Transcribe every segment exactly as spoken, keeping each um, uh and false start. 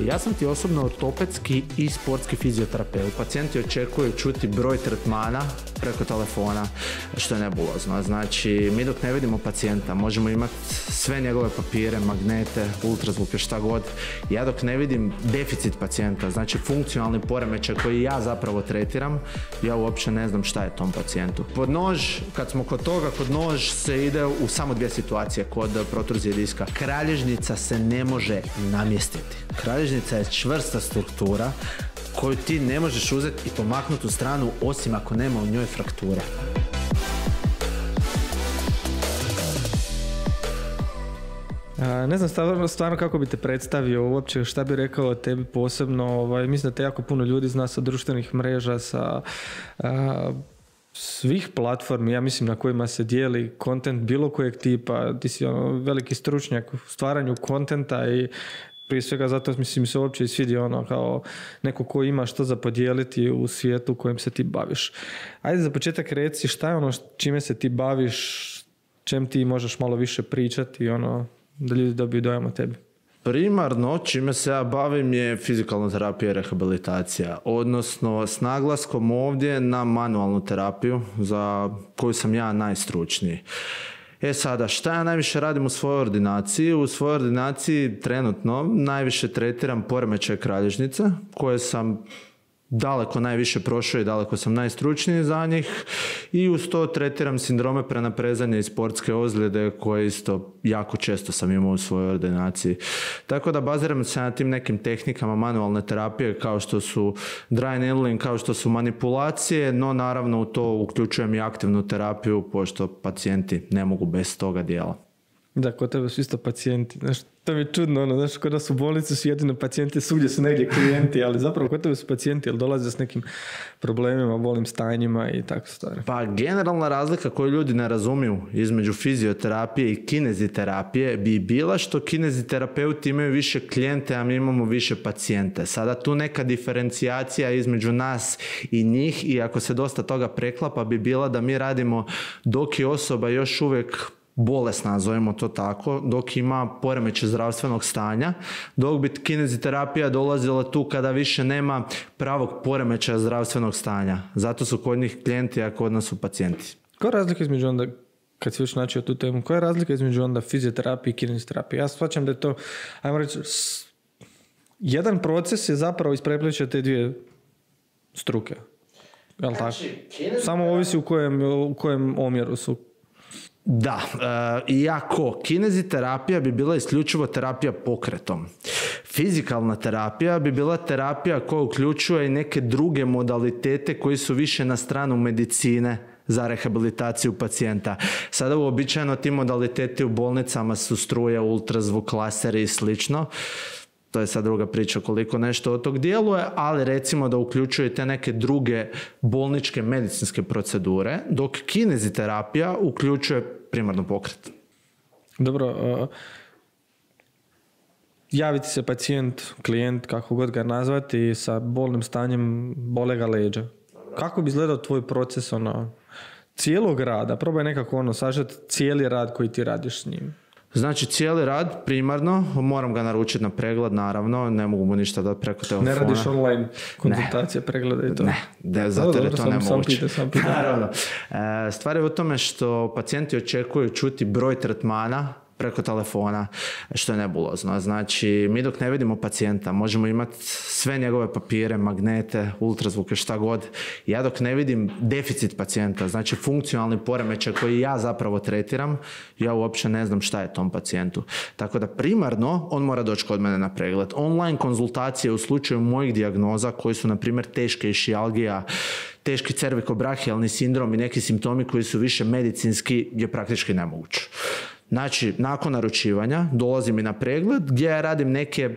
Ja sam ti osobno ortopedski i sportski fizioterapeut. Pacijenti očekuju čuti broj tretmana preko telefona, što je nebulozno. Znači, mi dok ne vidimo pacijenta, možemo imati sve njegove papire, magnete, ultrazvuke, šta god. Ja dok ne vidim deficit pacijenta, znači funkcionalni poremećaj koji ja zapravo tretiram, ja uopće ne znam šta je tom pacijentu. Pod nož, kad smo kod toga, kod nož se ide u samo dvije situacije kod protruzije diska. Kralježnica se ne može namjestiti. Kralježnica je čvrsta struktura koju ti ne možeš uzeti i pomaknuti u stranu osim ako nema u njoj frakture. A, ne znam stvarno, stvarno kako bi te predstavio uopće, šta bi rekao o tebi posebno. Ovaj, mislim da te jako puno ljudi zna sa društvenih mreža, sa a, svih platformi, ja mislim, na kojima se dijeli kontent bilo kojeg tipa. Ti si ono, veliki stručnjak u stvaranju kontenta i prije svega zato mislim se uopće i svidi ono kao neko ko ima što za podijeliti u svijetu u kojem se ti baviš. Ajde za početak reci šta je ono čime se ti baviš, čem ti možeš malo više pričati, ono, da ljudi dobiju dojam o tebi. Primarno čime se ja bavim je fizikalna terapija i rehabilitacija, odnosno s naglaskom ovdje na manualnu terapiju za koju sam ja najstručniji. E sada, šta ja najviše radim u svojoj ordinaciji? U svojoj ordinaciji trenutno najviše tretiram poremećaj kralježnice, koje sam daleko najviše prošao i daleko sam najstručniji za njih, i uz to tretiram sindrome prenaprezanja i sportske ozljede koje isto jako često sam imao u svojoj ordinaciji. Tako da baziram se na tim nekim tehnikama manualne terapije kao što su dry needling, kao što su manipulacije, no naravno u to uključujem i aktivnu terapiju pošto pacijenti ne mogu bez toga dijela. Da, kod tebe su isto pacijenti. Znaš, to mi je čudno, ono, znaš, kod nas u bolnici su jedino pacijenti, svugdje su negdje klijenti, ali zapravo kod tebe su pacijenti, jer dolaze s nekim problemima, bolnim stanjima i tako stvari. Pa generalna razlika koju ljudi ne razumiju između fizioterapije i kineziterapije bi bila što kineziterapeuti imaju više klijente, a mi imamo više pacijente. Sada tu neka diferencijacija između nas i njih, i ako se dosta toga preklapa, bi bila da mi radimo dok je osoba još uvijek bolesna, nazovemo to tako, dok ima poremećaj zdravstvenog stanja, dok bi kineziterapija dolazila tu kada više nema pravog poremećaja zdravstvenog stanja. Zato su kod njih klijenti, a kod nas su pacijenti. Koja je razlika između onda, kad si još načeo tu temu, koja je razlika između onda fizioterapije i kineziterapije? Ja shvaćam da je to, ajmo reći, jedan proces je zapravo isprepliče te dvije struke. Jel' znači, tako? Samo ovisi u kojem, u kojem omjeru su. Da, e, iako kineziterapija bi bila isključivo terapija pokretom. Fizikalna terapija bi bila terapija koja uključuje i neke druge modalitete koji su više na stranu medicine za rehabilitaciju pacijenta. Sada uobičajeno ti modaliteti u bolnicama su struja, ultrazvuk, laseri i slično. To je sad druga priča koliko nešto od tog djeluje, ali recimo da uključuje te neke druge bolničke medicinske procedure, dok kineziterapija uključuje primarno pokret. Dobro, uh, javiti se pacijent, klijent, kako god ga nazvati, sa bolnim stanjem, bole ga leđa. Kako bi izgledao tvoj proces ono, cijelog rada? Probaj nekako ono, sažeti cijeli rad koji ti radiš s njim. Znači cijeli rad primarno, moram ga naručiti na pregled, naravno, ne mogu mu ništa dati preko telefona. Ne radiš online konzultacije, pregleda i to? Ne, de, zato jer je to nemoguće. Naravno. E, stvar je u tome što pacijenti očekuju čuti broj tretmana preko telefona, što je nebulozno. Znači, mi dok ne vidimo pacijenta, možemo imati sve njegove papire, magnete, ultrazvuke, šta god. Ja dok ne vidim deficit pacijenta, znači funkcionalni poremećaj koji ja zapravo tretiram, ja uopće ne znam šta je tom pacijentu. Tako da primarno on mora doći kod mene na pregled. Online konzultacije u slučaju mojih dijagnoza koji su, na primjer, teške išijalgija, teški cervikobrahijalni sindrom i neki simptomi koji su više medicinski, je praktički nemoguće. Znači, nakon naručivanja dolazim i na pregled gdje ja radim neke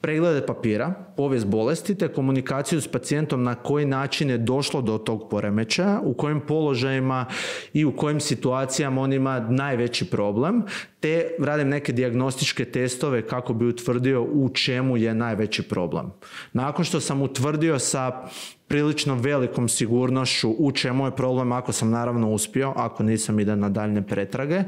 preglede papira, povijest bolesti te komunikaciju s pacijentom na koji način je došlo do tog poremećaja, u kojim položajima i u kojim situacijama on ima najveći problem, te radim neke dijagnostičke testove kako bi utvrdio u čemu je najveći problem. Nakon što sam utvrdio sa prilično velikom sigurnošću u čemu je problem, ako sam naravno uspio, ako nisam idem na daljne pretrage,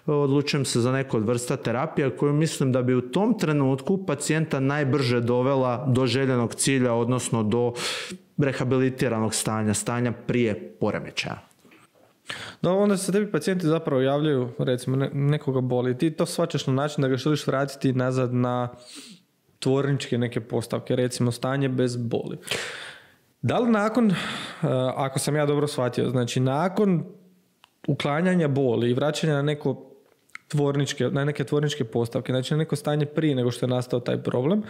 odlučujem se za neku od vrsta terapija koju mislim da bi u tom trenutku pacijenta najbrže dovela do željenog cilja, odnosno do rehabilitiranog stanja, stanja prije poremećaja. No, onda se tebi pacijenti zapravo javljaju, recimo ne, nekoga boli, ti to shvaćaš na način da ga želiš vratiti nazad na tvorničke neke postavke, recimo stanje bez boli. Da li nakon, ako sam ja dobro shvatio, znači nakon uklanjanja boli i vraćanja na neko tvorničke, na neke tvorničke postavke, znači na neko stanje prije nego što je nastao taj problem,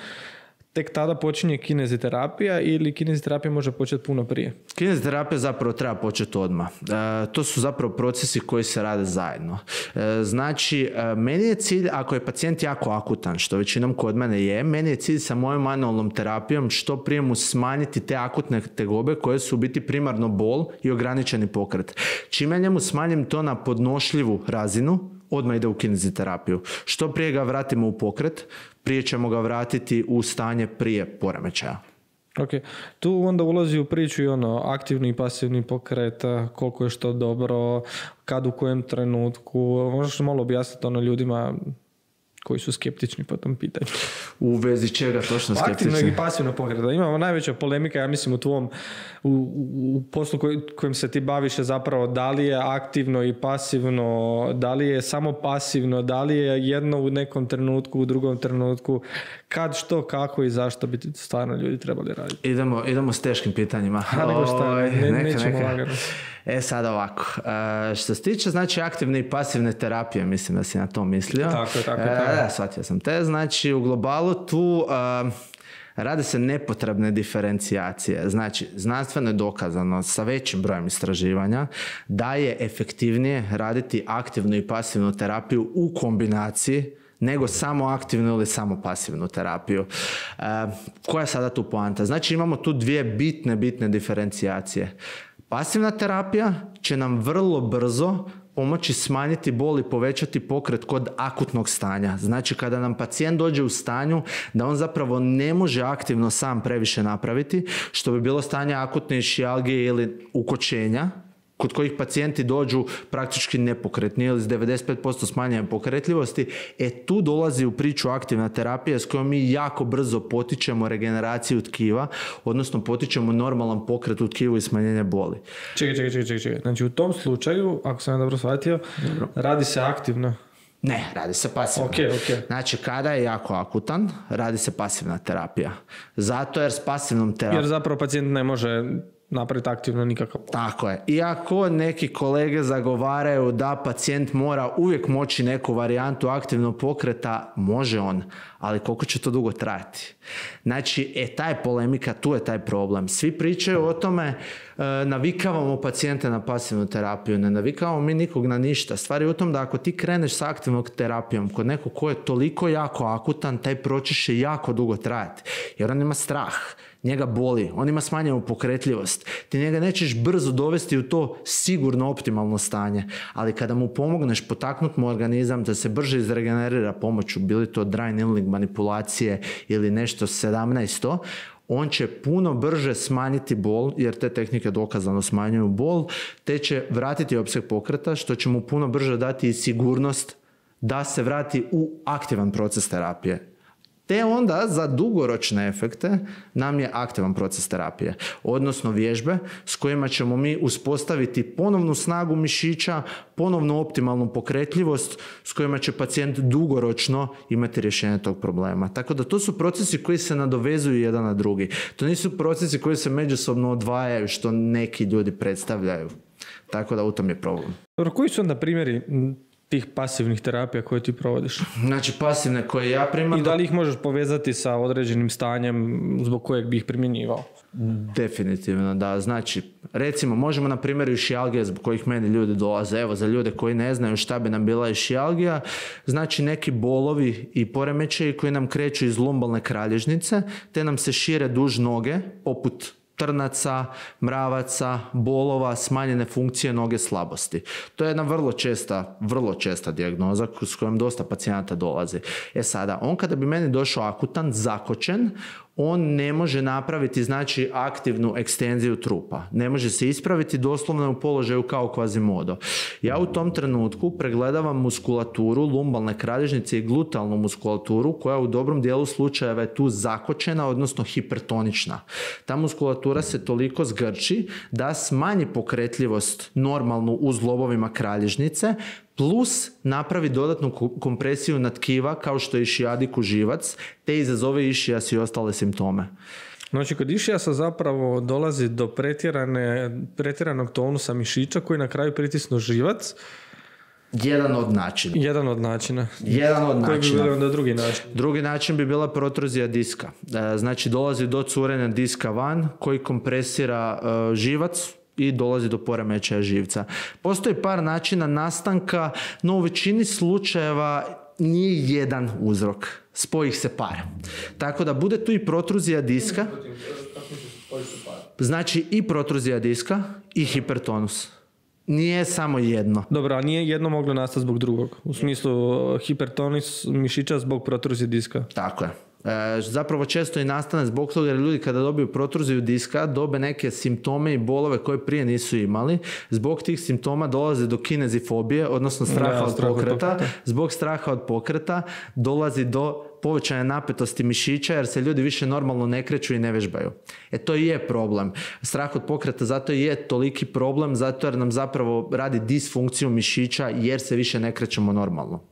tek tada počinje kineziterapija ili kineziterapija može početi puno prije? Kineziterapija zapravo treba početi odmah. E, to su zapravo procesi koji se rade zajedno. E, znači, e, meni je cilj, ako je pacijent jako akutan, što većinom kod mene je, meni je cilj sa mojom manualnom terapijom što prije mu smanjiti te akutne tegobe koje su u biti primarno bol i ograničeni pokret. Čime njemu smanjim to na podnošljivu razinu, odmah ide u kineziterapiju. Što prije ga vratimo u pokret, prije ćemo ga vratiti u stanje prije poremećaja. Ok, tu onda ulazi u priču i ono aktivni i pasivni pokret, koliko je što dobro, kad u kojem trenutku, možeš malo objasniti ono ljudima koji su skeptični po tom pitanju. U vezi čega točno skeptični? Aktivno i pasivno pokreta. Imamo najveća polemika, ja mislim, u tvom u, u poslu koj, kojim se ti baviš je zapravo da li je aktivno i pasivno, da li je samo pasivno, da li je jedno u nekom trenutku, u drugom trenutku, kad, što, kako i zašto bi stvarno ljudi trebali raditi. Idemo, idemo s teškim pitanjima. A nego šta, ne, neka, nećemo neka. lagano. E sad ovako, e, što se tiče znači aktivne i pasivne terapije, mislim da si na to mislio. Tako je, tako je. E, da, shvatio sam te. Znači u globalu tu e, rade se nepotrebne diferencijacije. Znači znanstveno je dokazano sa većim brojem istraživanja da je efektivnije raditi aktivnu i pasivnu terapiju u kombinaciji nego samo aktivnu ili samo pasivnu terapiju. E, koja je sada tu poanta? Znači imamo tu dvije bitne, bitne diferencijacije. Pasivna terapija će nam vrlo brzo pomoći smanjiti bol i povećati pokret kod akutnog stanja. Znači kada nam pacijent dođe u stanju da on zapravo ne može aktivno sam previše napraviti, što bi bilo stanje akutne išijalgije ili ukočenja, kod kojih pacijenti dođu praktički nepokretni ili s devedeset pet posto smanjenja pokretljivosti, e tu dolazi u priču aktivna terapija s kojom mi jako brzo potičemo regeneraciju tkiva, odnosno potičemo normalan pokret u tkivu i smanjenje boli. Čekaj, čekaj, čekaj, čekaj. Znači u tom slučaju, ako sam dobro shvatio, dobro. Radi se aktivno. Ne, radi se pasivno. Okay, okay. Znači, kada je jako akutan, radi se pasivna terapija. Zato jer s pasivnom terapijom... Jer zapravo pacijent ne može napraviti aktivno nikakav. Tako je. Iako neki kolege zagovaraju da pacijent mora uvijek moći neku varijantu aktivnog pokreta, može on, ali koliko će to dugo trajati? Znači, e, ta je polemika, tu je taj problem. Svi pričaju o tome, e, navikavamo pacijente na pasivnu terapiju, ne navikavamo mi nikog na ništa. Stvar je u tom da ako ti kreneš s aktivnom terapijom kod nekog ko je toliko jako akutan, taj proces će jako dugo trajati, jer on ima strah. Njega boli, on ima smanjenu pokretljivost. Ti njega nećeš brzo dovesti u to sigurno optimalno stanje, ali kada mu pomogneš potaknuti mu organizam da se brže izregenerira pomoću, bili to dry needling manipulacije ili nešto sedamnaesto, on će puno brže smanjiti bol, jer te tehnike dokazano smanjuju bol, te će vratiti opseg pokreta, što će mu puno brže dati i sigurnost da se vrati u aktivan proces terapije. Te onda za dugoročne efekte nam je aktivan proces terapije, odnosno vježbe s kojima ćemo mi uspostaviti ponovnu snagu mišića, ponovnu optimalnu pokretljivost s kojima će pacijent dugoročno imati rješenje tog problema. Tako da to su procesi koji se nadovezuju jedan na drugi. To nisu procesi koji se međusobno odvajaju što neki ljudi predstavljaju. Tako da u tom je problem. Dobro, koji su onda primjeri tih pasivnih terapija koje ti provodiš? Znači pasivne koje ja primarno... I da li ih možeš povezati sa određenim stanjem zbog kojeg bi ih primjenjivao? Definitivno, da. Znači, recimo, možemo na primjeru išijalgije zbog kojih meni ljudi dolaze. Evo, za ljude koji ne znaju šta bi nam bila išijalgija, znači neki bolovi i poremećaji koji nam kreću iz lumbalne kralježnice, te nam se šire duž noge, poput trnaca, mravaca, bolova, smanjene funkcije noge, slabosti. To je jedna vrlo česta, vrlo česta dijagnoza s kojom dosta pacijenata dolazi. E sada, on kada bi meni došao akutan, zakočen, on ne može napraviti znači aktivnu ekstenziju trupa. Ne može se ispraviti, doslovno u položaju kao Quasimodo. Ja u tom trenutku pregledavam muskulaturu lumbalne kralježnice i glutealnu muskulaturu koja u dobrom dijelu slučajeva je tu zakočena, odnosno hipertonična. Ta muskulatura se toliko zgrči da smanji pokretljivost normalnu u zglobovima kralježnice, plus napravi dodatnu kompresiju na tkiva kao što je išiadiku živac, te izazove išijas i ostale simptome. Znači, kod išijasa zapravo dolazi do pretjerane, pretjeranog tonusa mišića koji na kraju pritisnu živac. Jedan od načina. Jedan od načina. Jedan od Koji načina. bi bilo onda drugi način? Drugi način bi bila protruzija diska. Znači, dolazi do curenja diska van koji kompresira uh, živac i dolazi do poremećaja živca. Postoji par načina nastanka, no u većini slučajeva nije jedan uzrok. Spoji ih se par. Tako da bude tu i protruzija diska. Znači i protruzija diska i hipertonus. Nije samo jedno. Dobro, a nije jedno moglo nastati zbog drugog? U smislu hipertonus mišića zbog protruzije diska? Tako je. E, zapravo često i nastane zbog toga jer ljudi kada dobiju protruziju diska dobe neke simptome i bolove koje prije nisu imali. Zbog tih simptoma dolazi do kinezifobije, odnosno straha ja, od strah pokreta. Od pokreta. Zbog straha od pokreta dolazi do povećanja napetosti mišića jer se ljudi više normalno ne kreću i ne vežbaju. E to i je problem. Strah od pokreta zato i je toliki problem, zato jer nam zapravo radi disfunkciju mišića jer se više ne krećemo normalno.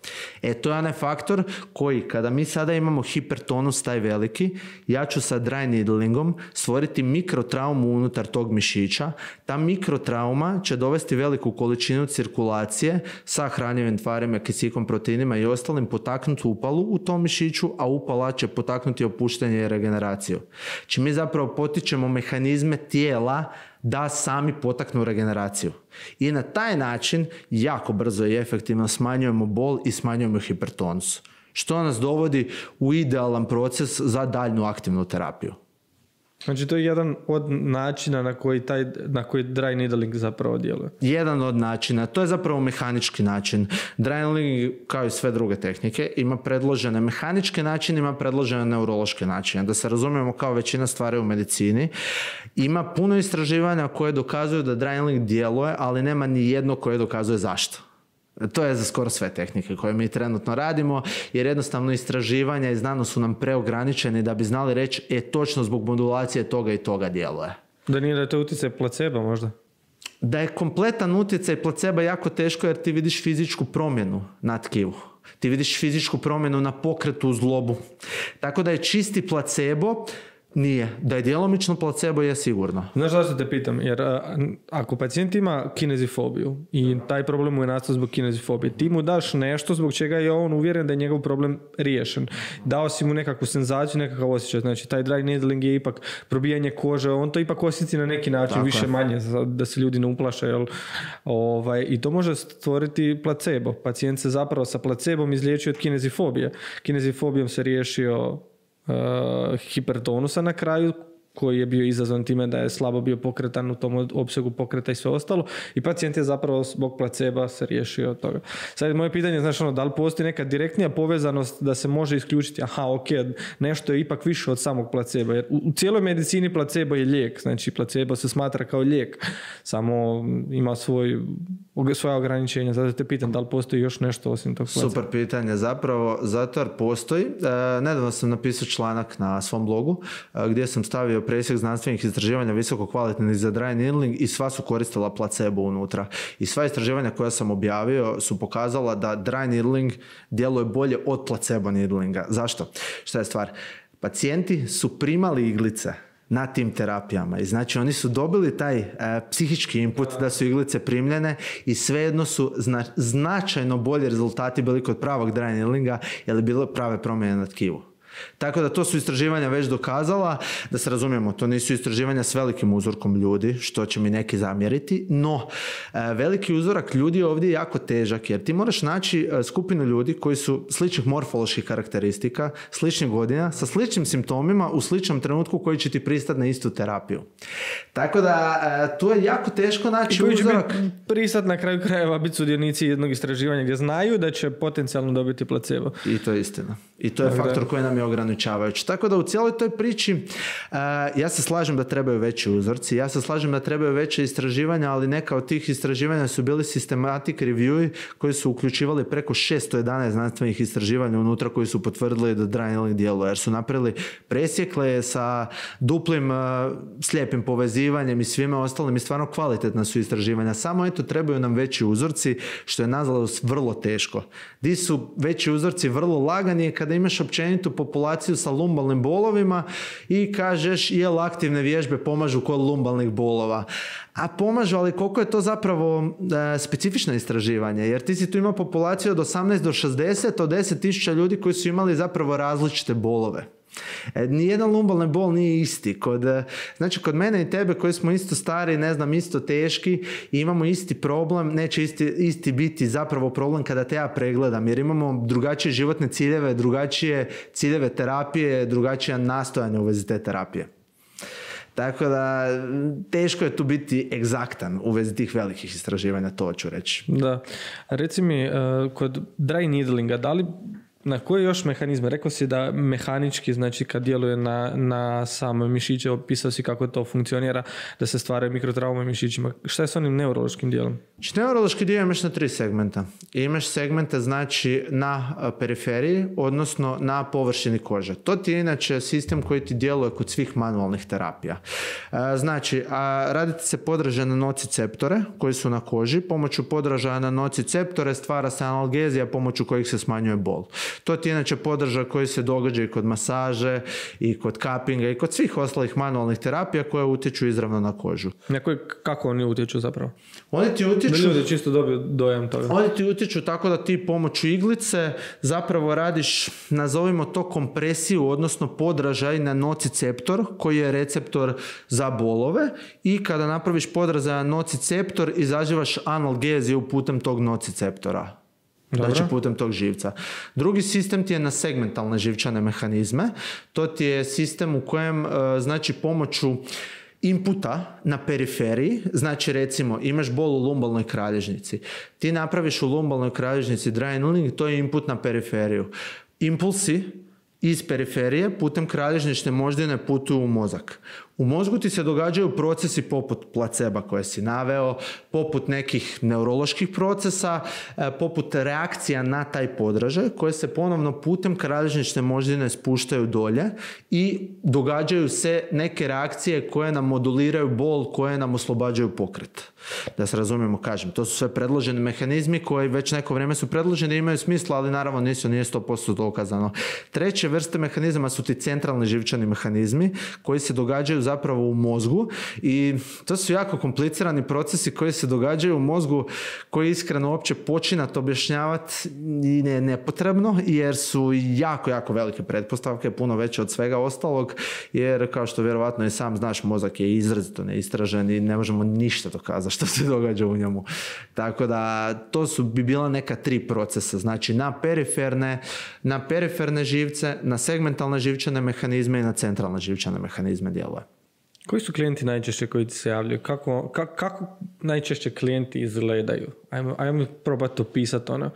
E to je onaj faktor koji kada mi sada imamo hipertonus taj veliki, ja ću sa dry needlingom stvoriti mikrotraumu unutar tog mišića. Ta mikrotrauma će dovesti veliku količinu cirkulacije sa hranjivim tvarima, kisikom, proteinima i ostalim, potaknuti upalu u tom mišiću, a upala će potaknuti opuštanje i regeneraciju. Či mi zapravo potičemo mehanizme tijela da sami potaknu regeneraciju. I na taj način jako brzo i efektivno smanjujemo bol i smanjujemo hipertonus. Što nas dovodi u idealan proces za daljnju aktivnu terapiju. Znači to je jedan od načina na koji, taj, na koji dry needling zapravo djeluje. Jedan od načina. To je zapravo mehanički način. Dry needling, kao i sve druge tehnike, ima predložene mehaničke načine, ima predložene neurološke načine. Da se razumijemo kao većina stvari u medicini. Ima puno istraživanja koje dokazuju da dry needling djeluje, ali nema ni jedno koje dokazuje zašto. To je za skoro sve tehnike koje mi trenutno radimo, jer jednostavno istraživanja i znanost su nam preograničeni da bi znali reći e točno zbog modulacije toga i toga djeluje. Da nije da je to utjecaj placebo možda? Da je kompletan utjecaj placebo jako teško jer ti vidiš fizičku promjenu na tkivu. Ti vidiš fizičku promjenu na pokretu u zglobu. Tako da je čisti placebo. Nije. Da je djelomično placebo je sigurno. Znaš zašto te pitam? Jer a, ako pacijent ima kinezifobiju i taj problem mu je nastao zbog kinezifobije, ti mu daš nešto zbog čega je on uvjeren da je njegov problem riješen. Dao si mu nekakvu senzaciju, nekakav osjećaj. Znači taj dry needling je ipak probijanje kože, on to ipak osjeti na neki način, tako više je. Manje, da se ljudi ne uplaše. Jel? Ovaj, I to može stvoriti placebo. Pacijent se zapravo sa placebom izliječio od kinezifobije. Kinezifobijom se riješio Uh, hipertonusa na kraju koji je bio izazvan time da je slabo bio pokretan u tom opsegu pokreta i sve ostalo i pacijent je zapravo zbog placeba se riješio od toga. Sad moje pitanje, znaš ono, da li postoji neka direktnija povezanost da se može isključiti, aha, ok, nešto je ipak više od samog placeba, jer u, u cijeloj medicini placebo je lijek, znači placebo se smatra kao lijek, samo ima svoj, svoja ograničenja, zato te pitam da li postoji još nešto osim tog placeba. Super pitanje, zapravo, zato jer postoji. E, nedavno sam napisao članak na svom blogu e, gdje sam stavio presjek znanstvenih istraživanja visoko kvalitetnih za dry needling i sva su koristila placebo unutra. I sva istraživanja koja sam objavio su pokazala da dry needling djeluje bolje od placebo needlinga. Zašto? Šta je stvar? Pacijenti su primali iglice na tim terapijama i znači oni su dobili taj e, psihički input da su iglice primljene i svejedno su zna, značajno bolji rezultati bili kod pravog dry needlinga jer je bilo prave promjene na tkivu. Tako da to su istraživanja već dokazala, da se razumijemo, to nisu istraživanja s velikim uzorkom ljudi, što će mi neki zamjeriti, no e, veliki uzorak ljudi je ovdje jako težak, jer ti moraš naći e, skupinu ljudi koji su sličnih morfoloških karakteristika, sličnih godina, sa sličnim simptomima u sličnom trenutku koji će ti pristati na istu terapiju. Tako da e, tu je jako teško naći uzorak. Pristati na kraju krajeva biti sudionici jednog istraživanja gdje znaju da će potencijalno dobiti placebo. I to je istina. I to je Tako faktor da. koji nam je ograničavajuće. Tako da u cijeloj toj priči uh, ja se slažem da trebaju veći uzorci, ja se slažem da trebaju veće istraživanja, ali neka od tih istraživanja su bili systematic review koji su uključivali preko šesto jedanaest znanstvenih istraživanja unutra koji su potvrdili da dry needling djeluje, jer su napravili presjekle sa duplim uh, slijepim povezivanjem i svime ostalim i stvarno kvalitetna su istraživanja. Samo eto trebaju nam veći uzorci, što je nažalost vrlo teško. Di su veći uzorci vrlo lagani kada imaš općenitu populaciju sa lumbalnim bolovima i kažeš jel aktivne vježbe pomažu kod lumbalnih bolova. A pomažu, ali koliko je to zapravo e, specifično istraživanje, jer ti si tu imao populaciju od osamnaest do šezdeset, od deset tisuća ljudi koji su imali zapravo različite bolove. E, nijedan lumbalni bol nije isti. Kod, znači kod mene i tebe koji smo isto stari, ne znam, isto teški i imamo isti problem, neće isti, isti biti zapravo problem kada te ja pregledam, jer imamo drugačije životne ciljeve, drugačije ciljeve terapije, drugačije nastojanje u vezi te terapije. Tako da teško je tu biti egzaktan u vezi tih velikih istraživanja, to ću reći. Da. Reci mi, kod dry needlinga, da li na koje još mehanizme? Rekao si da mehanički, znači kad djeluje na, na same mišiće, opisao si kako to funkcionira, da se stvaraju mikrotraume mišićima. Šta je s onim neurološkim dijelom? Znači, neurološki dio imaš na tri segmenta. Imaš segmente znači na periferiji, odnosno na površini kože. To ti je inače sistem koji ti djeluje kod svih manualnih terapija. Znači, a radite se podražaja na nociceptore koji su na koži. Pomoću podražaja na nociceptore stvara se analgezija pomoću kojih se smanjuje bol. To ti je inače podržaj koji se događa i kod masaže i kod kapinga i kod svih ostalih manualnih terapija koje utječu izravno na kožu. Neko, kako oni utječu zapravo? Oni ti utječu... Da ljudi čisto dobiju dojam toga. Oni ti utječu tako da ti pomoću iglice zapravo radiš, nazovimo to kompresiju, odnosno podražaj na nociceptor koji je receptor za bolove i kada napraviš podražaj na nociceptor izazivaš analgeziju putem tog nociceptora. Dobro. Znači putem tog živca. Drugi sistem ti je na segmentalne živčane mehanizme. To ti je sistem u kojem znači pomoću inputa na periferiji, znači recimo imaš bol u lumbalnoj kralježnici. Ti napraviš u lumbalnoj kralježnici dry needling, to je input na periferiju. Impulsi iz periferije putem kralježnične moždine putuju u mozak. U mozgu ti se događaju procesi poput placeba koje si naveo, poput nekih neuroloških procesa, poput reakcija na taj podražaj koje se ponovno putem kralježnične moždine spuštaju dolje i događaju se neke reakcije koje nam moduliraju bol, koje nam oslobađaju pokret. Da se razumijemo, kažem, to su sve predloženi mehanizmi koji već neko vrijeme su predloženi i imaju smisla, ali naravno nisu, nije sto posto dokazano. Treće vrste mehanizama su ti centralni živčani mehanizmi koji se događaju zapravo u mozgu i to su jako komplicirani procesi koji se događaju u mozgu koji iskreno uopće počinati objašnjavati i ne nepotrebno jer su jako, jako velike pretpostavke, puno veće od svega ostalog jer kao što vjerovatno i sam znaš, mozak je izrazito neistražen i ne možemo ništa dokazati što se događa u njemu. Tako da to su bi bila neka tri procesa, znači na periferne, na periferne živce, na segmentalne živčane mehanizme i na centralne živčane mehanizme djeluje. Koji su klijenti najčešće koji ti se javljaju? Kako, kako, kako najčešće klijenti izgledaju? Ajmo, ajmo probati opisati ono.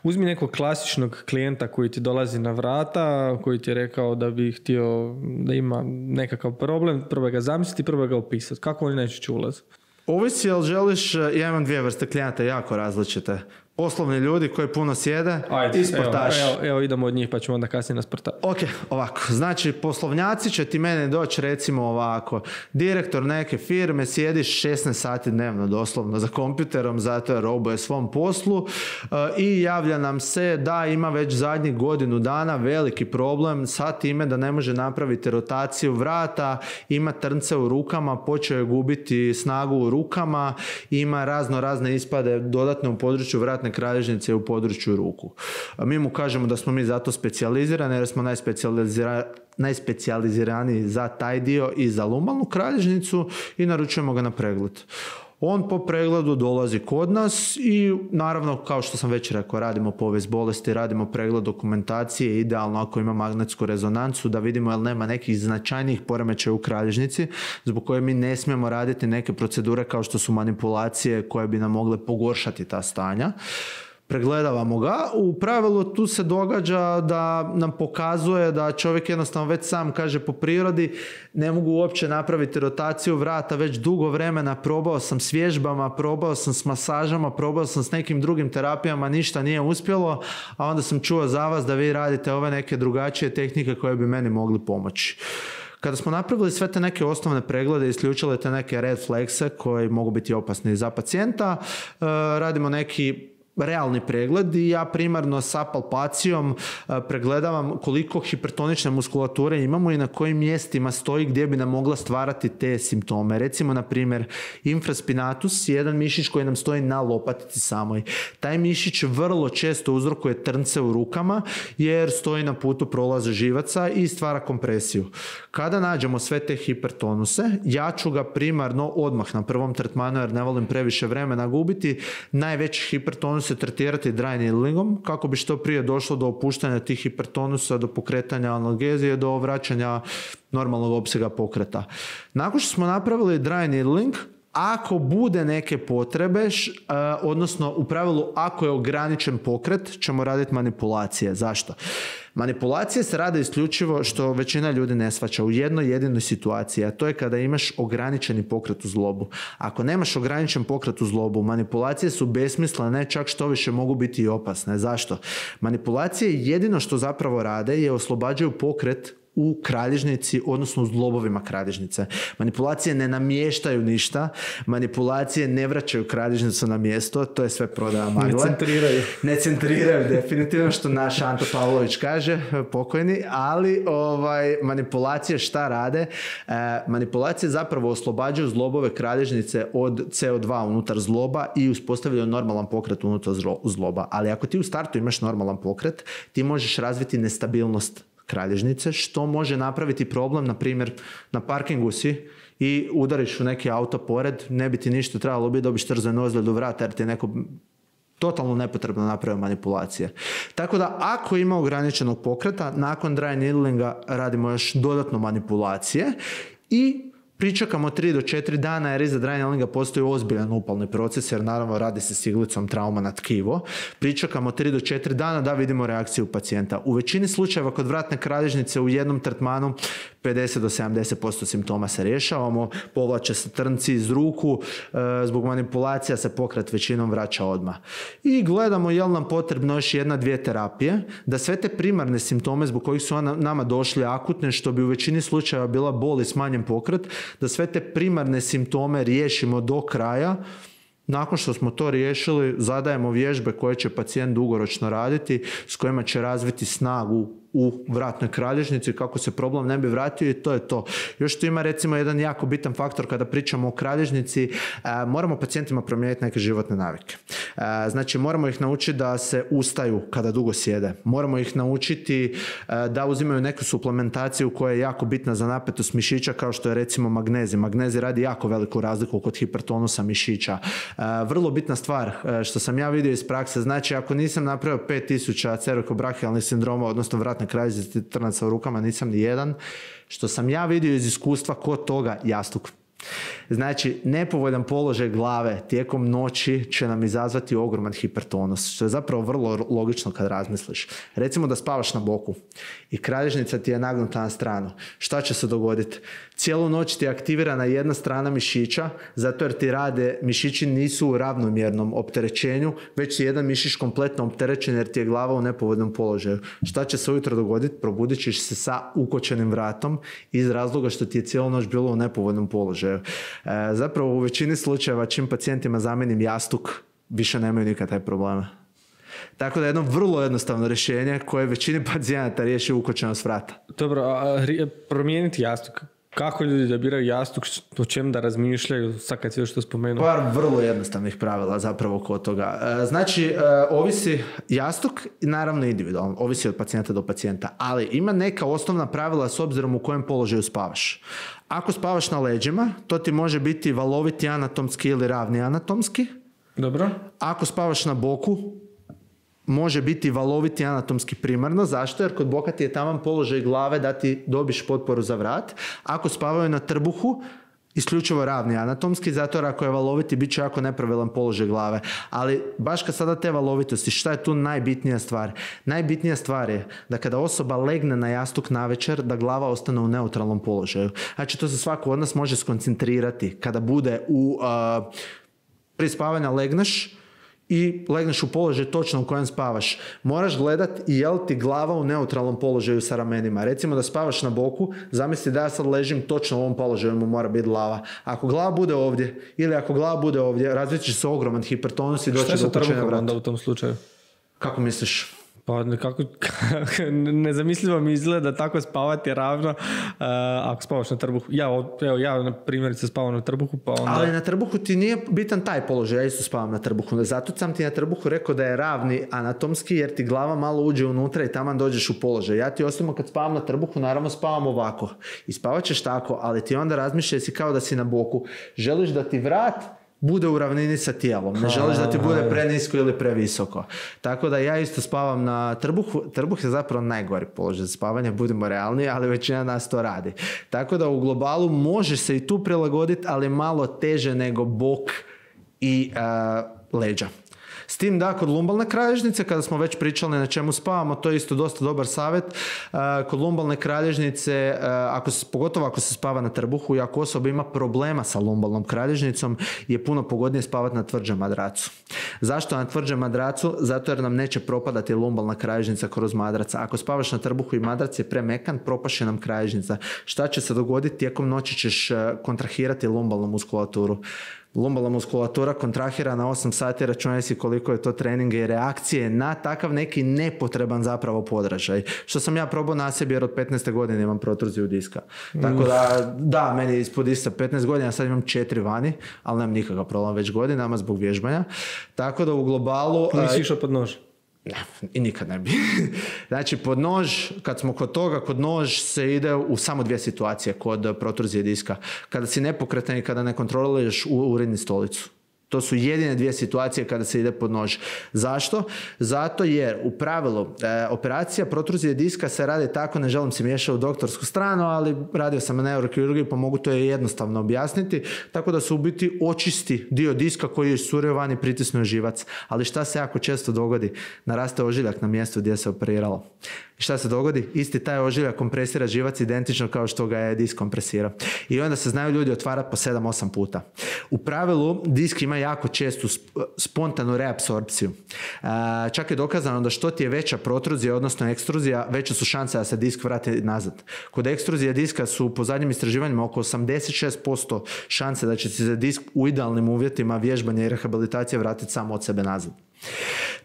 Uzmi nekog klasičnog klijenta koji ti dolazi na vrata, koji ti je rekao da bi htio da ima nekakav problem, probaj ga zamisliti, probaj ga opisati. Kako oni najčešće ulaze? Ovisi, jel želiš, ja imam dvije vrste klijenata jako različite. Poslovni ljudi koji puno sjede. Ajde, i sportaši. Evo, evo, evo idemo od njih pa ćemo onda kasnije na sportaši. Ok, ovako. Znači, poslovnjaci će ti mene doći recimo ovako. Direktor neke firme, sjediš šesnaest sati dnevno doslovno za kompjuterom, zato je robuje svom poslu uh, i javlja nam se da ima već zadnjih godinu dana veliki problem sa time da ne može napraviti rotaciju vrata, ima trnce u rukama, počeo je gubiti snagu u rukama, ima razno razne ispade dodatne u području vratne kralježnice u području ruku. Mi mu kažemo da smo mi zato specijalizirani jer smo najspecijalizira, najspecijaliziraniji za taj dio i za lumbalnu kralježnicu i naručujemo ga na pregled. On po pregledu dolazi kod nas i naravno, kao što sam već rekao, radimo povijest bolesti, radimo pregled dokumentacije, idealno ako ima magnetsku rezonancu da vidimo jel nema nekih značajnijih poremećaja u kralježnici zbog koje mi ne smijemo raditi neke procedure kao što su manipulacije koje bi nam mogle pogoršati ta stanja. pregledavamo ga. U pravilu tu se događa da nam pokazuje da čovjek jednostavno već sam kaže po prirodi ne mogu uopće napraviti rotaciju vrata već dugo vremena, probao sam s vježbama, probao sam s masažama, probao sam s nekim drugim terapijama, ništa nije uspjelo, a onda sam čuo za vas da vi radite ove neke drugačije tehnike koje bi meni mogli pomoći. Kada smo napravili sve te neke osnovne preglede i isključili te neke red flagse koji mogu biti opasni za pacijenta, radimo neki realni pregled i ja primarno sa palpacijom pregledavam koliko hipertonične muskulature imamo i na kojim mjestima stoji gdje bi nam mogla stvarati te simptome. Recimo, na primjer, infraspinatus je jedan mišić koji nam stoji na lopatici samoj. Taj mišić vrlo često uzrokuje trnce u rukama jer stoji na putu prolaza živaca i stvara kompresiju. Kada nađemo sve te hipertonuse, ja ću ga primarno odmah na prvom tretmanu, jer ne volim previše vremena gubiti, najveći hipertonus se tretirati dry needlingom kako bi što prije došlo do opuštanja tih hipertonusa, do pokretanja analgezije, do vraćanja normalnog opsega pokreta. Nakon što smo napravili dry needling, ako bude neke potrebe, odnosno u pravilu ako je ograničen pokret, ćemo raditi manipulacije. Zašto? Manipulacije se rade isključivo, što većina ljudi ne shvaća, u jednoj jedinoj situaciji, a to je kada imaš ograničeni pokret u zlobu. Ako nemaš ograničen pokret u zlobu, manipulacije su besmislene, čak što više mogu biti i opasne. Zašto? Manipulacije jedino što zapravo rade je oslobađaju pokret u kralježnici, odnosno u zglobovima kralježnice. Manipulacije ne namještaju ništa, manipulacije ne vraćaju kralježnicu na mjesto, to je sve prodaja magle. Ne centriraju. Ne centriraju, definitivno, što naš Anto Pavlović kaže, pokojni, ali ovaj, manipulacije šta rade? E, manipulacije zapravo oslobađaju zglobove kralježnice od C O dva unutar zgloba i uspostavljaju normalan pokret unutar zgloba. Ali ako ti u startu imaš normalan pokret, ti možeš razviti nestabilnost kralježnice, što može napraviti problem, na primjer, na parkingu si i udariš u neki auto pored, ne bi ti ništa trebalo biti, dobiš trzanu ozljedu vrata jer ti je neko totalno nepotrebno napravio manipulacije. Tako da ako ima ograničenog pokreta, nakon dry needlinga radimo još dodatno manipulacije i pričekamo tri do četiri dana jer iza dry needlinga postoji ozbiljan upalni proces jer naravno radi se s iglicom, trauma na tkivo. Pričekamo tri do četiri dana da vidimo reakciju pacijenta. U većini slučajeva kod vratne kralježnice u jednom tretmanu pedeset do sedamdeset posto simptoma se rješavamo, povlače se trnci iz ruku, e, zbog manipulacija se pokret većinom vraća odmah. I gledamo je li nam potrebno još jedna, dvije terapije, da sve te primarne simptome zbog kojih su nama došli akutne, što bi u većini slučajeva bila bol i smanjen pokret, da sve te primarne simptome riješimo do kraja. Nakon što smo to riješili, zadajemo vježbe koje će pacijent dugoročno raditi, s kojima će razviti snagu u vratnoj kralježnici kako se problem ne bi vratio i to je to. Još tu ima recimo jedan jako bitan faktor kada pričamo o kralježnici, e, moramo pacijentima promijeniti neke životne navike. E, znači moramo ih naučiti da se ustaju kada dugo sjede. Moramo ih naučiti e, da uzimaju neku suplementaciju koja je jako bitna za napetost mišića, kao što je recimo magnezij. Magnezij radi jako veliku razliku kod hipertonusa mišića. E, vrlo bitna stvar e, što sam ja vidio iz prakse, znači ako nisam napravio pet tisuća cervicobrachialnih sindroma, odnosno vratne kralježnice trnaca u rukama, nisam ni jedan. Što sam ja vidio iz iskustva kod toga, jastuk. Znači, nepovoljan položaj glave tijekom noći će nam izazvati ogroman hipertonus, što je zapravo vrlo logično kad razmisliš. Recimo da spavaš na boku i kralježnica ti je nagnuta na stranu. Šta će se dogoditi? Cijelu noć ti je aktivirana jedna strana mišića, zato jer ti rade, mišići nisu u ravnomjernom opterećenju, već je jedan mišić kompletno opterećen jer ti je glava u nepovoljnom položaju. Šta će se ujutro dogoditi? Probudit ćeš se sa ukočenim vratom iz razloga što ti je cijelu noć bilo u nepovoljnom položaju. E, zapravo u većini slučajeva čim pacijentima zamenim jastuk, više nemaju nikad taj problema. Tako da je jedno vrlo jednostavno rješenje koje većini pacijenata riješi ukočenost vrata. Dobro, a promijeniti jastuk. Kako ljudi da biraju jastuk, o čem da razmišljaju, sad kad si još to spomenuo? Par vrlo jednostavnih pravila zapravo kod toga. Znači, ovisi jastuk, naravno individualno, ovisi od pacijenta do pacijenta, ali ima neka osnovna pravila s obzirom u kojem položaju spavaš. Ako spavaš na leđima, to ti može biti valoviti anatomski ili ravni anatomski. Dobro. Ako spavaš na boku, može biti valoviti anatomski primarno. Zašto? Jer kod boka ti je taman položaj glave da ti dobiš potporu za vrat. Ako spavaju na trbuhu, isključivo ravni anatomski, zato jer ako je valoviti, bit će jako nepravilan položaj glave. Ali baš kad sada te valovitosti, šta je tu najbitnija stvar? Najbitnija stvar je da kada osoba legne na jastuk navečer, da glava ostane u neutralnom položaju. Znači, to se svako od nas može skoncentrirati kada bude u... Uh, prije spavanja legneš i legneš u položaj točno u kojem spavaš. Moraš gledat i je li ti glava u neutralnom položaju sa ramenima. Recimo da spavaš na boku, zamisli da ja sad ležim točno u ovom položaju, mu mora biti glava. Ako glava bude ovdje ili ako glava bude ovdje, razvit će se ogroman hipertonus i doći do upućenja vrata. Šta je sa trbuhom onda u tom slučaju? Kako misliš? Pa nekako, nezamislivo mi izgleda tako spavati ravno uh, ako spavaš na trbuhu. Ja, evo, ja na primjerice spavam na trbuhu, pa onda... Ali na trbuhu ti nije bitan taj položaj, ja isto spavam na trbuhu. Zato sam ti na trbuhu rekao da je ravni anatomski, jer ti glava malo uđe unutra i taman dođeš u položaj. Ja ti osobno kad spavam na trbuhu, naravno spavam ovako. I spavat ćeš tako, ali ti onda razmišljaj si kao da si na boku. Želiš da ti vrat bude u ravnini sa tijelom. Ne želiš da ti bude prenisko ili previsoko. Tako da ja isto spavam na trbuhu. Trbuh je zapravo najgori položaj za spavanje, budemo realni, ali većina nas to radi. Tako da u globalu može se i tu prilagoditi, ali malo teže nego bok i uh, leđa. S tim da kod lumbalne kralježnice, kada smo već pričali na čemu spavamo, to je isto dosta dobar savjet. Kod lumbalne kralježnice, ako se, pogotovo ako se spava na trbuhu i ako osoba ima problema sa lumbalnom kralježnicom, je puno pogodnije spavati na tvrđem madracu. Zašto na tvrđem madracu? Zato jer nam neće propadati lumbalna kralježnica kroz madraca. Ako spavaš na trbuhu i madrac je premekan, propaše nam kralježnica. Šta će se dogoditi? Tijekom noći ćeš kontrahirati lumbalnu muskulaturu. Lumbalna muskulatura kontrahira na osam sati, računaj si koliko je to treninga i reakcije na takav neki nepotreban zapravo podražaj. Što sam ja probao na sebi jer od petnaeste godine imam protruziju diska. Tako da, da, meni je ispod ista petnaest godina, sad imam četiri vani, ali nemam nikakav problem već godinama zbog vježbanja. Tako da u globalu... Nisi išao pod nož? Ne, i nikad ne bi. Znači, pod nož, kad smo kod toga, kod nož se ide u samo dvije situacije kod protruzije diska. Kada si nepokretan i kada ne kontroliraš uredni stolicu. To su jedine dvije situacije kada se ide pod nož. Zašto? Zato jer u pravilu e, operacija protruzije diska se radi tako, ne želim se miješati u doktorsku stranu, ali radio sam na neurokirurgiji pa mogu to jednostavno objasniti, tako da se u biti očisti dio diska koji je iscurio van i pritisnuo živac. Ali šta se jako često dogodi? Naraste ožiljak na mjestu gdje se operiralo. I šta se dogodi? Isti taj ožiljak kompresira živac identično kao što ga je disk kompresirao. I onda se znaju ljudi otvarati po sedam osam puta. U pravilu disk ima jako čestu spontanu reapsorpciju. Čak je dokazano da što ti je veća protruzija, odnosno ekstruzija, veće su šanse da se disk vrati nazad. Kod ekstruzije diska su po zadnjim istraživanjima oko osamdeset šest posto šanse da će se disk u idealnim uvjetima vježbanja i rehabilitacije vratiti samo od sebe nazad.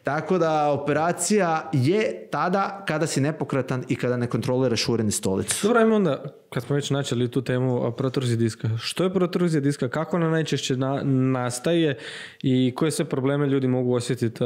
Tako da operacija je tada kada si nepokretan i kada ne kontroliraš uredni stolicu. Dobro, ajmo onda, kad smo već načeli tu temu protruzije diska. Što je protruzija diska? Kako ona najčešće na, nastaje i koje sve probleme ljudi mogu osjetiti?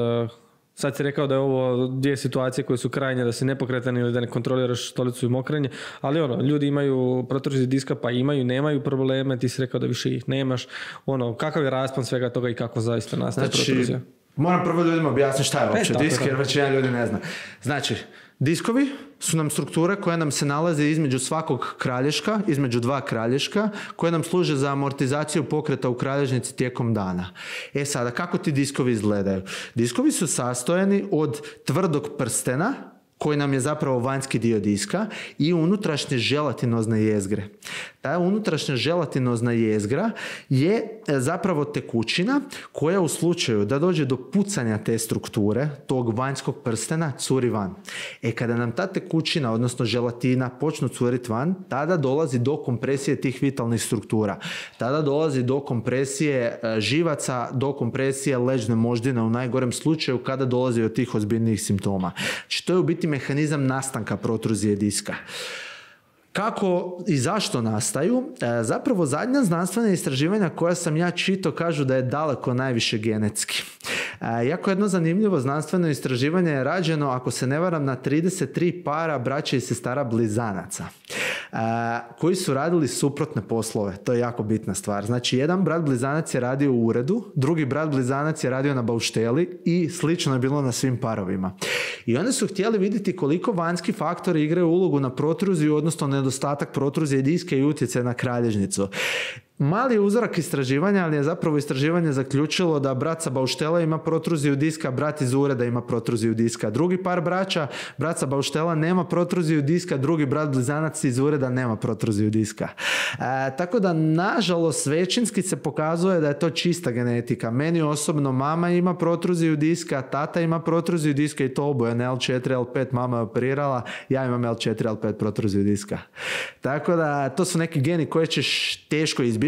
Sad si rekao da je ovo dvije situacije koje su krajnje, da si nepokretan ili da ne kontroliraš stolicu i mokrenje, ali ono, ljudi imaju protruziju diska pa imaju, nemaju probleme, ti si rekao da više ih nemaš. Ono, kakav je raspon svega toga i kako zaista nastaje znači, protruzija? Moram prvo ljudima objasniti šta je uopće e, disk, jer većina ljudi ne zna. Znači, diskovi su nam strukture koje nam se nalaze između svakog kralješka, između dva kralješka, koje nam služe za amortizaciju pokreta u kralježnici tijekom dana. E sada, kako ti diskovi izgledaju? Diskovi su sastojani od tvrdog prstena, koji nam je zapravo vanjski dio diska, i unutrašnje želatinozne jezgre. Ta unutrašnja želatinozna jezgra je zapravo tekućina koja u slučaju da dođe do pucanja te strukture, tog vanjskog prstena, curi van. E kada nam ta tekućina, odnosno želatina, počnu curiti van, tada dolazi do kompresije tih vitalnih struktura. Tada dolazi do kompresije živaca, do kompresije leđne moždine u najgorem slučaju kada dolazi od tih ozbiljnijih simptoma. Znači to je u biti mehanizam nastanka protruzije diska. Kako i zašto nastaju? E, zapravo zadnja znanstvena istraživanja koja sam ja čitao kažu da je daleko najviše genetski. E, jako jedno zanimljivo znanstveno istraživanje je rađeno, ako se ne varam, na trideset tri para braće i sestara blizanaca, e, koji su radili suprotne poslove. To je jako bitna stvar. Znači, jedan brat blizanac je radio u uredu, drugi brat blizanac je radio na baušteli i slično je bilo na svim parovima. I oni su htjeli vidjeti koliko vanjski faktori igraju ulogu na protruziju, odnosno nedostatak protruzije diska i utjecaj na kralježnicu. Mali uzorak istraživanja, ali je zapravo istraživanje zaključilo da brat sa bauštela ima protruziju diska, brat iz ureda ima protruziju diska. Drugi par braća, brat sa bauštela nema protruziju diska, drugi brat blizanac iz ureda nema protruziju diska. E, tako da, nažalost, većinski se pokazuje da je to čista genetika. Meni osobno mama ima protruziju diska, tata ima protruziju diska i to oboje, L četiri, L pet, mama je operirala, ja imam L četiri, L pet protruziju diska. Tako da, to su neki geni koje ćeš teško izbiti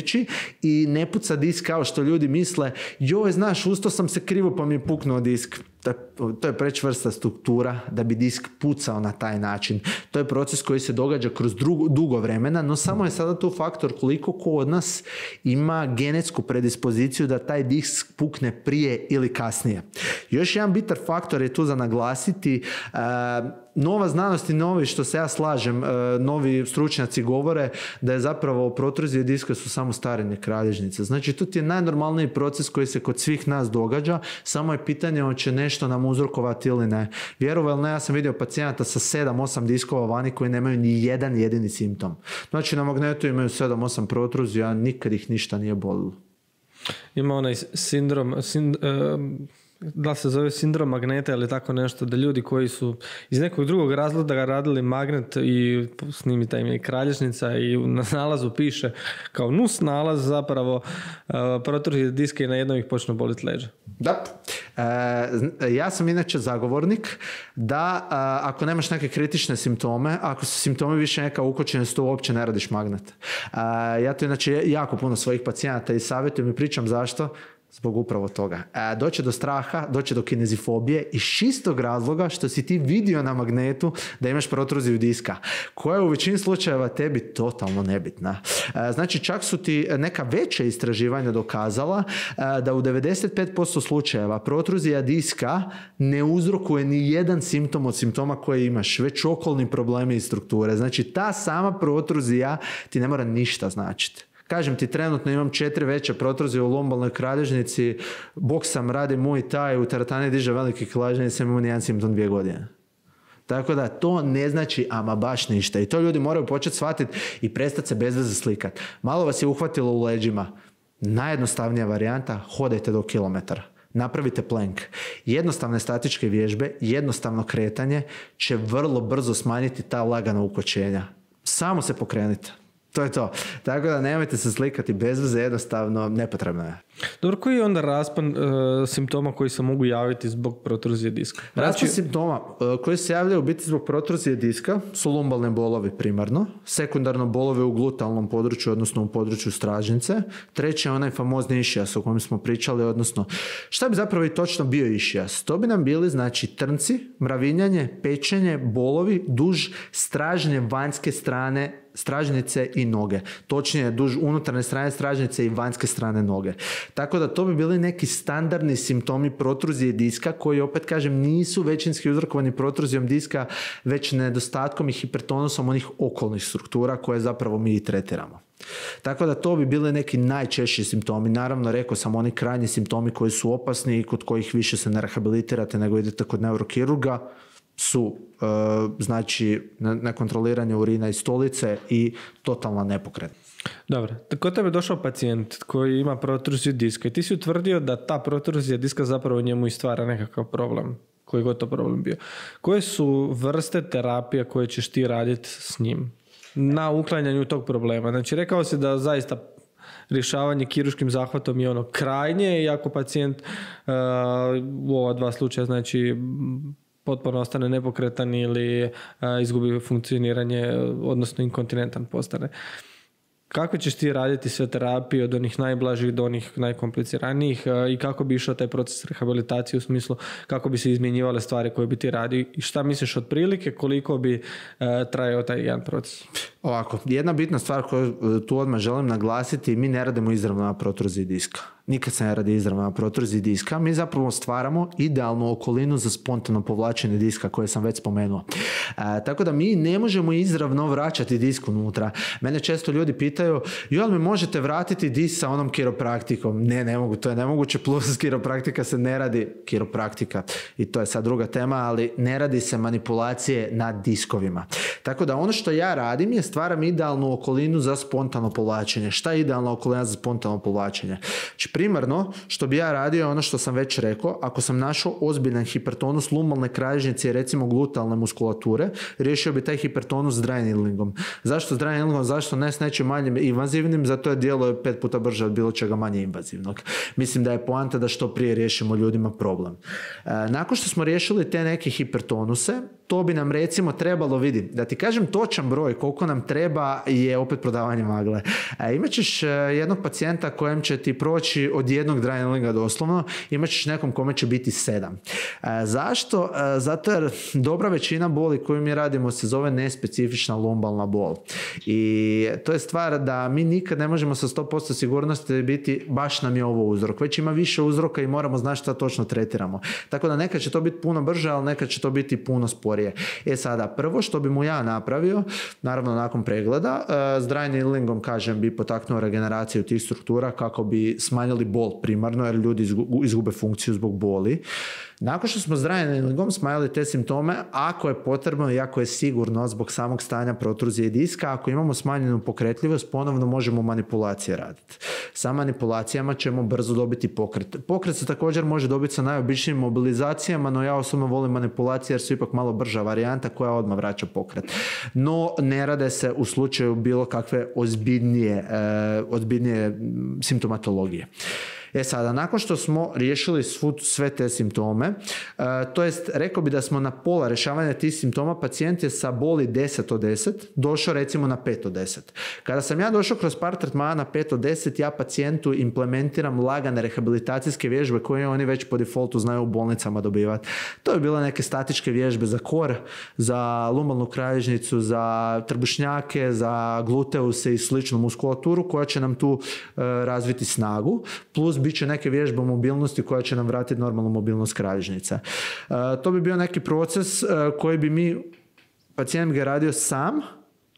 i ne puca disk kao što ljudi misle, joj, znaš, usto sam se krivo pa mi je puknuo disk. To je prečvrsta struktura da bi disk pucao na taj način. To je proces koji se događa kroz drugo, dugo vremena, no samo je sada tu faktor koliko ko od nas ima genetsku predispoziciju da taj disk pukne prije ili kasnije. Još jedan bitan faktor je tu za naglasiti. Uh, nova znanost i novi, što se ja slažem, uh, novi stručnjaci govore da je zapravo protruzije diska su samo starenje kralježnice. Znači, to ti je najnormalniji proces koji se kod svih nas događa, samo je pitanje hoće nešto nam uzrokovati ili ne. Vjerovali ne, ja sam vidio pacijenata sa sedam osam diskova vani koji nemaju ni jedan jedini simptom. Znači, na magnetu imaju sedam osam protruzija, nikad ih ništa nije bolilo. Ima onaj sindrom, sind, um, da se zove sindrom magneta ili tako nešto, da ljudi koji su iz nekog drugog razloga radili magnet i snimita im je kralježnica i na nalazu piše kao nus nalaz zapravo uh, protruzije diska i na jednom ih počne boliti leđa. Da. E, ja sam inače zagovornik da a, ako nemaš neke kritične simptome, ako su simptomi više neka ukočenost, to uopće ne radiš magnet. A, ja to inače jako puno svojih pacijenata i savjetujem i pričam zašto. Zbog upravo toga. E, doće do straha, doće do kinezifobije iz čistog razloga što si ti vidio na magnetu da imaš protruziju diska, koja je u većini slučajeva tebi totalno nebitna. E, znači, čak su ti neka veća istraživanja dokazala e, da u devedeset pet posto slučajeva protruzija diska ne uzrokuje ni jedan simptom od simptoma koje imaš, već okolni problemi i strukture. Znači, ta sama protruzija ti ne mora ništa značiti. Kažem ti, trenutno imam četiri veće protruzije u lombalnoj kralježnici, boksam, radim Muay Thai, u teretani diže veliki kilaž, nisam imao nijedan simptom dvije godine. Tako da to ne znači ama baš ništa. I to ljudi moraju početi shvatiti i prestati se bez veze slikati. Malo vas je uhvatilo u leđima. Najjednostavnija varijanta, hodajte do kilometara. Napravite plank. Jednostavne statičke vježbe, jednostavno kretanje će vrlo brzo smanjiti ta lagana ukočenja. Samo se pokrenite. To je to. Tako da nemojte se slikati bez veze, jednostavno nepotrebno je. Dobro, koji je onda raspon uh, simptoma koji se mogu javiti zbog protruzije diska? Raspon znači... simptoma uh, koji se javljaju biti zbog protruzije diska su lumbalne bolovi primarno, sekundarno bolove u glutalnom području, odnosno u području stražnice, treći je onaj famozni išijas o kojem smo pričali, odnosno šta bi zapravo i točno bio išijas? To bi nam bili znači trnci, mravinjanje, pečenje, bolovi duž stražnje vanjske strane stražnice i noge. Točnije, duž unutarnje strane stražnice i vanjske strane noge. Tako da to bi bili neki standardni simptomi protruzije diska koji, opet kažem, nisu većinski uzrokovani protruzijom diska, već nedostatkom i hipertonusom onih okolnih struktura koje zapravo mi i tretiramo. Tako da to bi bili neki najčešći simptomi. Naravno, rekao sam, oni krajnji simptomi koji su opasni i kod kojih više se ne rehabilitirate nego idete kod neurokirurga su uh, znači nekontroliranje urina i stolice i totalna nepokretnost. Dobro, kod tebe je došao pacijent koji ima protruziju diska i ti si utvrdio da ta protruzija diska zapravo njemu i stvara nekakav problem, koji god to problem bio. Koje su vrste terapija koje ćeš ti raditi s njim na uklanjanju tog problema? Znači, rekao si da zaista rješavanje kirurškim zahvatom je ono krajnje, i ako pacijent uh, u ova dva slučaja, znači potpuno ostane nepokretan ili a, izgubi funkcioniranje, odnosno inkontinentan postane. Kako ćeš ti raditi sve terapije od onih najblažih do onih najkompliciranijih a, i kako bi išao taj proces rehabilitacije u smislu kako bi se izmjenjivale stvari koje bi ti radio i šta misliš otprilike koliko bi a, trajao taj jedan proces? Ovako, jedna bitna stvar koju tu odmah želim naglasiti, mi ne radimo izravno na protruziji diska. Nikad se ne radi izravno na protruziji diska. Mi zapravo stvaramo idealnu okolinu za spontano povlačenje diska koje sam već spomenuo. E, tako da mi ne možemo izravno vraćati disk unutra. Mene često ljudi pitaju, jel mi možete vratiti disk sa onom kiropraktikom? Ne, ne mogu, to je nemoguće, plus kiropraktika se ne radi, kiropraktika, i to je sad druga tema, ali ne radi se manipulacije na diskovima. Tako da ono što ja radim je stvarno stvaram idealnu okolinu za spontano povlačenje. Šta je idealna okolina za spontano povlačenje? Znači, primarno, što bi ja radio je ono što sam već rekao, ako sam našao ozbiljan hipertonus lumbalne kralježnice i recimo glutealne muskulature, riješio bi taj hipertonus s dry needlingom. Zašto s dry needlingom? Zašto ne s nečim manjim invazivnim? Zato je djeluje pet puta brže od bilo čega manje invazivnog. Mislim da je poanta da što prije riješimo ljudima problem. E, nakon što smo riješili te neke hipertonuse, to bi nam recimo trebalo, vidi, da ti kažem točan broj koliko nam treba je opet prodavanje magle. E, imat ćeš jednog pacijenta kojem će ti proći od jednog dry needlinga doslovno, imat ćeš nekom kome će biti sedam. E, zašto? E, zato jer dobra većina boli koju mi radimo se zove nespecifična lumbalna bol. I to je stvar da mi nikad ne možemo sa sto posto sigurnosti biti baš nam je ovo uzrok. Već ima više uzroka i moramo znati šta točno tretiramo. Tako da nekad će to biti puno brže, ali nekad će to biti puno sporije. E sada, prvo što bi mu ja napravio, naravno nakon pregleda, s dry needlingom, kažem, bi potaknuo regeneraciju tih struktura kako bi smanjili bol primarno, jer ljudi izgube funkciju zbog boli. Nakon što smo s dry needlingom smanjili te simptome, ako je potrebno i ako je sigurno zbog samog stanja protruzije diska, ako imamo smanjenu pokretljivost, ponovno možemo manipulacije raditi. Sa manipulacijama ćemo brzo dobiti pokret. Pokret se također može dobiti sa najobičnijim mobilizacijama, no ja osobno volim manipulacije jer su ipak malo brža varijanta koja odmah vraća pokret. No ne rade se u slučaju bilo kakve ozbiljnije, eh, ozbiljnije simptomatologije. E sada, nakon što smo riješili svu, sve te simptome, uh, to jest rekao bi da smo na pola rješavanja tih simptoma, pacijent je sa boli deset od deset došao recimo na pet od deset. Kada sam ja došao kroz par tretmana na pet od deset, ja pacijentu implementiram lagane rehabilitacijske vježbe koje oni već po defaultu znaju u bolnicama dobivati. To je bile neke statičke vježbe za kor, za lumbalnu kralježnicu, za trbušnjake, za gluteuse i sličnu muskulaturu koja će nam tu uh, razviti snagu, plus bit će neke vježbe mobilnosti koja će nam vratiti normalnu mobilnost kralježnice. Uh, to bi bio neki proces uh, koji bi mi, pacijent ga radio sam,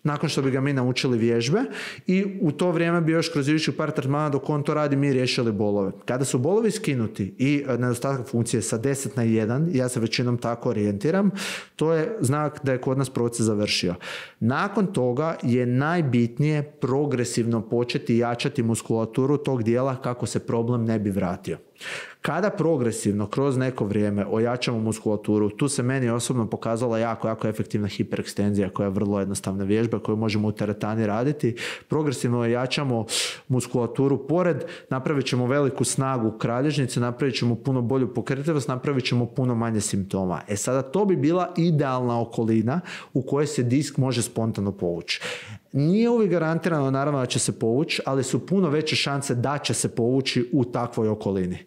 nakon što bi ga mi naučili vježbe i u to vrijeme bi još kroz idućih par tretmana dok on to radi mi riješili bolove. Kada su bolovi skinuti i nedostatak funkcije sa deset na jedan, ja se većinom tako orijentiram, to je znak da je kod nas proces završio. Nakon toga je najbitnije progresivno početi jačati muskulaturu tog dijela kako se problem ne bi vratio. Kada progresivno kroz neko vrijeme ojačamo muskulaturu, tu se meni osobno pokazala jako, jako efektivna hiperekstenzija koja je vrlo jednostavna vježba koju možemo u teretani raditi. Progresivno ojačamo muskulaturu pored, napravit ćemo veliku snagu kralježnice, napravit ćemo puno bolju pokretljivost, napravit ćemo puno manje simptoma. E sada to bi bila idealna okolina u kojoj se disk može spontano povući. Nije uvijek garantirano naravno da će se povući, ali su puno veće šanse da će se povući u takvoj okolini.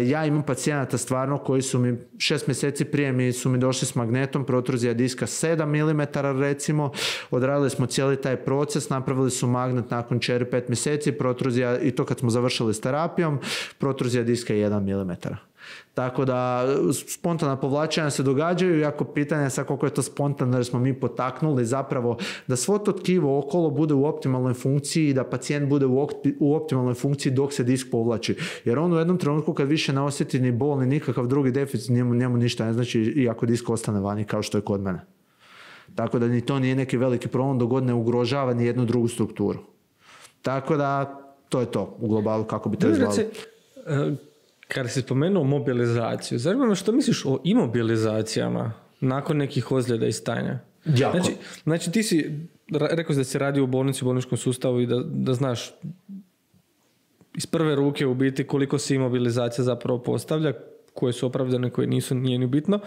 Ja imam pacijenata stvarno koji su mi šest mjeseci prije mi su mi došli s magnetom, protruzija diska sedam milimetara recimo, odradili smo cijeli taj proces, napravili su magnet nakon četiri do pet mjeseci, protruzija, i to kad smo završili s terapijom, protruzija diska je jedan milimetar. Tako da spontana povlačenja se događaju, jako pitanje je sad koliko je to spontano jer smo mi potaknuli zapravo da svo to tkivo okolo bude u optimalnoj funkciji i da pacijent bude u, opti, u optimalnoj funkciji dok se disk povlači. Jer on u jednom trenutku kad više ne osjeti ni bol ni nikakav drugi deficit, njemu, njemu ništa ne znači i ako disk ostane vani kao što je kod mene. Tako da ni to nije neki veliki problem dok god ne ugrožava ni jednu drugu strukturu. Tako da to je to u globalu kako bi to izgledalo. Kada si spomenuo mobilizaciju, zanima me što misliš o imobilizacijama nakon nekih ozljeda i stanja? Jako. Znači, znači ti si, rekao si da si radio u bolnici, u bolničkom sustavu i da, da znaš iz prve ruke u biti koliko se imobilizacija zapravo postavlja, koje su opravdane, koje nisu, nije ni bitno.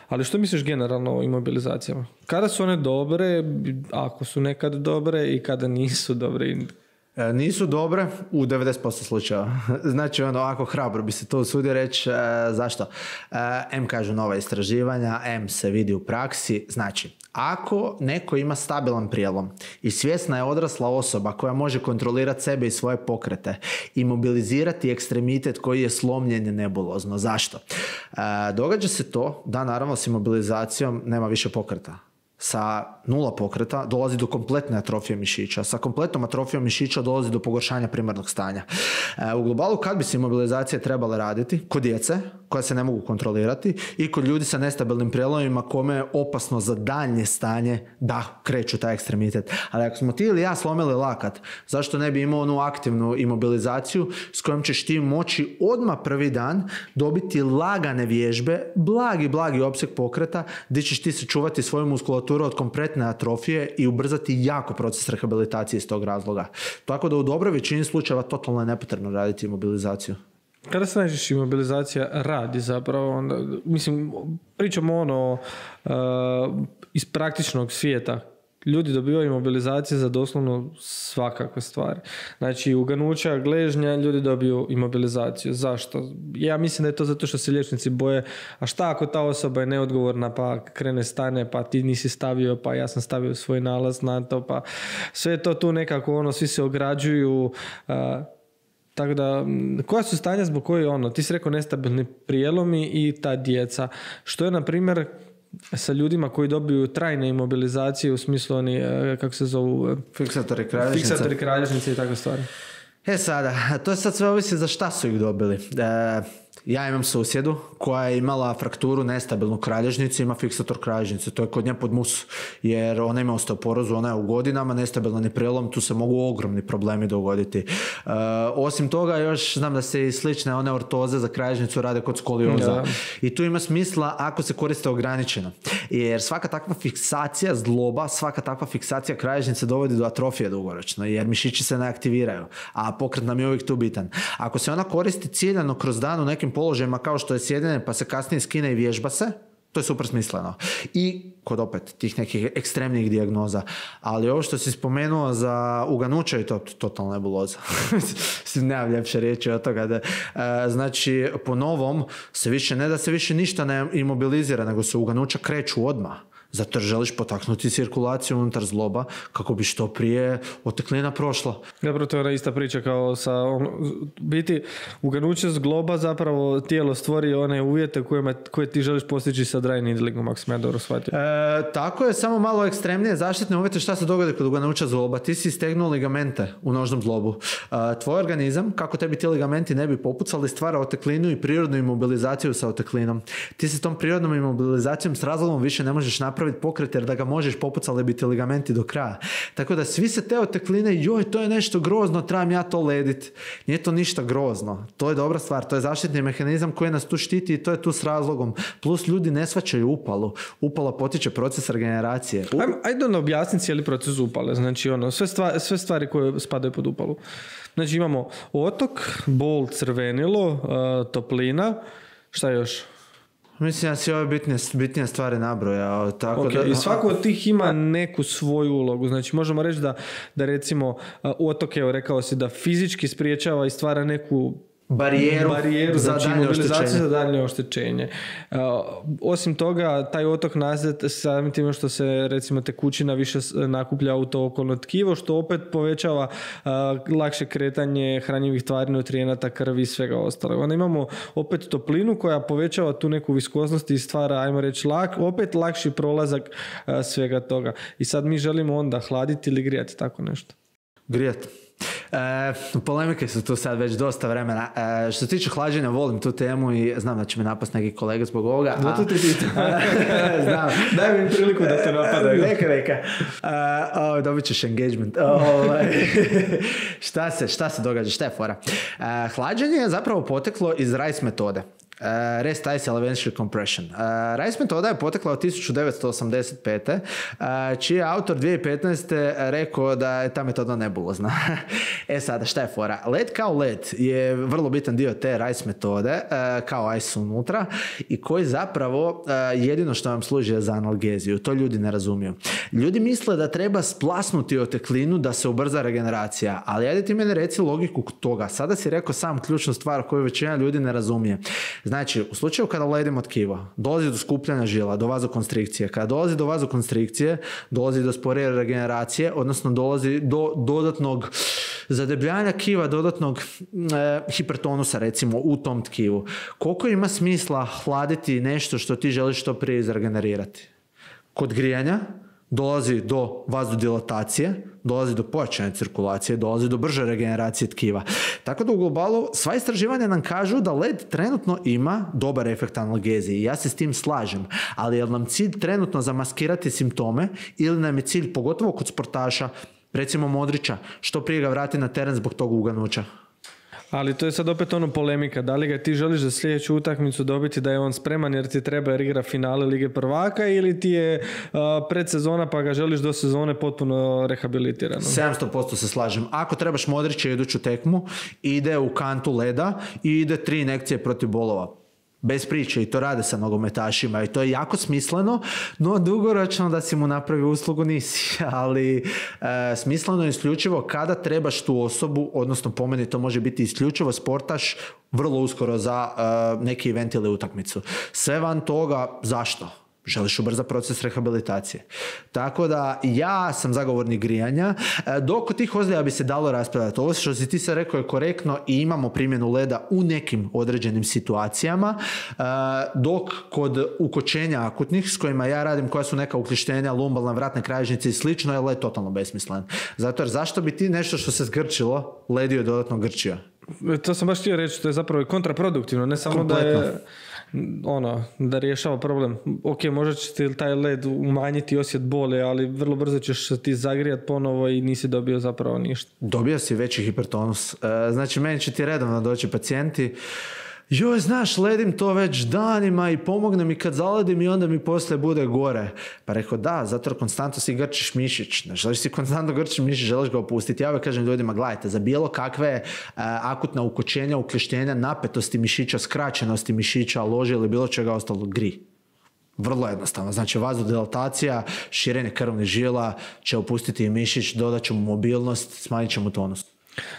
Ali što misliš generalno o imobilizacijama? Kada su one dobre, ako su nekad dobre i kada nisu dobre? E, nisu dobre u devedeset posto slučajeva. Znači, ono, ako hrabro bi se to usudio reći, e, zašto? E, M kažu nova istraživanja, M se vidi u praksi. Znači, ako neko ima stabilan prijelom i svjesna je odrasla osoba koja može kontrolirati sebe i svoje pokrete i mobilizirati ekstremitet koji je slomljen je nebulozno. Zašto? E, događa se to da naravno s imobilizacijom nema više pokreta. sa nula pokreta dolazi do kompletne atrofije mišića. Sa kompletnom atrofijom mišića dolazi do pogoršanja primarnog stanja. E, u globalu kad bi se imobilizacije trebale raditi? Kod djece koja se ne mogu kontrolirati i kod ljudi sa nestabilnim prijelomima kome je opasno za daljnje stanje da kreću taj ekstremitet. Ali ako smo ti ili ja slomili lakat, zašto ne bi imao onu aktivnu imobilizaciju s kojom ćeš ti moći odmah prvi dan dobiti lagane vježbe, blagi, blagi opseg pokreta gdje ćeš ti se čuvati svoju muskulaturu od kompletne atrofije i ubrzati jako proces rehabilitacije iz tog razloga. Tako da u dobroj većini slučajeva totalno je nepotrebno raditi imobilizaciju. Kada se najčešće imobilizacija radi zapravo, onda, mislim, pričamo ono uh, iz praktičnog svijeta. Ljudi dobivaju imobilizacije za doslovno svakakve stvari. Znači, uganuća, gležnja, ljudi dobiju imobilizaciju. Zašto? Ja mislim da je to zato što se liječnici boje, a šta ako ta osoba je neodgovorna, pa krene stane, pa ti nisi stavio, pa ja sam stavio svoj nalaz na to, pa sve je to tu nekako, ono, svi se ograđuju. Uh, Tako da, koja su stanja zbog koje, ono, ti si rekao nestabilni prijelomi i ta djeca. Što je, na primjer, sa ljudima koji dobiju trajne imobilizacije u smislu oni, kako se zovu? Fiksatori kralježnice. Fiksatori kralježnice i takve stvari. E sada, to je sad sve ovisi za šta su ih dobili. E, ja imam susjedu koja je imala frakturu nestabilnu kralježnicu, ima fiksator kralježnice, to je kod nje pod mus, jer ona ima osteoporozu, ona je u godinama, nestabilan je prijelom, tu se mogu ogromni problemi dogoditi. E, osim toga, još znam da se i slične one ortoze za kralježnicu rade kod skolioza. Ja. I tu ima smisla ako se koriste ograničeno. Jer svaka takva fiksacija zgloba, svaka takva fiksacija kralježnice dovodi do atrofije dugoročno, jer mišići se ne aktiviraju, a pokret nam je uvijek tu bitan. Ako se ona koristi ciljano kroz dan u nekim položajima kao što je sjedenje pa se kasnije skine i vježba se, to je super smisleno. I kod opet tih nekih ekstremnih dijagnoza. Ali ovo što si spomenuo za uganuće je to totalna nebuloza. Nemam ljepše riječi od toga. Da, e, znači, po novom se više ne da se više ništa ne imobilizira, nego se uganuća kreću odmah. Zato želiš potaknuti cirkulaciju unutar zgloba kako bi što prije oteklina prošla. Dobro, to je ona ista priča kao sa on, biti uganuće zgloba zapravo tijelo stvori one uvjete koje, koje ti želiš postići sa dry needlingom, ako sam ja dobro shvatio. E, tako je, samo malo ekstremnije zaštitne uvjete. Šta se dogodi kod uganuća zgloba? Ti si istegnuo ligamente u nožnom zglobu. E, tvoj organizam, kako tebi ti ligamenti ne bi popucali, stvara oteklinu i prirodnu imobilizaciju sa oteklinom. Ti se tom prirodnom imobilizacijom s razlogom više ne možeš napraviti pokret, jer da ga možeš popucali biti ligamenti do kraja. Tako da svi se te otekline, joj, to je nešto grozno, trebam ja to ledit. Nije to ništa grozno. To je dobra stvar, to je zaštitni mehanizam koji nas tu štiti i to je tu s razlogom. Plus ljudi ne shvaćaju upalu. Upala potiče proces regeneracije. U... Ajde ono objasniti cijeli proces upale. Znači ono, sve stvari, sve stvari koje spadaju pod upalu. Znači imamo otok, bol, crvenilo, uh, toplina, šta još? Mislim da si ove bitnije, bitnije stvari nabrojao. Tako okay. da... I svako od tih ima neku svoju ulogu. Znači možemo reći da, da recimo otok, evo rekao si da fizički spriječava i stvara neku barijeru, barijeru za znači daljnje imobilizaciju oštećenje. za daljnje oštećenje. Uh, osim toga, taj otok nastaje samim time što se recimo tekućina više nakuplja u to okolno tkivo, što opet povećava uh, lakše kretanje hranjivih tvari, nutrijenata, krvi i svega ostalog. Onda imamo opet toplinu koja povećava tu neku viskoznost i stvara, ajmo reći, lak, opet lakši prolazak uh, svega toga. I sad mi želimo onda hladiti ili grijati, tako nešto. Grijati. E, polemike su tu sad već dosta vremena. E, što se tiče hlađenja, volim tu temu i znam da će me napast neki kolega zbog ovoga. Zato ti pitam. Znam. Daj mi priliku da te napadaju. Neka, neka. Uh, oh, dobit ćeš engagement. Oh, šta, se, šta se događa? Šta je fora? Uh, hlađenje je zapravo poteklo iz Rice metode. Uh, Rest Ice Elementary Compression. Uh, Rice metoda je potekla od tisuću devetsto osamdeset pete. Uh, čiji je autor dvije tisuće petnaeste rekao da je ta metoda nebulozna. E sada, šta je fora? Led kao led je vrlo bitan dio te Rice metode, uh, kao ice unutra, i koji zapravo uh, jedino što vam služi je za analgeziju. To ljudi ne razumiju. Ljudi misle da treba splasnuti oteklinu da se ubrza regeneracija, ali ajde ti meni reci logiku toga. Sada si rekao sam ključnu stvar koju većina ljudi ne razumije. Znači, u slučaju kada ledimo tkivo, dolazi do skupljanja žila, do vazokonstrikcije. Kada dolazi do vazokonstrikcije, dolazi do sporije regeneracije, odnosno dolazi do dodatnog zadebljanja tkiva, dodatnog e, hipertonusa, recimo, u tom tkivu. Koliko ima smisla hladiti nešto što ti želiš što prije izregenerirati? Kod grijanja dolazi do vazodilatacije, dolazi do pojačane cirkulacije, dolazi do brže regeneracije tkiva. Tako da u globalu sva istraživanja nam kažu da led trenutno ima dobar efekt analgezije i ja se s tim slažem, ali je li nam cilj trenutno zamaskirati simptome ili nam je cilj, pogotovo kod sportaša, recimo Modrića, što prije ga vrati na teren zbog tog uganuća? Ali to je sad opet ono polemika, da li ga ti želiš za sljedeću utakmicu dobiti da je on spreman jer ti treba jer igra finale Lige prvaka ili ti je uh, predsezona pa ga želiš do sezone potpuno rehabilitirano? sedamsto posto se slažem. Ako trebaš Modrića iduću tekmu, ide u kantu leda i ide tri injekcije protiv bolova. Bez priče i to rade sa nogometašima i to je jako smisleno, no dugoročno da si mu napravi uslugu nisi, ali e, smisleno je isključivo kada trebaš tu osobu, odnosno po meni to može biti isključivo sportaš vrlo uskoro za e, neki event ili utakmicu. Sve van toga, zašto? Želiš ubrzati proces rehabilitacije. Tako da ja sam zagovornik grijanja, dok kod tih ozljeda bi se dalo raspravljati. Ovo što si ti se rekao je korektno i imamo primjenu leda u nekim određenim situacijama, dok kod ukočenja akutnih s kojima ja radim, koja su neka uključenja, lumbalna, vratne kralježnice i slično, je led totalno besmislen. Zato jer zašto bi ti nešto što se zgrčilo, ledio dodatno grčio? To sam baš htio reći, to je zapravo kontraproduktivno, ne samo kompletno. Da je ono, da rješava problem. Ok, možda će ti taj led umanjiti osjet bole, ali vrlo brzo ćeš ti zagrijat ponovo i nisi dobio zapravo ništa. Dobio si veći hipertonus. Znači, meni će ti redovno doći pacijenti, joj, znaš, ledim to već danima i pomogne mi kad zaledim i onda mi poslije bude gore. Pa rekao, da, zato jer konstantno si grčiš mišić. Ne želiš si konstantno grčiš mišić, želiš ga opustiti. Ja uvijek kažem ljudima, gledajte, za bilo kakve uh, akutna ukočenja, ukleštenja, napetosti mišića, skraćenosti mišića, lože ili bilo čega ostalo, gri. Vrlo jednostavno. Znači, vazodilatacija, širenje krvnih žila će opustiti mišić, dodat će mu mobilnost, smanjit će mu tonus.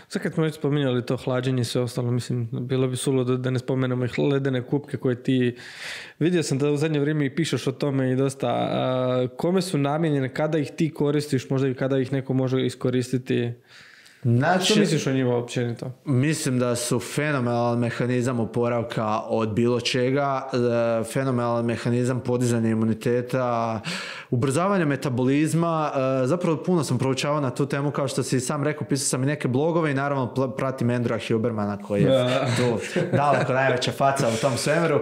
Sad kad smo već spominjali to hlađenje i sve ostalo, mislim, bilo bi suludo da ne spomenemo ih ledene kupke koje ti... Vidio sam da u zadnje vrijeme i pišeš o tome i dosta. A, kome su namijenjene, kada ih ti koristiš, možda i kada ih neko može iskoristiti? Znači, što misliš o njima općenito? Mislim da su fenomenalan mehanizam oporavka od bilo čega, fenomenalan mehanizam podizanja imuniteta, ubrzavanja metabolizma. Zapravo puno sam proučavao na tu temu, kao što si sam rekao, pisao sam i neke blogove i naravno pratim Andrewa Hubermana koji je ja. tu daleko najveća faca u tom svemiru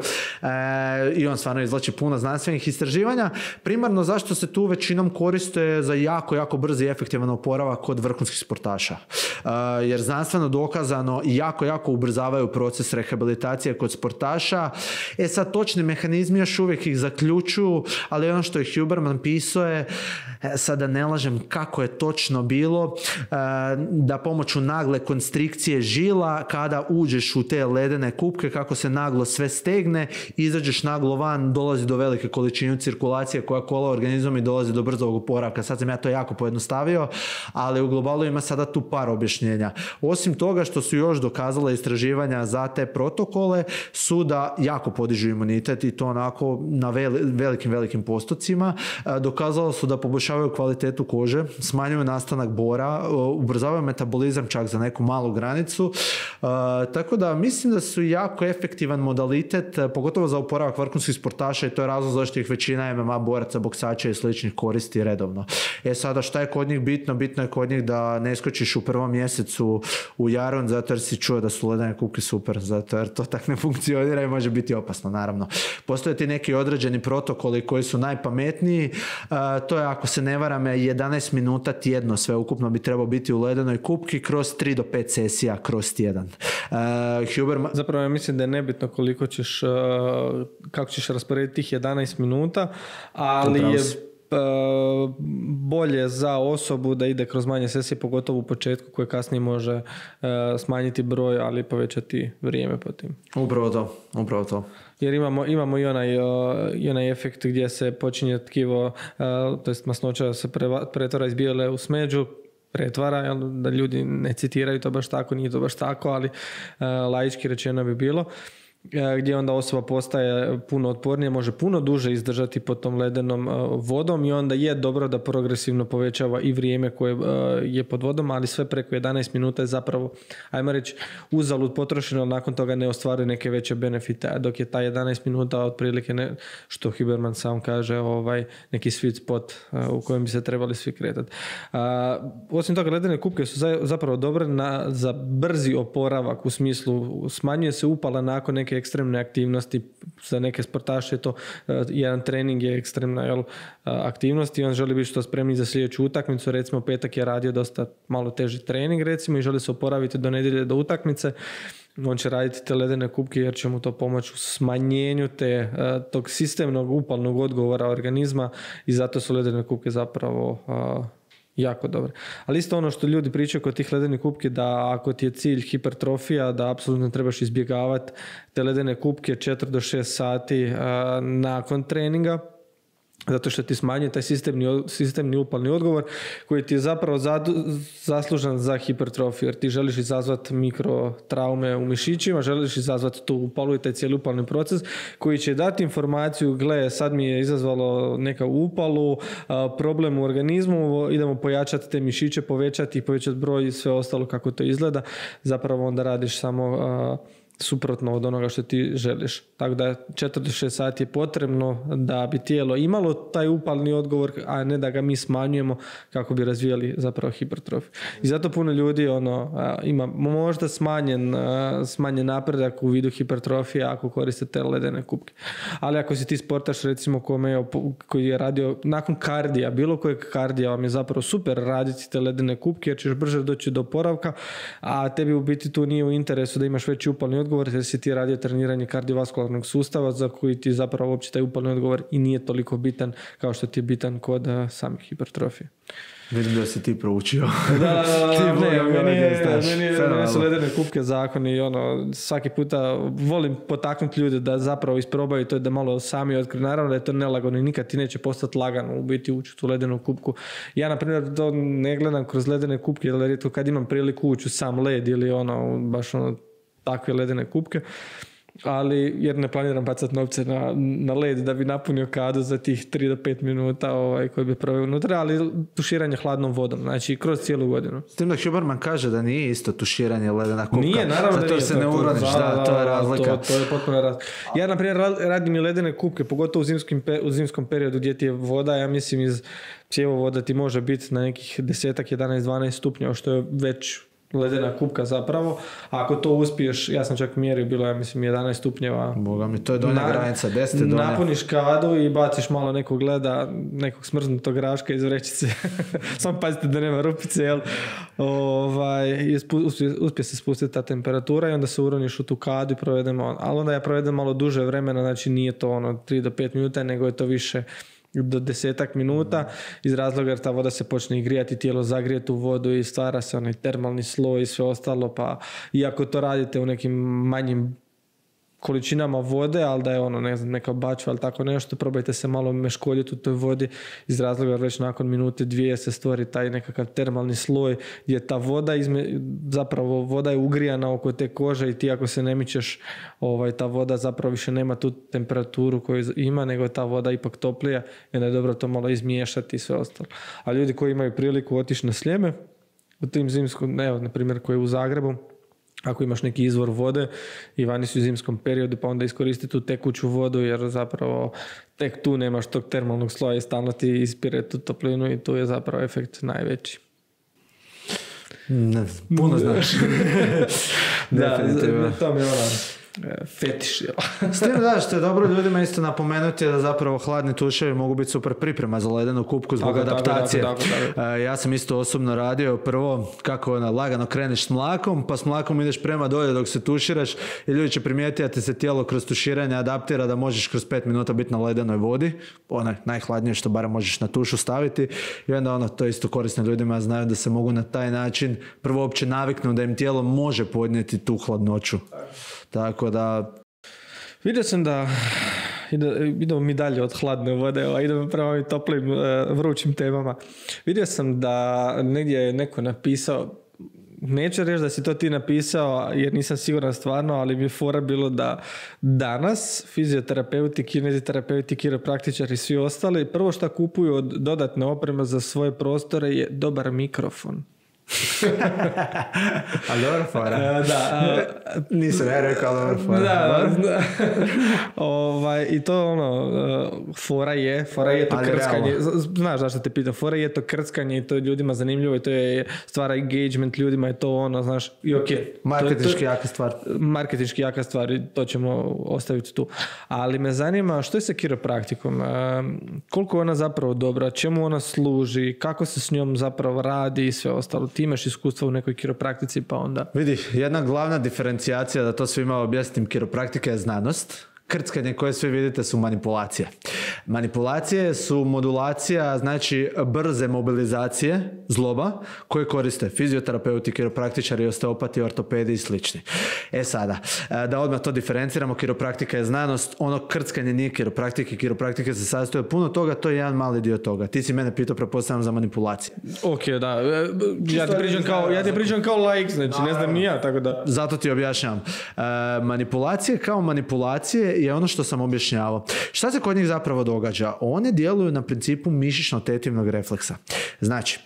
i on stvarno izvlači puno znanstvenih istraživanja. Primarno zašto se tu većinom koriste za jako, jako brzi i efektivan oporavak kod vrhunskih sportaša. Uh, jer znanstveno dokazano jako, jako ubrzavaju proces rehabilitacije kod sportaša. E sad, točni mehanizmi još uvijek ih zaključuju, ali ono što je Huberman pisao je, sada ne lažem kako je točno bilo, uh, da pomoću nagle konstrikcije žila, kada uđeš u te ledene kupke, kako se naglo sve stegne, izađeš naglo van, dolazi do velike količine cirkulacije koja kola organizmom i dolazi do brzog oporavka. Sad sam ja to jako pojednostavio, ali u globalu ima sada tu par objašnjenja. Osim toga što su još dokazala istraživanja za te protokole su da jako podižu imunitet i to onako na velikim, velikim postocima. Dokazalo su da poboljšavaju kvalitetu kože, smanjuju nastanak bora, ubrzavaju metabolizam čak za neku malu granicu. Tako da mislim da su jako efektivan modalitet, pogotovo za oporavak vrhunskih sportaša i to je razlog zašto ih većina M M A boraca, boksača i sličnih koristi redovno. E sada, šta je kod njih bitno? Bitno je kod njih da ne skočiš u prvom mjesecu u jaron zato jer si čuo da su ledene kupke super, zato jer to tak ne funkcionira i može biti opasno, naravno. Postoje ti neki određeni protokoli koji su najpametniji, uh, to je, ako se ne varam, jedanaest minuta tjedno sve ukupno bi trebao biti u ledenoj kupki kroz tri do pet sesija kroz tjedan. Uh, Huberman... Zapravo ja mislim da je nebitno koliko ćeš, uh, kako ćeš rasporediti tih jedanaest minuta, ali je bolje za osobu da ide kroz manje sesije, pogotovo u početku, koje kasnije može uh, smanjiti broj, ali povećati vrijeme po tim. Upravo to, upravo to. Jer imamo, imamo i onaj, uh, i onaj efekt gdje se počinje tkivo, uh, to jest masnoća se preva, pretvara iz bijele u smeđu, pretvara, jel, da ljudi ne citiraju to baš tako, nije to baš tako, ali uh, laički rečeno bi bilo. gdje onda osoba postaje puno otpornija, može puno duže izdržati pod tom ledenom vodom i onda je dobro da progresivno povećava i vrijeme koje je pod vodom, ali sve preko jedanaest minuta je zapravo, ajmo reći, uzalud potrošeno, ali nakon toga ne ostvaruje neke veće benefite, a dok je ta jedanaest minuta otprilike, ne, što Huberman sam kaže, ovaj, neki sweet spot u kojem bi se trebali svi kretati. Osim toga, ledene kupke su zapravo dobre na, za brzi oporavak, u smislu smanjuje se upala nakon neke ekstremne aktivnosti. Za neke sportaše to uh, jedan trening je ekstremna jel, uh, aktivnost i on želi biti što spremni za sljedeću utakmicu. Recimo petak je radio dosta malo teži trening recimo i želi se oporaviti do nedjelje do utakmice. On će raditi te ledene kupke jer će mu to pomoći u smanjenju te, uh, tog sistemnog upalnog odgovora organizma i zato su ledene kupke zapravo uh, jako dobro. Ali isto ono što ljudi pričaju kod tih ledenih kupki, da ako ti je cilj hipertrofija, da apsolutno trebaš izbjegavati te ledene kupke četiri do šest sati uh, nakon treninga, zato što ti smanjuje taj sistemni, sistemni upalni odgovor koji ti je zapravo zadu, zaslužan za hipertrofiju, jer ti želiš izazvati mikrotraume u mišićima, želiš izazvati tu upalu i taj cijeli upalni proces koji će dati informaciju, gle, sad mi je izazvalo neka upalu, problem u organizmu, idemo pojačati te mišiće, povećati i povećati broj i sve ostalo kako to izgleda. Zapravo onda radiš samo suprotno od onoga što ti želiš. Tako da četiri do šest sati je potrebno da bi tijelo imalo taj upalni odgovor, a ne da ga mi smanjujemo kako bi razvijali zapravo hipertrofiju. I zato puno ljudi ono, ima možda smanjen, smanjen napredak u vidu hipertrofije ako koriste te ledene kupke. Ali ako si ti sportaš recimo kome, koji je radio nakon kardija, bilo kojeg kardija vam je zapravo super raditi te ledene kupke jer ćeš brže doći do oporavka, a tebi u biti tu nije u interesu da imaš veći upalni odgovor jer si ti radio treniranje kardiovaskularnog sustava za koji ti zapravo uopće taj upalni odgovor i nije toliko bitan kao što ti je bitan kod uh, samih hipertrofije. Vidim da si ti proučio. Da, da, da, ne, meni je, meni su ledene kupke zakoni i ono, svaki puta volim potaknuti ljude da zapravo isprobaju to, da malo sami otkriju. Naravno da je to nelagodno i nikad ti neće postati lagano u biti ući u tu ledenu kupku. Ja, na primjer, to ne gledam kroz ledene kupke, jer rijetko kad imam priliku ući u sam led ili ono, baš ono, takve ledene kupke, ali jer ne planiram bacati novce na, na led da bi napunio kadu za tih tri do pet minuta ovaj, koji bi proveo unutra, ali tuširanje hladnom vodom, znači kroz cijelu godinu. S tim da Huberman kaže da nije isto tuširanje ledena kupka. Nije, naravno zato da nije. Se ne uroniš, da, da, to je razlika. To, to je potpuno razlika. Ja, na primjer, radim i ledene kupke, pogotovo u, zimskim, u zimskom periodu gdje ti je voda, ja mislim iz cjevovoda ti može biti na nekih deset, jedanaest, dvanaest stupnjeva, što je već ledena kupka zapravo. Ako to uspiješ, ja sam čak mjerio, bilo je mislim jedanaest stupnjeva. Boga mi, to je donja na, granica, deset donja. Napuniš kadu i baciš malo nekog leda, nekog smrznutog graška iz vrećice. Samo pazite da nema rupice, jel? Ovaj, uspije, uspije se spustiti ta temperatura i onda se uroniš u tu kadu i provedemo, ali onda ja provedem malo duže vremena, znači nije to ono tri do pet minuta, nego je to više do desetak minuta, iz razloga jer ta voda se počne i grijati, tijelo zagrijeti u vodu i stvara se onaj termalni sloj i sve ostalo, pa iako to radite u nekim manjim količinama vode, ali da je ono, ne znam, neka bačva ili tako nešto, probajte se malo meškoljiti u toj vodi iz razloga jer već nakon minute dvije se stvori taj nekakav termalni sloj gdje ta voda, izme, zapravo voda je ugrijana oko te kože i ti ako se ne mičeš, ovaj, ta voda zapravo više nema tu temperaturu koju ima, nego je ta voda ipak toplija i onda je dobro to malo izmiješati i sve ostalo. A ljudi koji imaju priliku otići na Sljeme, u tim zimskom, evo, na primjer, koji je u Zagrebu, ako imaš neki izvor vode i vani su u zimskom periodu, pa onda iskoristi tu tekuću vodu jer zapravo tek tu nemaš tog termalnog sloja i stalno ti ispire tu toplinu i tu je zapravo efekt najveći. Ne, puno znaš. Da, to mi je ona fetiš. S tim da, što je dobro ljudima isto napomenuti da zapravo hladni tuševi mogu biti super priprema za ledenu kupku zbog tako, adaptacije. Tako, tako, tako. Ja sam isto osobno radio prvo kako ono, lagano kreneš s mlakom, pa s mlakom ideš prema dolje dok se tuširaš i ljudi će primijetiti da ti se tijelo kroz tuširanje adaptira da možeš kroz pet minuta biti na ledenoj vodi, onaj najhladnije što barem možeš na tušu staviti i onda ono, to isto korisno ljudima znaju da se mogu na taj način prvo uopće naviknu da im tijelo može podnijeti tu hladnoću. Tako da... Vidio sam da idemo mi dalje od hladne vode, a idemo prema ovim toplim, vrućim temama. Vidio sam da negdje je neko napisao, neću reći da si to ti napisao jer nisam siguran stvarno, ali mi je fora bilo da danas fizioterapeuti, kineziterapeuti, kiropraktičari i svi ostali prvo što kupuju od dodatne opreme za svoje prostore je dobar mikrofon. A dobro fora. Uh, da, uh, Nisam ja rekao dobro fora. Da, da. ovaj, I to ono, uh, fora je, fora je to ali krckanje. realno. Znaš zašto te pitam, fora je to krckanje i to je ljudima zanimljivo i to je stvara engagement ljudima i to ono, znaš, i ok. Marketinški jaka stvar. Marketinški jaka stvar i to ćemo ostaviti tu. Ali me zanima što je sa kiropraktikom? Uh, koliko je ona zapravo dobra, čemu ona služi, kako se s njom zapravo radi i sve ostalo. Ti imaš iskustva u nekoj kiropraktici, pa onda... Vidi, jedna glavna diferencijacija, da to svima objasnim, kiropraktika je znanost. Krckanje koje svi vidite su manipulacije. Manipulacije su modulacija, znači brze mobilizacije zloba koje koriste fizioterapeuti, kiropraktičari, osteopati, ortopedi i slični. E sada, da odmah to diferenciramo, kiropraktika je znanost, ono krckanje nije kiropraktika, kiropraktika se sastoji od puno toga, to je jedan mali dio toga. Ti si mene pitao, pretpostavljam, za manipulacije. Ok, da. Ja ti pričam kao, ja ti pričam kao laik, znači ne znam ni ja, tako da... Zato ti objašnjavam. E, manipulacije kao manipulacije je ono što sam objašnjavao. Šta se kod njih zapravo događa? One djeluju na principu mišićno-tetivnog refleksa. Znači,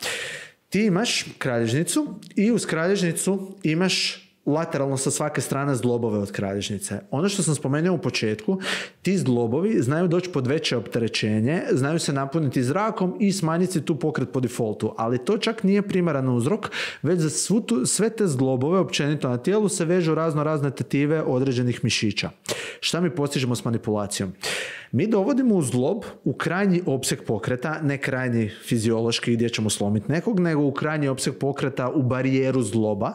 ti imaš kralježnicu i uz kralježnicu imaš lateralno sa svake strane zglobove od kralježnice. Ono što sam spomenuo u početku, ti zglobovi znaju doći pod veće opterećenje, znaju se napuniti zrakom i smanjiti tu pokret po defaultu, ali to čak nije primaran uzrok, već za svu tu, sve te zglobove općenito na tijelu se vežu razno razne tetive određenih mišića. Šta mi postižemo s manipulacijom? Mi dovodimo u zglob u krajnji opseg pokreta, ne krajnji fiziološki gdje ćemo slomiti nekog, nego u krajnji opseg pokreta u barijeru zgloba.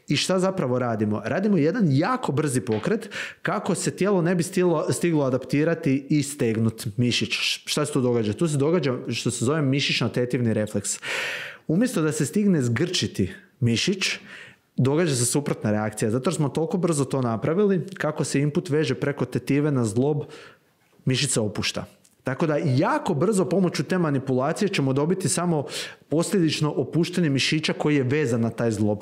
I šta zapravo radimo? Radimo jedan jako brzi pokret kako se tijelo ne bi stilo, stiglo adaptirati i stegnuti mišić. Šta se tu događa? Tu se događa što se zove mišićno-tetivni refleks. Umjesto da se stigne zgrčiti mišić, događa se suprotna reakcija. Zato smo toliko brzo to napravili, kako se input veže preko tetive na zglob, mišica opušta. Tako da jako brzo pomoću te manipulacije ćemo dobiti samo posljedično opuštanje mišića koji je vezan na taj zglob.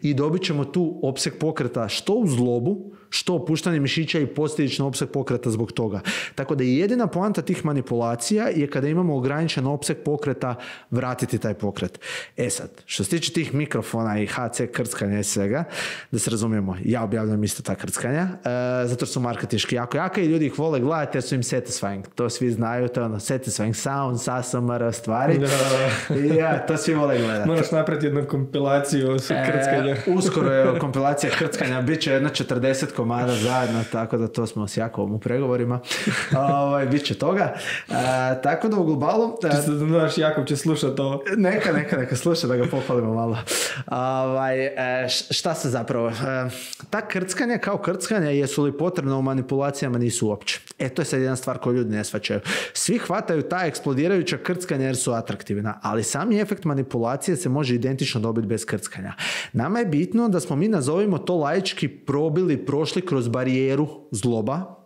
I dobit ćemo tu opseg pokreta što u zglobu, što opuštanje mišića i posljedično opseg pokreta zbog toga. Tako da jedina poanta tih manipulacija je kada imamo ograničen opseg pokreta vratiti taj pokret. E sad, što se tiče tih mikrofona i H C krckanja i svega, da se razumijemo, ja objavljam isto ta krckanja, e, zato su marketinški jako jaka i ljudi ih vole gledati jer su im satisfying. To svi znaju, to je ono satisfying sound, S A S M R stvari. I ja, to svi vole gledati. Moraš napraviti jednu kompilaciju krckanja. E, uskoro je kompilacija krckanja, bit će jedna četrdeset komada zajedno, tako da to smo s Jakovom u pregovorima. Ovaj, bit će toga. E, tako da u globalu... Čisto da znaš, Jakov će slušati ovo. Neka, neka, neka sluša da ga pohvalimo malo. Ovaj, e, šta se zapravo... E, ta krckanja kao krckanja, jesu li potrebna u manipulacijama, nisu uopće. E, to je sad jedna stvar koju ljudi ne shvaćaju. Svi hvataju ta eksplodirajuća krckanja jer su atraktivna, ali sami efekt manipulacije se može identično dobiti bez krckanja. Nama je bitno da smo mi, nazovimo to laički, probili, prošli kroz barijeru zgloba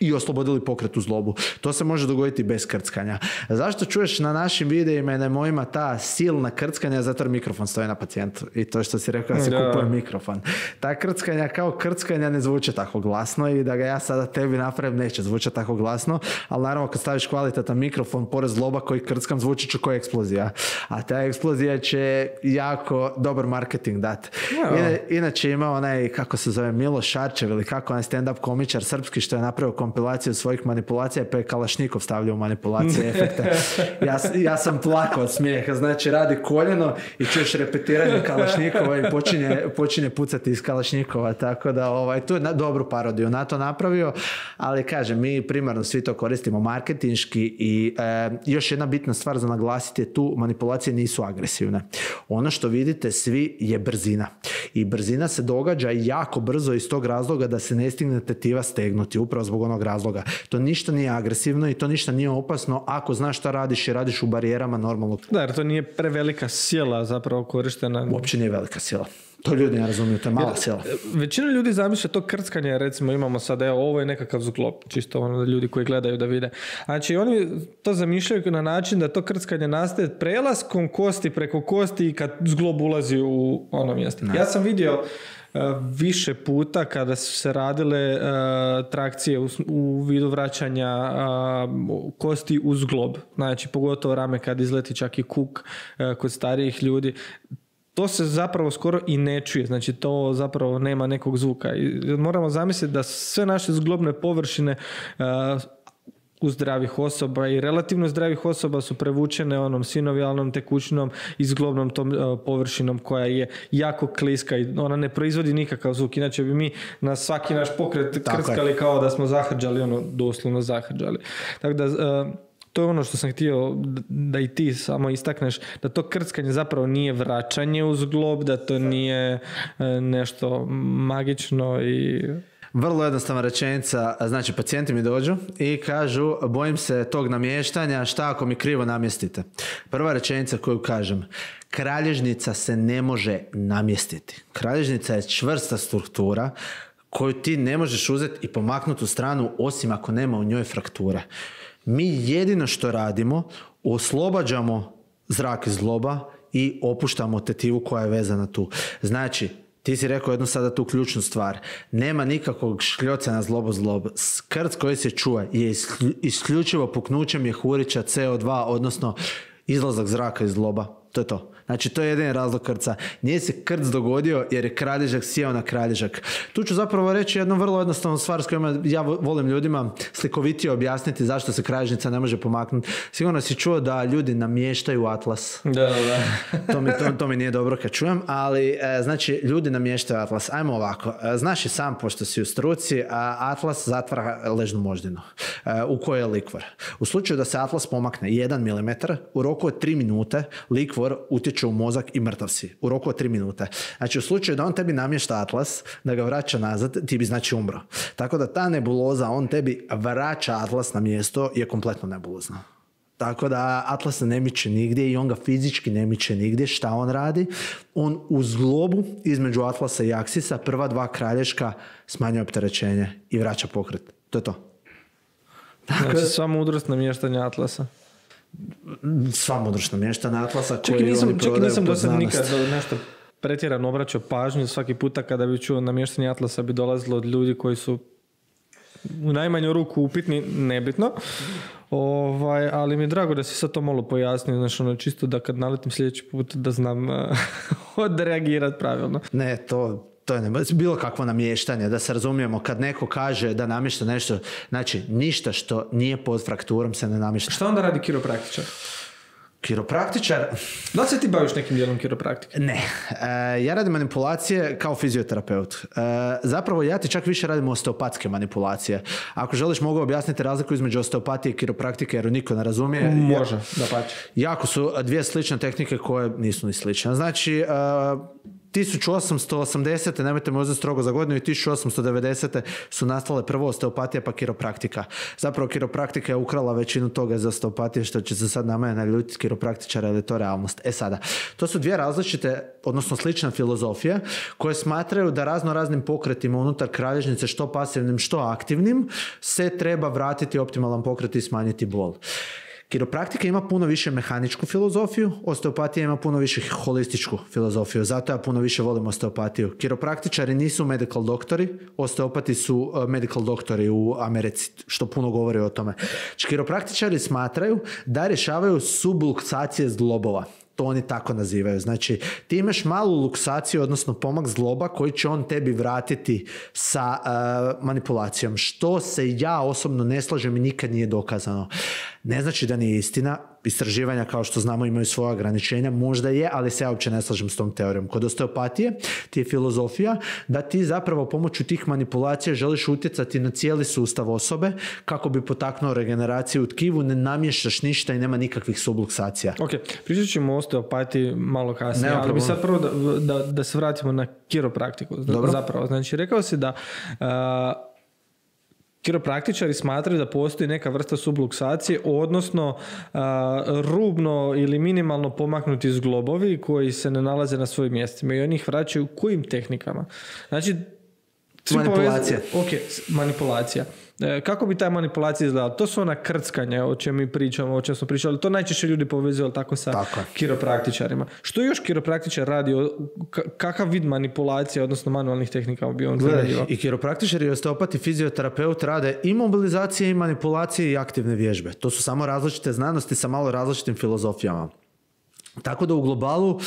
i oslobodili pokret u zglobu. To se može dogoditi bez krckanja. Zašto čuješ na našim videima i na mojima ta silna krckanja? Zato jer mikrofon stoji na pacijentu. I to što si rekao da se kupuje mikrofon. Ta krckanja kao krckanja ne zvuče tako glasno i da ga ja sada tebi napravim neće zvučati tako glasno, ali naravno kad staviš kvalitetan mikrofon pored zgloba koji krckam zvuči će kao eksplozija. A ta eksplozija će jako dobar marketing dati. Ina, inače ima onaj, kako se zove, Miloš Šarčev ili kako onaj stand-up komičar srpski što je napravio kompilaciju svojih manipulacija pa je Kalašnikov stavljao manipulacije efekte. Ja, ja sam plakao od smijeha, znači radi koljeno i čuješ repetiranje Kalašnikova i počinje, počinje pucati iz Kalašnikova, tako da ovaj, tu je na, dobru parodiju na to napravio, ali kažem, mi primarno svi to koristimo marketinški i e, još jedna bitna stvar za naglasiti je tu, manipulacije nisu agresivne. Ono što vidite svi je brzina i brzina se događa jako brzo iz tog razloga da se ne stigne tetiva stegnuti, upravo zbog onog razloga. To ništa nije agresivno i to ništa nije opasno ako znaš šta radiš i radiš u barijerama normalnog. Da, jer to nije prevelika sila zapravo korištena. Uopće nije velika sila. To ljudi ne razumiju, to je mala sila. Većina ljudi zamišlja to krckanje, recimo imamo sad, evo, ovo je nekakav zglob, čisto ono da ljudi koji gledaju da vide. Znači, oni to zamišljaju na način da to krckanje nastaje prelaskom kosti preko kosti i kad zglob ulazi u ono mjesto. Ne. Ja sam vidio uh, više puta kada su se radile uh, trakcije u, u vidu vraćanja uh, kosti u zglob. Znači, pogotovo rame kad izleti čak i kuk uh, kod starijih ljudi. To se zapravo skoro i ne čuje, znači to zapravo nema nekog zvuka. I moramo zamisliti da sve naše zglobne površine uh, u zdravih osoba i relativno zdravih osoba su prevučene onom sinovijalnom tekućinom i zglobnom tom uh, površinom koja je jako kliska i ona ne proizvodi nikakav zvuk. Inače bi mi na svaki naš pokret tako krckali je. Kao da smo zahrđali, ono doslovno zahrđali. Tako da... Uh, to je ono što sam htio da i ti samo istakneš, da to krckanje zapravo nije vraćanje u zglob, da to nije nešto magično i... Vrlo jednostavna rečenica, znači pacijenti mi dođu i kažu bojim se tog namještanja, šta ako mi krivo namjestite? Prva rečenica koju kažem, kralježnica se ne može namjestiti. Kralježnica je čvrsta struktura koju ti ne možeš uzeti i pomaknuti u stranu osim ako nema u njoj frakture. Mi jedino što radimo, oslobađamo zrak iz zgloba i opuštamo tetivu koja je vezana tu. Znači, ti si rekao jednu sada tu ključnu stvar. Nema nikakvog škljoca na zlobo zlob. Krc koji se čuje je isključivo puknuće mjehurića C O dva, odnosno izlazak zraka iz zloba. To je to. Znači, to je jedini razlog krca. Nije se krc dogodio jer je kralježak sjeo na kralježak. Tu ću zapravo reći jednu vrlo jednostavnu stvar s kojima ja volim ljudima slikovitije objasniti zašto se kralježnica ne može pomaknuti. Sigurno si čuo da ljudi namještaju atlas. Da, da. to, mi, to, to mi nije dobro kad čujem, ali e, znači ljudi namještaju atlas. Ajmo ovako. E, znaš i sam, pošto si u struci, a atlas zatvara ležnu moždinu e, u kojoj je likvor. U slučaju da se atlas pomakne jedan milimetar, u roku od tri minute likvor utječe u mozak i mrtav si. U roku od tri minute. Znači u slučaju da on tebi namješta atlas, da ga vraća nazad, ti bi znači umro. Tako da ta nebuloza, on tebi vraća atlas na mjesto, je kompletno nebulozna. Tako da atlas ne miče nigdje i on ga fizički ne miče nigdje. Šta on radi? On u zglobu između atlasa i aksisa prva dva kralješka smanjuje opterećenje i vraća pokret. To je to. Tako znači sva mudrost namještanja atlasa. Sva mudrost namještanja atlasa koji nisam, oni prodaju nisam do sad nikad nešto pretjerano obraćao pažnju. Svaki puta kada bi čuo namještanje atlasa bi dolazilo od ljudi koji su u najmanju ruku upitni, nebitno. Ovaj, ali mi je drago da si sad to malo pojasnio, znači ono čisto da kad naletim sljedeći put da znam uh, odreagirati pravilno. Ne, to, to je ne, bilo kakvo namještanje, da se razumijemo, kad neko kaže da namješta nešto, znači ništa što nije pod frakturom se ne namješta. Šta onda radi kiropraktičar? Kiropraktičar... Da li se ti baviš nekim dijelom kiropraktike? Ne. E, ja radim manipulacije kao fizioterapeut. E, zapravo ja ti čak više radim osteopatske manipulacije. Ako želiš mogu objasniti razliku između osteopatije i kiropraktike jer niko ne razumije. Može, da pače. Jako su dvije slične tehnike koje nisu ni slične. Znači... E, tisuću osamsto osamdesete nemojte me uzeti strogo za godinu, i tisuću osamsto devedesete su nastale prvo osteopatija pa kiropraktika. Zapravo kiropraktika je ukrala većinu toga iz osteopatije, što će se sad na mene naljutiti kiropraktičara, ali je to realnost. E sada, to su dvije različite, odnosno slične filozofije koje smatraju da razno raznim pokretima unutar kralježnice, što pasivnim, što aktivnim, se treba vratiti optimalan pokret i smanjiti bol. Kiropraktika ima puno više mehaničku filozofiju, osteopatija ima puno više holističku filozofiju, zato ja puno više volim osteopatiju. Kiropraktičari nisu medical doktori, osteopati su medical doktori u Americi, što puno govori o tome. Kiropraktičari smatraju da rješavaju subluksacije zglobova. To oni tako nazivaju. Znači, ti imaš malu luksaciju, odnosno pomak zgloba koji će on tebi vratiti sa uh, manipulacijom. Što se ja osobno ne slažem i nikad nije dokazano. Ne znači da nije istina. Istraživanja, kao što znamo, imaju svoje ograničenja. Možda je, ali se ja uopće ne slažem s tom teorijom. Kod osteopatije ti je filozofija da ti zapravo pomoću tih manipulacija želiš utjecati na cijeli sustav osobe kako bi potaknuo regeneraciju u tkivu, ne namještaš ništa i nema nikakvih subluksacija. Ok, pričat ćemo o osteopatiji malo kasnije, ali bi sad prvo da, da, da se vratimo na kiropraktiku. Dobro. Zapravo, znači rekao si da uh, Kiropraktičari smatraju da postoji neka vrsta subluksacije, odnosno a, rubno ili minimalno pomaknuti zglobovi koji se ne nalaze na svojim mjestima i oni ih vraćaju kojim tehnikama? Znači, manipulacija. Povez... Ok, manipulacija. E, kako bi ta manipulacija izgledala? To su ona krckanja o čem mi pričamo, o čem smo pričali. To najčešće ljudi povezuju tako sa tako. kiropraktičarima. Što još kiropraktičar radi? Kakav vid manipulacije, odnosno manualnih tehnika bi on radio? I kiropraktičari i osteopati, fizioterapeut rade i mobilizacije i manipulacije i aktivne vježbe. To su samo različite znanosti sa malo različitim filozofijama. Tako da u globalu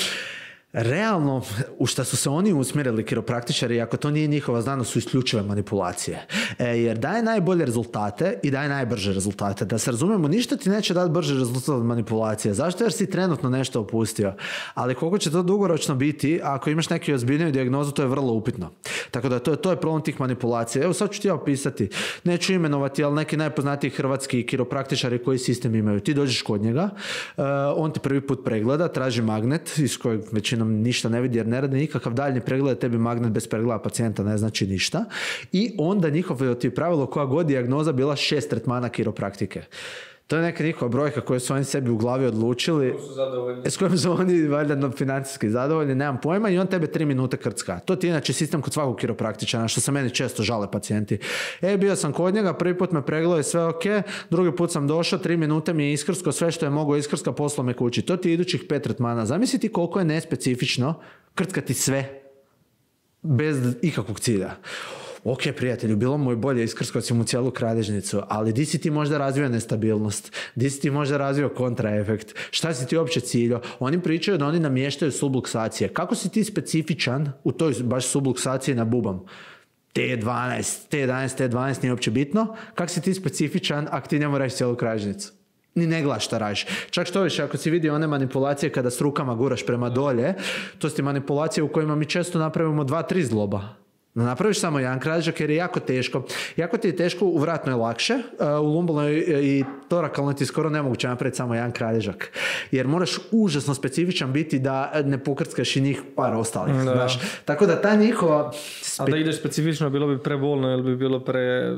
realno, u šta su se oni usmjerili kiropraktičari, ako to nije njihova znanost, su isključive manipulacije. E, jer daje najbolje rezultate i daje najbrže rezultate. Da se razumijemo, ništa ti neće dati brže rezultate od manipulacije. Zašto? Jer si trenutno nešto opustio. Ali koliko će to dugoročno biti, ako imaš neku ozbiljniju dijagnozu, to je vrlo upitno. Tako da to, to je problem tih manipulacija. Evo sad ću ti ja opisati. Neću imenovati, ali neki najpoznatiji hrvatski kiropraktičari koji sistem imaju. Ti dođeš kod njega, uh, on ti prvi put pregleda, traži magnet iz kojeg većina ništa ne vidi jer ne radi nikakav daljnji pregled, tebi magnet bez pregleda pacijenta ne znači ništa. I onda njihovo ti pravilo koja god dijagnoza bila šest tretmana kiropraktike. To je neka njihova brojka koju su oni sebi u glavi odlučili. S kojom su oni valjda financijski zadovoljni, nemam pojma, i on tebe tri minute krcka. To ti je inače sistem kod svakog kiropraktičara, što se meni često žale pacijenti. E, bio sam kod njega, prvi put me pregledao i sve ok, drugi put sam došao, tri minute mi je iskrsko, sve što je mogao iskrska, poslao me kući. To ti je idućih pet tretmana. Zamisliti koliko je nespecifično krckati sve bez ikakvog cilja. Ok, prijatelju, bilo mu je bolje iskrskao si mu cijelu kralježnicu, ali di si ti možda razvio nestabilnost? Di si ti možda razvio kontraefekt? Šta si ti uopće ciljao? Oni pričaju da oni namještaju subluksacije. Kako si ti specifičan u toj baš subluksaciji na bubam? T dvanaest, T jedanaest, T dvanaest nije uopće bitno. Kako si ti specifičan ako ti njemu radiš cijelu kralježnicu? Ni ne gledaš šta radiš. Čak što više, ako si vidio one manipulacije kada s rukama guraš prema dolje, to su ti manipulacije u kojima mi često napravimo dva, tri zgloba. Napraviš samo jedan kralježak jer je jako teško. Jako ti je teško, u vratnoj je lakše, u lumbalnoj i torakalnoj ti skoro nemoguće napraviti samo jedan kralježak. Jer moraš užasno specifičan biti da ne pokrckaš i njih par ostalih. Da. Znaš. Tako da ta njihova... Spe... A da ideš specifično bilo bi prebolno ili bi bilo pre...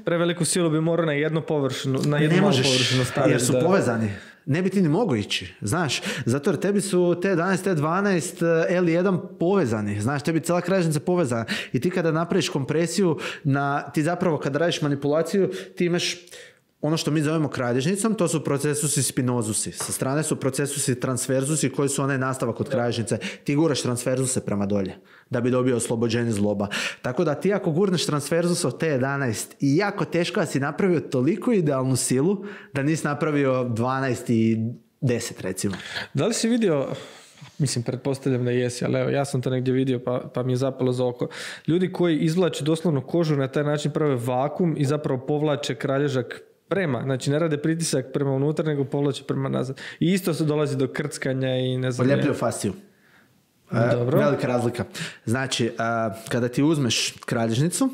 Preveliku silu bi morao na jednu površinu, na jednu malu površinu staviti. Jer su da... povezani. Ne bi ti ni mogao ići, znaš, zato jer tebi su T jedanaest, T dvanaest, L jedan povezani, znaš, tebi cijela kralježnica povezana i ti kada napraviš kompresiju, na, ti zapravo kada radiš manipulaciju, ti imaš ono što mi zovemo kralježnicom, to su procesusi spinozusi. Sa strane su procesusi transverzusi koji su onaj nastavak od kralježnice. Ti guraš transverzuse prema dolje da bi dobio oslobođenje zloba. Tako da ti ako gurneš transverzus od T jedanaest i jako teško da si napravio toliko idealnu silu da nisi napravio dvanaest i deset recimo. Da li si vidio... Mislim, pretpostavljam da jesi, ali evo, ja sam to negdje vidio pa, pa mi je zapalo za oko. Ljudi koji izvlače doslovno kožu na taj način prave vakum i zapravo povlače kralježak prema, znači ne rade pritisak prema unutra, nego povlače prema nazad. I isto se dolazi do krckanja i ne znam... Poljepljuju fasciju. Dobro. E, velika razlika. Znači, a, kada ti uzmeš kralježnicu,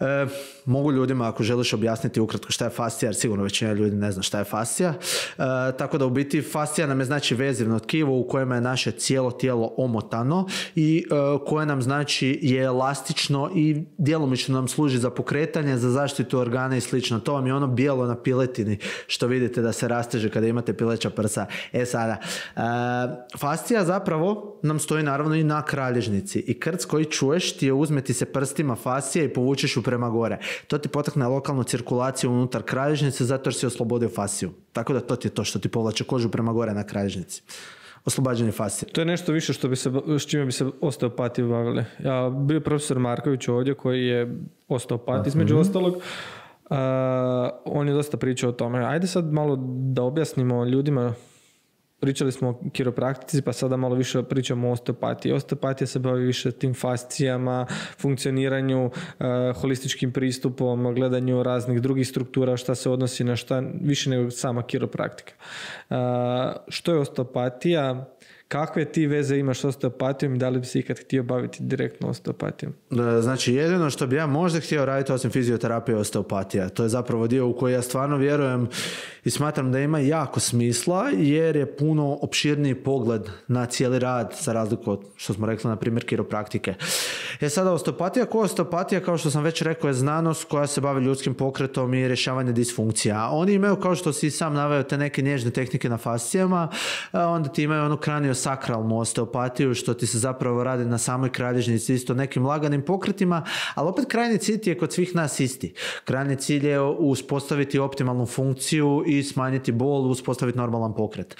e, mogu ljudima, ako želiš objasniti ukratko šta je fascija, jer sigurno većina ljudi ne zna šta je fascija. E, tako da u biti fascija nam je znači vezivno tkivo u kojem je naše cijelo tijelo omotano i e, koje nam znači je elastično i djelomično nam služi za pokretanje, za zaštitu organa i slično. To vam je ono bijelo na piletini što vidite da se rasteže kada imate pileća prsa. E sada, e, fascija zapravo nam stoji naravno i na kralježnici i krc koji čuješ ti je uzmeti se prstima fascije i povučeš ju prema gore. To ti potakne lokalnu cirkulaciju unutar kralježnice zato jer si oslobodio fasciju. Tako da to ti je to što ti povlače kožu prema gore na kralježnici. Oslobađanje fascije. To je nešto više što bi se, s čime bi se osteopati bavili. Ja bio profesor Marković ovdje koji je osteopat između mm-hmm. ostalog. Uh, on je dosta pričao o tome. Ajde sad malo da objasnimo ljudima. Pričali smo o kiropraktici, pa sada malo više pričamo o osteopatiji. Osteopatija se bavi više tim fascijama, funkcioniranju, uh, holističkim pristupom, gledanju raznih drugih struktura, šta se odnosi na šta, više nego sama kiropraktika. Uh, što je osteopatija? kakve ti veze imaš s osteopatijom i da li bi se ikad htio baviti direktno osteopatijom? Znači, jedino što bi ja možda htio raditi osim fizioterapije osteopatija. To je zapravo dio u koji ja stvarno vjerujem i smatram da ima jako smisla, jer je puno opširniji pogled na cijeli rad, za razliku od, što smo rekli, na primjer, kiropraktike. Je sada osteopatija, ko osteopatija, kao što sam već rekao, je znanost koja se bavi ljudskim pokretom i rješavanje disfunkcija. Oni imaju, kao što si sam naveo, te neke nježne tehnike na fascijama, onda ti imaju onu kraniosakralnu osteopatiju, što ti se zapravo radi na samoj kralježnici, isto nekim laganim pokretima, ali opet krajnji cilj je kod svih nas isti. Krajnji cilj je uspostaviti optimalnu funkciju i smanjiti bol, uspostaviti normalan pokret. E,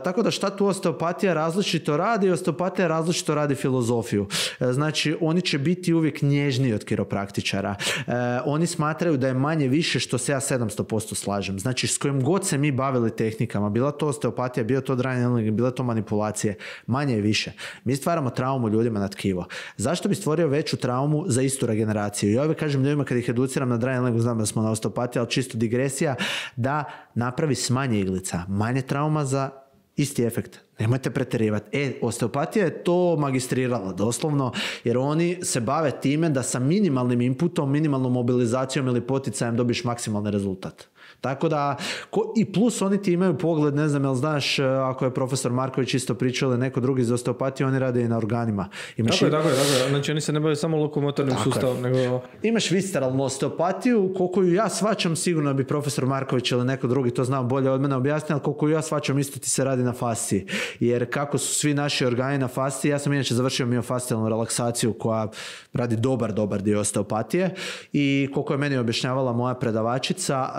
tako da šta tu osteopatija različito radi? Osteopatija različito radi filozofiju. E, znači, oni će biti uvijek nježniji od kiropraktičara. E, oni smatraju da je manje više, što se ja sedamsto posto slažem. Znači, s kojim god se mi bavili tehnikama, bila to osteopatija, bio to dry needling, bila to manipulacije, manje i više. Mi stvaramo traumu ljudima na tkivo. Zašto bi stvorio veću traumu za istu regeneraciju? Ja uvijek kažem ljudima kad ih educiram na dry needlingu, znam da smo na osteopatiji, ali čisto digresija, da napravi s manje iglica, manje trauma za isti efekt. Nemojte pretjerivati. E, osteopatija je to magistrirala doslovno, jer oni se bave time da sa minimalnim inputom, minimalnom mobilizacijom ili poticajem dobiš maksimalni rezultat. Tako da, ko, i plus oni ti imaju pogled, ne znam, jel znaš, ako je profesor Marković isto pričao ili neko drugi iz osteopatije, oni rade i na organima. Imaš tako je, tako je, tako je. Znači oni se ne bave samo lokomotornim sustavom, nego... Imaš visceralnu osteopatiju, koliko ju ja shvaćam, sigurno bi profesor Marković ili neko drugi to znao bolje od mene objasniti, ali koliko ju ja shvaćam, isto ti se radi na fasciji. Jer kako su svi naši organi na fasciji, ja sam inače završio miofascijalnu relaksaciju koja radi dobar, dobar dio osteopatije i koliko je meni objašnjavala moja predavačica,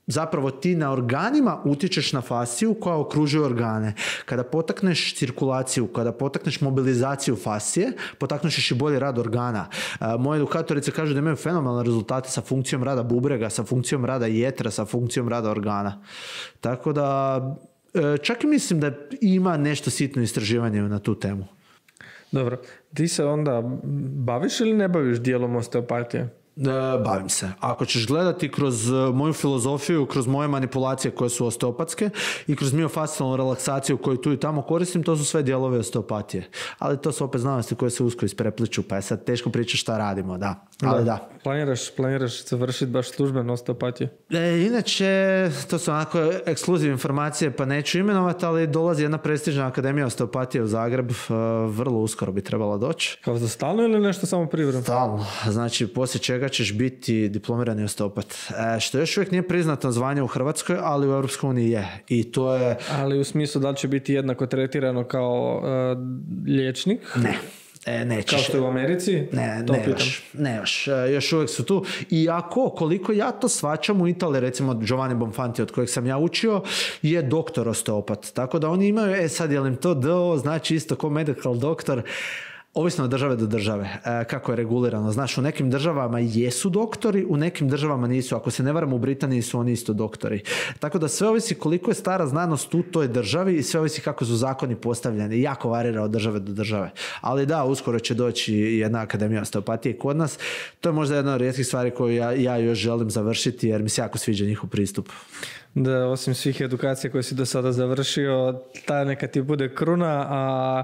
zapravo ti na organima utječeš na fasciju koja okružuje organe. Kada potakneš cirkulaciju, kada potakneš mobilizaciju fascije, potakneš i bolji rad organa. Moje edukatorice kažu da imaju fenomenalne rezultate sa funkcijom rada bubrega, sa funkcijom rada jetra, sa funkcijom rada organa. Tako da čak i mislim da ima nešto sitno istraživanje na tu temu. Dobro, ti se onda baviš ili ne baviš dijelom osteopatije? Bavim se. Ako ćeš gledati kroz moju filozofiju, kroz moje manipulacije koje su osteopatske i kroz miofascijalnu relaksaciju koju tu i tamo koristim, to su sve dijelovi osteopatije. Ali to su opet znanosti koje se usko isprepliču, pa je sad teško pričati šta radimo, da. Ali da. da. Planiraš, planiraš završiti baš službenu osteopatiju? E, inače, to su onako ekskluzivne informacije, pa neću imenovati, ali dolazi jedna prestižna akademija osteopatije u Zagreb, vrlo uskoro bi trebala doći. Kao za stalno ili nešto samo privremeno? Stalno. Znači, poslije čega ćeš biti diplomirani osteopat. E, što još uvijek nije priznato zvanje u Hrvatskoj, ali u Europskoj uniji je. I to je... Ali u smislu da li će biti jednako tretirano kao uh, liječnik? Ne. E, nećeš. Kao što je u Americi? Ne, ne još, ne još. E, još uvijek su tu. Iako, koliko ja to shvaćam u Italiji, recimo Giovanni Bonfanti, od kojeg sam ja učio, je doktor osteopat. Tako da oni imaju, e sad je li im to D O, znači isto ko medical doktor, ovisno od države do države, e, kako je regulirano. Znaš, u nekim državama jesu doktori, u nekim državama nisu. Ako se ne varam, u Britaniji su oni isto doktori. Tako da sve ovisi koliko je stara znanost u toj državi i sve ovisi kako su zakoni postavljeni. Jako varira od države do države. Ali da, uskoro će doći jedna akademija osteopatije kod nas. To je možda jedna od rijetkih stvari koju ja, ja još želim završiti, jer mi se jako sviđa njihov pristup. Da, osim svih edukacija koje si do sada završio, ta neka ti bude kruna, a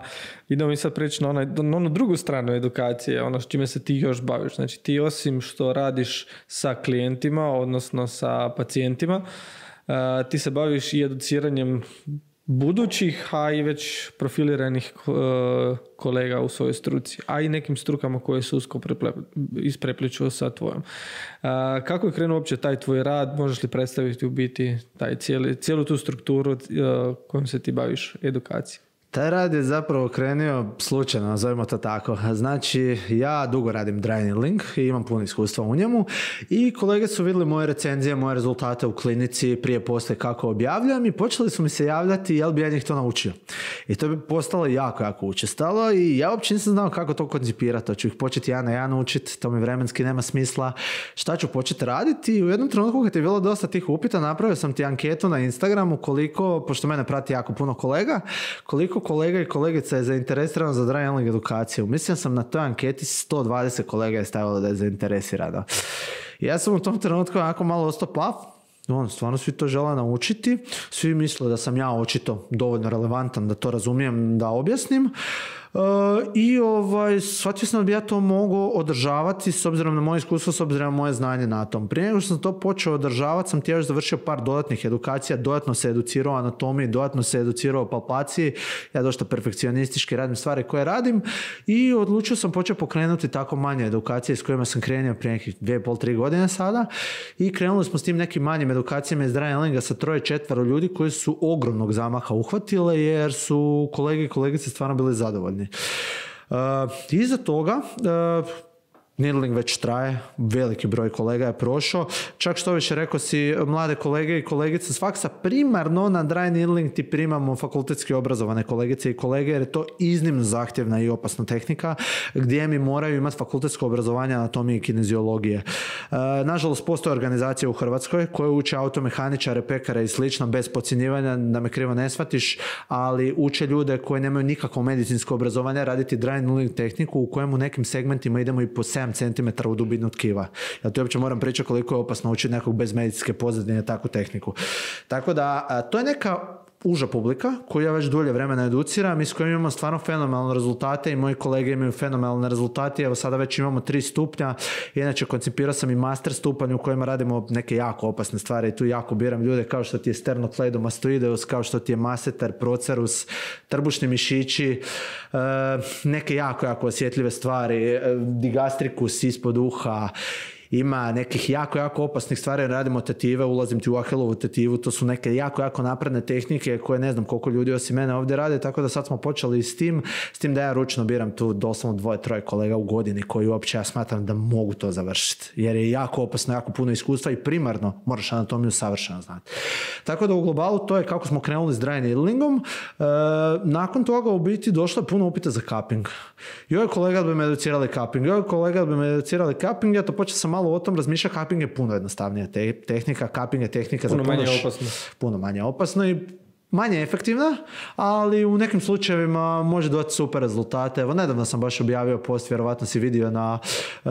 idemo mi sad preći na, onaj, na onu drugu stranu edukacije, ono s čime se ti još baviš. Znači ti osim što radiš sa klijentima, odnosno sa pacijentima, uh, ti se baviš i educiranjem budućih, a i već profiliranih uh, kolega u svojoj struci, a i nekim strukama koje su usko isprepliču sa tvojom. Uh, kako je krenuo uopće taj tvoj rad? Možeš li predstaviti u biti taj cijeli, cijelu tu strukturu uh, kojom se ti baviš, edukacijom? Taj rad je zapravo krenio slučajno, nazovimo to tako. Znači, ja dugo radim dry needling i imam puno iskustva u njemu i kolege su vidjeli moje recenzije, moje rezultate u klinici, prije poslije kako objavljam i počeli su mi se javljati jel bi ja njih to naučio. I to bi postalo jako, jako učestalo i ja uopće nisam znao kako to koncipirati. Hoću ih početi ja na ja naučiti, to mi vremenski nema smisla. Šta ću početi raditi? I u jednom trenutku kad je bilo dosta tih upita, napravio sam ti anketu na Instagramu koliko, pošto mene prati jako puno kolega, koliko kolega i kolegica je zainteresirano za dry needling edukaciju. Mislim sam na toj anketi sto dvadeset kolega je stavilo da je zainteresirano. Ja sam u tom trenutku onako malo ostao paf on, stvarno svi to žele naučiti, svi misle da sam ja očito dovoljno relevantan da to razumijem, da objasnim. Uh, i ovaj, shvatio sam da bi ja to mogao održavati s obzirom na moje iskustvo, s obzirom na moje znanje na tom. Prije nego što sam to počeo održavati, sam ti još završio par dodatnih edukacija, dodatno se educirao o anatomiji, dodatno se educirao o palpaciji, ja dosta perfekcionistički radim stvari koje radim i odlučio sam počeo pokrenuti tako manje edukacije s kojima sam krenuo prije nekih dvije, pol, tri godine sada i krenuli smo s tim nekim manjim edukacijama iz dry handlinga sa troje, četvero ljudi koji su ogromnog zamaha uhvatile jer su kolege i kolegice stvarno bili zadovoljni. Uh, iza toga uh, needling već traje, veliki broj kolega je prošao, čak što više rekao si mlade kolege i kolegice s faksa, primarno na dry needling ti primamo fakultetski obrazovane kolegice i kolege jer je to iznimno zahtjevna i opasna tehnika gdje mi moraju imati fakultetsko obrazovanje anatomije i kineziologije. Uh, nažalost postoje organizacije u Hrvatskoj koje uče automehaničare, pekare i slično bez podcjenjivanja, da me krivo ne shvatiš, ali uče ljude koji nemaju nikakvo medicinsko obrazovanje raditi dry needling tehniku u kojem u nekim segmentima idemo i po sedam centimetara u dubinu tkiva. Ja to uopće moram pričati koliko je opasno učiti nekog bez medicinske pozadine takvu tehniku. Tako da, a, to je neka uža publika koju ja već dulje vremena educiram i s kojim imamo stvarno fenomenalne rezultate i moji kolege imaju fenomenalne rezultate. Evo sada već imamo tri stupnja. Inače koncipirao sam i master stupanj u kojima radimo neke jako opasne stvari i tu jako biram ljude kao što ti je sternocleidomastoideus, kao što ti je masseter, procerus, trbušni mišići, neke jako, jako osjetljive stvari, digastricus ispod uha. Ima nekih jako, jako opasnih stvari, radimo tetive, ulazim ti u Ahilovu tetivu, to su neke jako, jako napredne tehnike koje ne znam koliko ljudi osim mene ovdje rade, tako da sad smo počeli s tim, s tim da ja ručno biram tu doslovno dvoje, troje kolega u godini koji uopće ja smatram da mogu to završiti, jer je jako opasno, jako puno iskustva i primarno moraš anatomiju savršeno znati. Tako da u globalu to je kako smo krenuli s dry needlingom. E, nakon toga u biti došlo je puno upita za cupping. Joj kolega da bi me educirali cupping, joj kolega da bi me educirali cupping, ja to počeo sam malo o tom razmišlja, cupping je puno jednostavnija te- tehnika, cupping je tehnika puno za puno, manje š- opasno. puno manje opasno i manje efektivna, ali u nekim slučajevima može dati super rezultate. Evo, nedavno sam baš objavio post, vjerovatno si vidio na uh,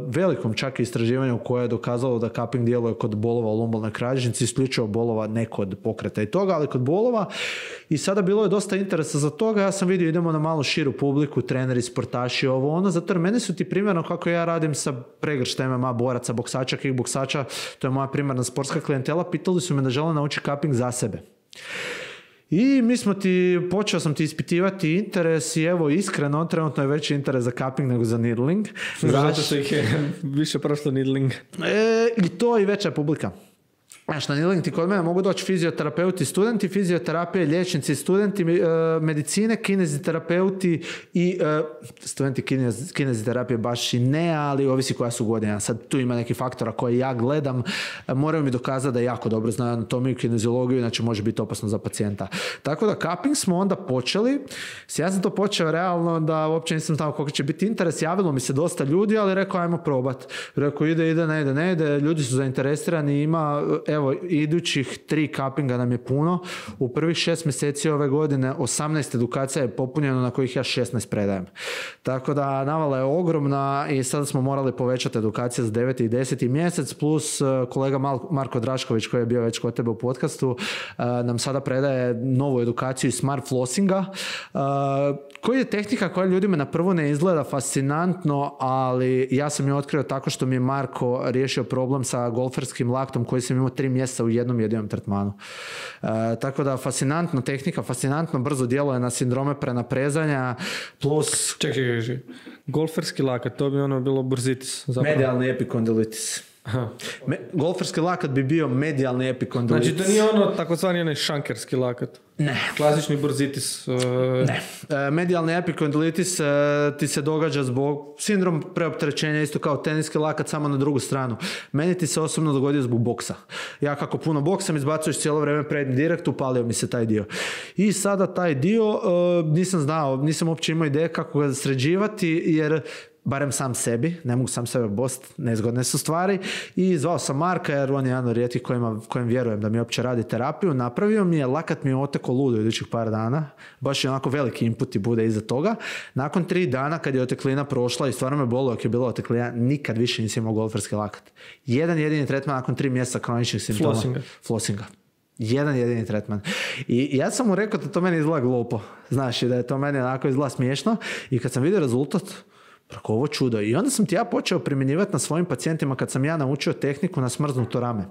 velikom čak istraživanju koje je dokazalo da cupping djeluje kod bolova u lumbalnoj kralježnici, isključivo bolova, ne kod pokreta i toga, ali kod bolova. I sada bilo je dosta interesa za toga. Ja sam vidio, idemo na malo širu publiku, treneri, sportaši, ovo ono, zato jer meni su ti primjerno kako ja radim sa pregrštem M M A boraca, boksača, kickboksača, to je moja primarna sportska klijentela, pitali su me da žele naučiti cupping za sebe. I mi smo ti, počeo sam ti ispitivati interes i evo iskreno, trenutno je veći interes za cupping nego za needling. Zato što ih je više prošlo needling. E, I to i veća publika. Znaš, na needling ti kod mene mogu doći fizioterapeuti, studenti fizioterapije, liječnici, studenti e, medicine, kineziterapeuti i e, studenti kinez, kineziterapije baš i ne, ali ovisi koja su godina. Sad tu ima neki faktora koje ja gledam, e, moraju mi dokazati da jako dobro znaju anatomiju i kineziologiju, inače može biti opasno za pacijenta. Tako da cupping smo onda počeli. Ja sam to počeo realno da uopće nisam znao koliko će biti interes. Javilo mi se dosta ljudi, ali rekao ajmo probat. Rekao ide, ide, ne ide, ne ide. Ljudi su zainteresirani, ima evo, idućih tri cuppinga nam je puno. U prvih šest mjeseci ove godine osamnaest edukacija je popunjeno na kojih ja šesnaest predajem. Tako da navala je ogromna i sada smo morali povećati edukacije za deveti i deseti mjesec, plus kolega Marko Drašković koji je bio već kod tebe u podcastu nam sada predaje novu edukaciju smart flossinga, koji je tehnika koja ljudima na prvo ne izgleda fascinantno, ali ja sam je otkrio tako što mi je Marko riješio problem sa golferskim laktom koji sam imao tri mjeseca u jednom jedinom tretmanu. E, tako da fascinantna tehnika, fascinantno brzo djeluje na sindrome prenaprezanja, plus... Čekaj, čekaj, čekaj. Golferski lakat, to bi ono bilo burzitis. Zapravo. Medijalni epikondilitis. Me, golferski lakat bi bio medijalni epikondilitis. Znači to nije ono takozvani onaj šankerski lakat. Ne. Klasični burzitis. Uh... Ne. E, medijalni epikondilitis e, ti se događa zbog sindrom preopterećenja, isto kao teniski lakat, samo na drugu stranu. Meni ti se osobno dogodio zbog boksa. Ja kako puno boksam, izbacuješ cijelo vrijeme prednji direkt, upalio mi se taj dio. I sada taj dio e, nisam znao, nisam uopće imao ideje kako ga sređivati, jer barem sam sebi, ne mogu sam sebe bost, nezgodne su stvari, i zvao sam Marka jer on je jedan od rijetkih kojima, kojim vjerujem da mi uopće radi terapiju, napravio mi je, lakat mi je oteko ludo idućih par dana, baš je onako veliki input i bude iza toga. Nakon tri dana kad je oteklina prošla i stvarno me bolo ako je bila oteklina, nikad više nisi imao golferski lakat. Jedan jedini tretman nakon tri mjeseca kroničnih simptoma. Flossinga. Flossinga. Jedan jedini tretman. I ja sam mu rekao da to meni izgleda glupo. Znaš, i da je to meni onako izgleda smiješno. I kad sam vidio rezultat, preko ovo čudo. I onda sam ti ja počeo primjenjivati na svojim pacijentima kad sam ja naučio tehniku na smrznuto rame.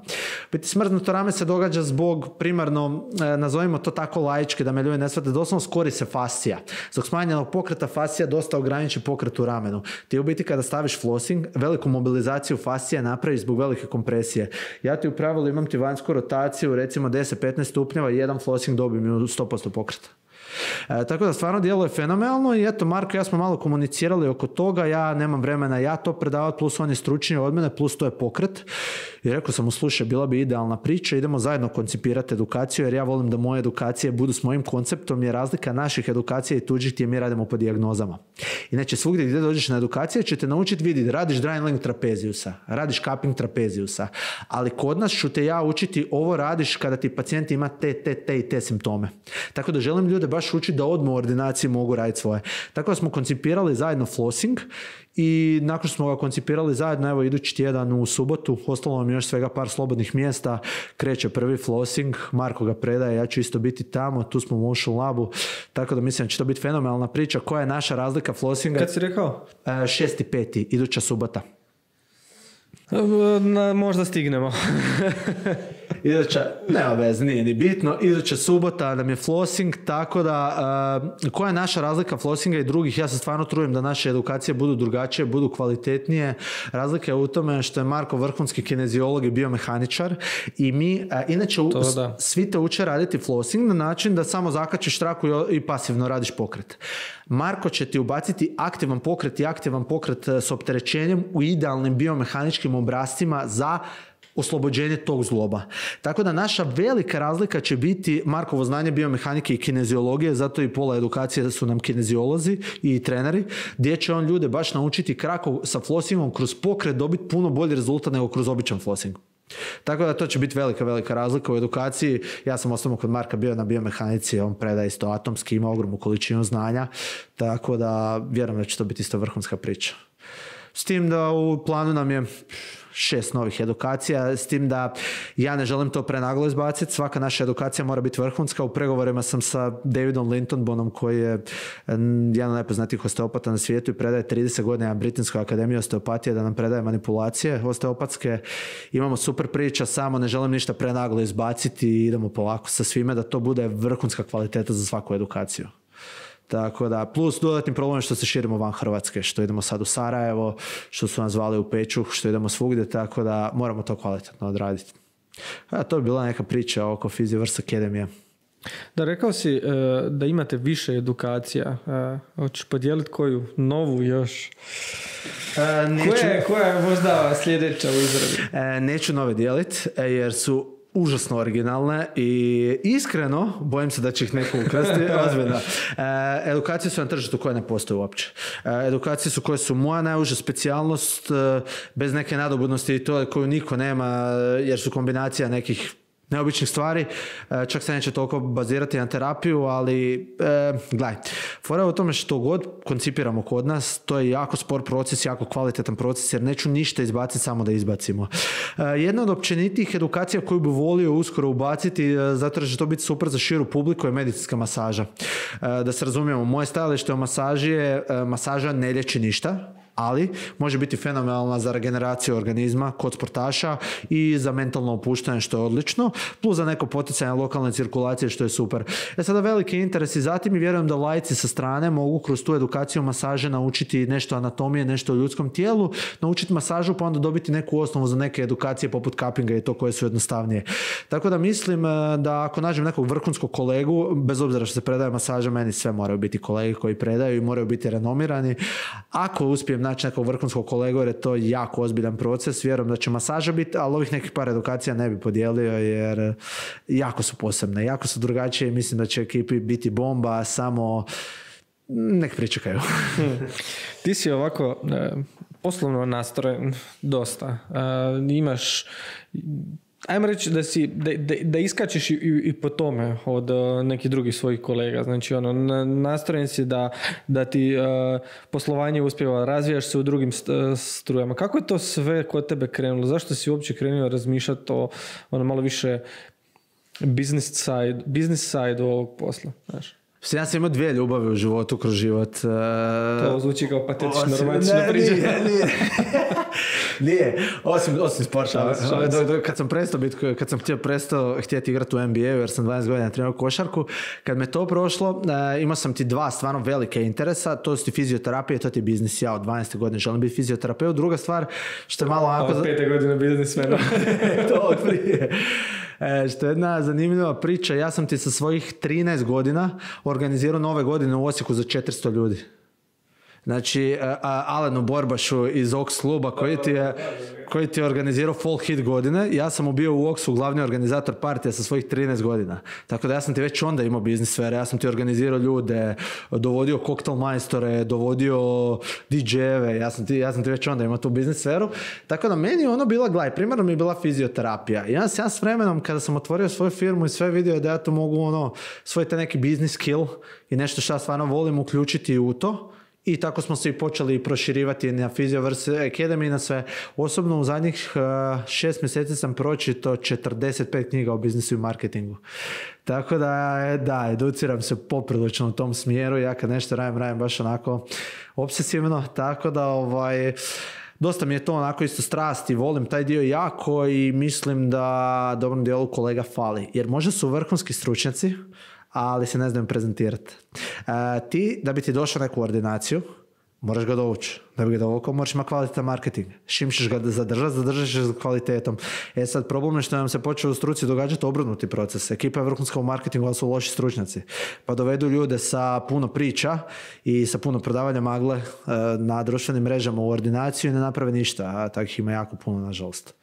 Biti smrznuto rame se događa zbog primarno, e, nazovimo to tako laički, da me ljudi ne shvate, doslovno skori se fascija. Zbog smanjenog pokreta fascija dosta ograniči pokret u ramenu. Ti u biti kada staviš flossing, veliku mobilizaciju fascija napraviš zbog velike kompresije. Ja ti u pravilu imam ti vanjsku rotaciju, recimo deset do petnaest stupnjeva i jedan flossing dobijem u sto posto pokreta. E, tako da stvarno djeluje fenomenalno i eto, Marko i ja smo malo komunicirali oko toga, ja nemam vremena ja to predavati, plus on je stručniji od mene, plus to je pokret. I rekao sam mu, slušaj, bila bi idealna priča, idemo zajedno koncipirati edukaciju, jer ja volim da moje edukacije budu s mojim konceptom, jer razlika naših edukacija i tuđih ti je mi radimo po dijagnozama. Inače, svugdje gdje dođeš na edukacije će te naučiti vidjeti, radiš dry link trapeziusa, radiš cupping trapeziusa, ali kod nas ću te ja učiti ovo radiš kada ti pacijent ima te, te, te i te simptome. Tako da želim ljude baš učiti da odmah u ordinaciji mogu raditi svoje. Tako da smo koncipirali zajedno flossing i nakon što smo ga koncipirali zajedno, evo idući tjedan u subotu, ostalo nam još svega par slobodnih mjesta, kreće prvi flossing, Marko ga predaje, ja ću isto biti tamo, tu smo u Motion Labu, tako da mislim da će to biti fenomenalna priča. Koja je naša razlika flossinga? Kad si rekao? šesti peti iduća subota. Na, možda stignemo. Iduća, nema vez, nije ni bitno, iduća subota nam je flossing, tako da uh, koja je naša razlika flossinga i drugih? Ja se stvarno trudim da naše edukacije budu drugačije, budu kvalitetnije. Razlika je u tome što je Marko vrhunski kineziolog i biomehaničar i mi, uh, inače u, svi te uče raditi flossing na način da samo zakačiš traku i, i pasivno radiš pokret. Marko će ti ubaciti aktivan pokret i aktivan pokret s opterećenjem u idealnim biomehaničkim obrascima za oslobođenje tog zloba. Tako da naša velika razlika će biti Markovo znanje biomehanike i kineziologije, zato i pola edukacije su nam kineziolozi i treneri, gdje će on ljude baš naučiti kako sa flossingom kroz pokret dobiti puno bolji rezultat nego kroz običan flossing. Tako da to će biti velika, velika razlika u edukaciji. Ja sam osobno kod Marka bio na biomehanici, on predaje isto atomski, ima ogromnu količinu znanja, tako da vjerujem da će to biti isto vrhunska priča. S tim da u planu nam je šest novih edukacija, s tim da ja ne želim to prenaglo izbaciti. Svaka naša edukacija mora biti vrhunska. U pregovorima sam sa Davidom Lintonbonom, koji je jedan od najpoznatijih osteopata na svijetu i predaje trideset godina na Britanskoj akademiji osteopatije, da nam predaje manipulacije osteopatske. Imamo super priča, samo ne želim ništa prenaglo izbaciti i idemo polako sa svime da to bude vrhunska kvaliteta za svaku edukaciju. Tako da, plus dodatni problem je što se širimo van Hrvatske, što idemo sad u Sarajevo, što su nas zvali u Pečuh, što idemo svugdje, tako da moramo to kvalitetno odraditi. A, to je bila neka priča oko Physiverse Academy. Da, rekao si uh, da imate više edukacija. Uh, hoćeš podijeliti koju novu još? Uh, neću... koja, je, koja je možda sljedeća u izradi? Uh, neću nove dijeliti, jer su užasno originalne i iskreno bojim se da će ih neko ukrasti. Ozbiljno. E, edukacije su na tržištu koje ne postoje uopće. E, edukacije su koje su moja najuža specijalnost, e, bez neke nadobudnosti i to koju niko nema, jer su kombinacija nekih neobičnih stvari, čak se neće toliko bazirati na terapiju, ali e, gledaj, fora je u tome što god koncipiramo kod nas, to je jako spor proces, jako kvalitetan proces, jer neću ništa izbaciti samo da izbacimo. E, jedna od općenitih edukacija koju bi volio uskoro ubaciti, zato da će to biti super za širu publiku, je medicinska masaža. E, da se razumijemo, moje stajalište o masaži je, e, masaža ne liječi ništa, ali može biti fenomenalna za regeneraciju organizma kod sportaša i za mentalno opuštanje, što je odlično, plus za neko poticanje lokalne cirkulacije, što je super. E sada veliki interes i zatim i vjerujem da laici sa strane mogu kroz tu edukaciju masaže naučiti nešto anatomije, nešto o ljudskom tijelu, naučiti masažu pa onda dobiti neku osnovu za neke edukacije poput cuppinga i to koje su jednostavnije. Tako da mislim da ako nađem nekog vrhunskog kolegu, bez obzira što se predaje masaža, meni sve moraju biti kolege koji predaju i moraju biti renomirani. Ako uspijem naći nekog vrhunskog kolegu, jer je to jako ozbiljan proces, vjerujem da će masaža biti, ali ovih nekih par edukacija ne bi podijelio, jer jako su posebne, jako su drugačije i mislim da će ekipi biti bomba, samo nek pričekaju. Ti si ovako e, poslovno nastrojen dosta. E, imaš, ajmo reći da si, da, da, da iskačeš i, i po tome od uh, nekih drugih svojih kolega. Znači, ono, nastrojen si da, da ti uh, poslovanje uspjeva, razvijaš se u drugim st- strujama. Kako je to sve kod tebe krenulo? Zašto si uopće krenuo razmišljati o ono malo više business side, business side ovog posla? Znaš? Ja sam imao dvije ljubavi u životu kroz život. To zvuči kao patetično romantično priča. Nije, nije. Nije, osim, osim sporta. Kad sam prestao biti, kad sam htio prestao htjeti igrati u N B A jer sam dvanaest godina trenirao košarku, kad me to prošlo, imao sam ti dva stvarno velike interesa, to su ti fizioterapija i to ti je biznis. Ja od dvanaeste godine želim biti fizioterapeut. Druga stvar, što je malo... A od pete godine biznismena. To od prije. E, što je jedna zanimljiva priča, ja sam ti sa svojih trinaest godina organizirao nove godine u Osijeku za četiristo ljudi. Znači, Alenu Borbašu iz Ox kluba koji ti je, koji ti je organizirao Fall Hit godine. Ja sam mu bio u Oxu glavni organizator partija sa svojih trinaest godina. Tako da ja sam ti već onda imao biznis sfere. Ja sam ti organizirao ljude, dovodio koktel majstore, dovodio D J-eve. Ja sam ti, ja sam ti već onda imao tu biznis sferu. Tako da meni ono bila, gledaj, primarno mi je bila fizioterapija. I ja sam ja s vremenom, kada sam otvorio svoju firmu i sve vidio da ja tu mogu ono, svoj te neki biznis skill i nešto što ja stvarno volim uključiti u to. I tako smo se i počeli proširivati na Physioverse Academy i na sve. Osobno u zadnjih uh, šest mjeseci sam pročitao četrdeset pet knjiga o biznisu i marketingu. Tako da, da, educiram se poprilično u tom smjeru. Ja kad nešto radim, radim baš onako obsesivno. Tako da, ovaj... dosta mi je to onako isto strast i volim taj dio jako i mislim da dobrom dijelu kolega fali. Jer možda su vrhunski stručnjaci, ali se ne znaju prezentirati. E, ti, da bi ti došao neku ordinaciju, moraš ga dovući. Da bi ga dovukao, moraš imati kvalitetan marketing. Šim ćeš ga zadržati, zadržat ćeš ga kvalitetom. E sad, problem je što nam se počeo u struci događati obrnuti proces. Ekipa je vrhunska u marketingu, ali su loši stručnjaci. Pa dovedu ljude sa puno priča i sa puno prodavanja magle e, na društvenim mrežama u ordinaciju i ne naprave ništa. A takih ima jako puno, nažalost.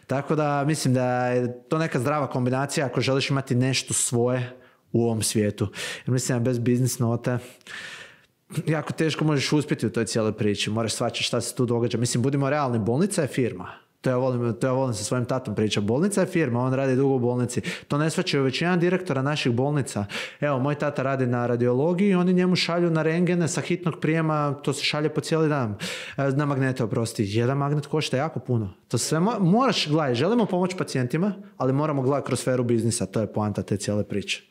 Tako da, mislim da je to neka zdrava kombinacija ako želiš imati nešto svoje u ovom svijetu. Jer mislim da bez biznis note jako teško možeš uspjeti u toj cijeloj priči. Moraš shvaćati šta se tu događa. Mislim, budimo realni, bolnica je firma. To ja volim, to ja volim sa svojim tatom pričati. Bolnica je firma, on radi dugo u bolnici. To ne shvaćaju većina direktora naših bolnica. Evo, moj tata radi na radiologiji i oni njemu šalju na rengene sa hitnog prijema, to se šalje po cijeli dan. Na magnete, oprosti. Jedan magnet košta jako puno. To sve mo- moraš gledati. Želimo pomoći pacijentima, ali moramo gledati kroz sferu biznisa. To je poanta te cijele priče.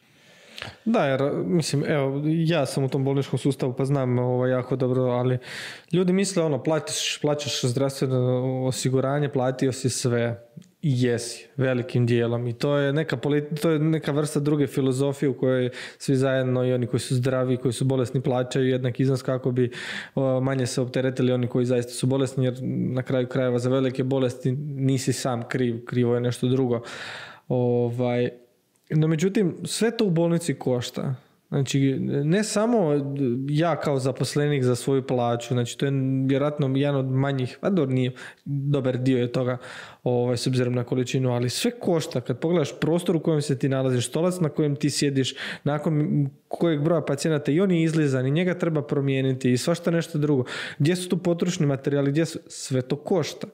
Da, jer, mislim, evo, ja sam u tom bolničkom sustavu pa znam ovo jako dobro, ali ljudi misle, ono, platiš, plaćaš zdravstveno osiguranje, platio si sve. I jesi, velikim dijelom. I to je neka, politi- to je neka vrsta druge filozofije u kojoj svi zajedno i oni koji su zdravi, koji su bolesni plaćaju jednak iznos kako bi o, manje se opteretili oni koji zaista su bolesni, jer na kraju krajeva za velike bolesti nisi sam kriv, krivo je nešto drugo. Ovaj... No međutim, sve to u bolnici košta. Znači, ne samo ja kao zaposlenik za svoju plaću, znači to je vjerojatno jedan od manjih, a dobro nije, dobar dio je toga ovaj, s obzirom na količinu, ali sve košta. Kad pogledaš prostor u kojem se ti nalaziš, stolac na kojem ti sjediš, nakon kojeg broja pacijenata i on je izlizan i njega treba promijeniti i svašta nešto drugo. Gdje su tu potrošni materijali, gdje su, sve to košta.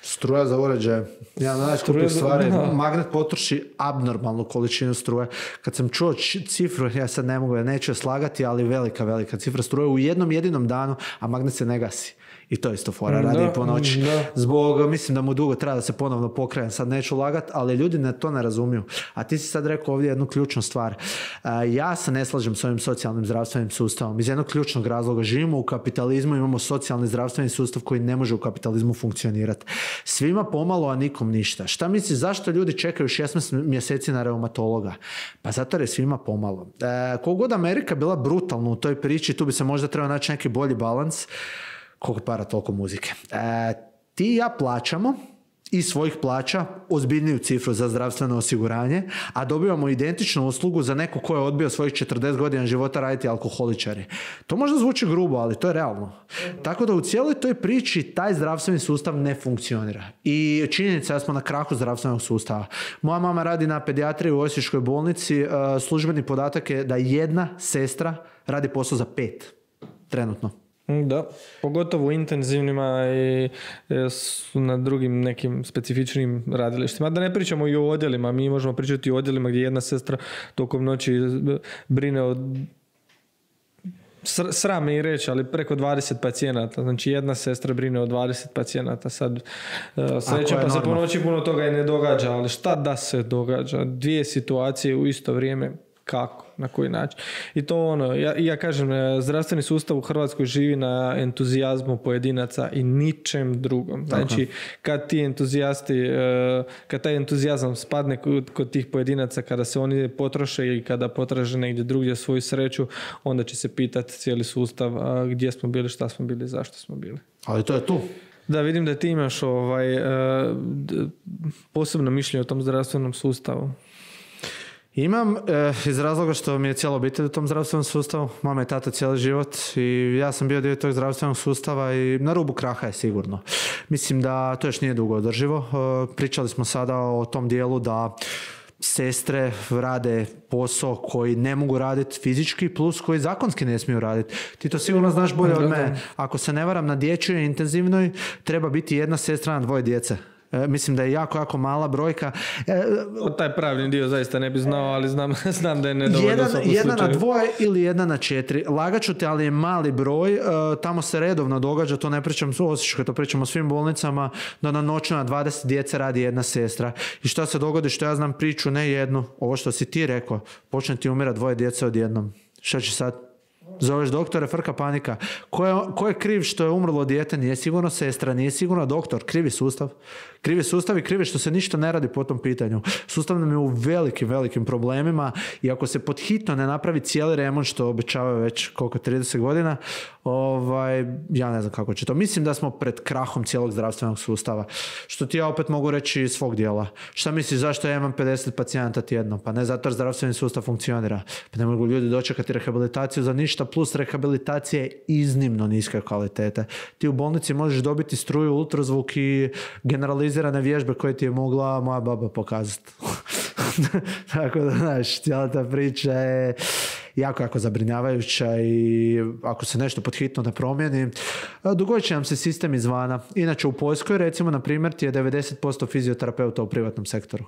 Struja za uređaje. Ja najskupih stvari. Magnet potroši abnormalnu količinu struje. Kad sam čuo cifru, ja sad ne mogu, ja neću je slagati, ali velika, velika cifra struje u jednom jedinom danu, a magnet se ne gasi. I to je isto fora, radi i po noći. Zbog, mislim da mu dugo treba da se ponovno pokrene, sad neću lagat, ali ljudi ne, to ne razumiju. A ti si sad rekao ovdje jednu ključnu stvar. Uh, ja se ne slažem s ovim socijalnim zdravstvenim sustavom. Iz jednog ključnog razloga živimo u kapitalizmu, imamo socijalni zdravstveni sustav koji ne može u kapitalizmu funkcionirati. Svima pomalo, a nikom ništa. Šta misliš, zašto ljudi čekaju šesnaest mjeseci na reumatologa? Pa zato jer je svima pomalo. Uh, kogod Amerika bila brutalna u toj priči, tu bi se možda trebao naći neki bolji balans. Koliko para, toliko muzike. E, ti i ja plaćamo iz svojih plaća ozbiljniju cifru za zdravstveno osiguranje, a dobivamo identičnu uslugu za neko ko je odbio svojih četrdeset godina života raditi alkoholičari. To možda zvuči grubo, ali to je realno. Tako da u cijeloj toj priči taj zdravstveni sustav ne funkcionira. I činjenica da smo na krahu zdravstvenog sustava. Moja mama radi na pedijatriji u Osječkoj bolnici. Službeni podatak je da jedna sestra radi posao za pet trenutno. Da, pogotovo u intenzivnima i na drugim nekim specifičnim radilištima. Da ne pričamo i o odjelima, mi možemo pričati o odjelima gdje jedna sestra tokom noći brine o, sram me i reći, ali preko dvadeset pacijenata. Znači jedna sestra brine o dvadeset pacijenata. Sad sreća pa se po noći puno toga i ne događa, ali šta da se događa? Dvije situacije u isto vrijeme, kako? Na koji način? I to ono, ja, ja kažem, zdravstveni sustav u Hrvatskoj živi na entuzijazmu pojedinaca i ničem drugom. Znači, kad ti entuzijasti, kad taj entuzijazam spadne kod, kod tih pojedinaca, kada se oni potroše i kada potraže negdje drugdje svoju sreću, onda će se pitati cijeli sustav gdje smo bili, šta smo bili, zašto smo bili. Ali to je tu. Da, vidim da ti imaš ovaj, posebno mišljenje o tom zdravstvenom sustavu. Imam, eh, iz razloga što mi je cijela obitelj u tom zdravstvenom sustavu, mama i tata cijeli život i ja sam bio dio tog zdravstvenog sustava i na rubu kraha je sigurno. Mislim da to još nije dugo održivo. Eh, pričali smo sada o tom dijelu da sestre rade posao koji ne mogu raditi fizički plus koji zakonski ne smiju raditi. Ti to sigurno znaš bolje od mene. Ako se ne varam, na dječjoj intenzivnoj treba biti jedna sestra na dvoje djece. E, mislim da je jako, jako mala brojka. E, o taj pravni dio zaista ne bi znao, ali znam, znam da je nedovoljno. Jedan, jedna na dvoje ili jedna na četiri. Lagaću te, ali je mali broj. E, tamo se redovno događa, to ne pričam u Osječkoj, to pričam o svim bolnicama, da na noću na dvadeset djece radi jedna sestra. I šta se dogodi, što ja znam priču, ne jednu, ovo što si ti rekao, počne ti umira dvoje djece odjednom. Šta će sad? Zoveš doktore, frka panika. Ko je, ko je kriv što je umrlo dijete? Nije sigurno sestra, nije sigurno doktor. Krivi sustav. Krivi sustav i krivi što se ništa ne radi po tom pitanju. Sustav nam je u velikim, velikim problemima i ako se pod hitno ne napravi cijeli remont, što obećavaju već koliko trideset godina, ovaj, ja ne znam kako će to. Mislim da smo pred krahom cijelog zdravstvenog sustava. Što ti ja opet mogu reći iz svog dijela. Šta misliš zašto ja imam pedeset pacijenata tjedno? Pa ne zato jer zdravstveni sustav funkcionira. Pa ne mogu ljudi dočekati rehabilitaciju za ništa, plus rehabilitacija je iznimno niske kvalitete. Ti u bolnici možeš dobiti struju, ultrazvuk i generalizirane vježbe koje ti je mogla moja baba pokazati. Tako da, znaš, cijela ta priča je jako, jako zabrinjavajuća i ako se nešto pod hitno ne promijeni, dogodit će nam se sistem izvana. Inače, u Poljskoj, recimo, na primjer, ti je devedeset posto fizioterapeuta u privatnom sektoru.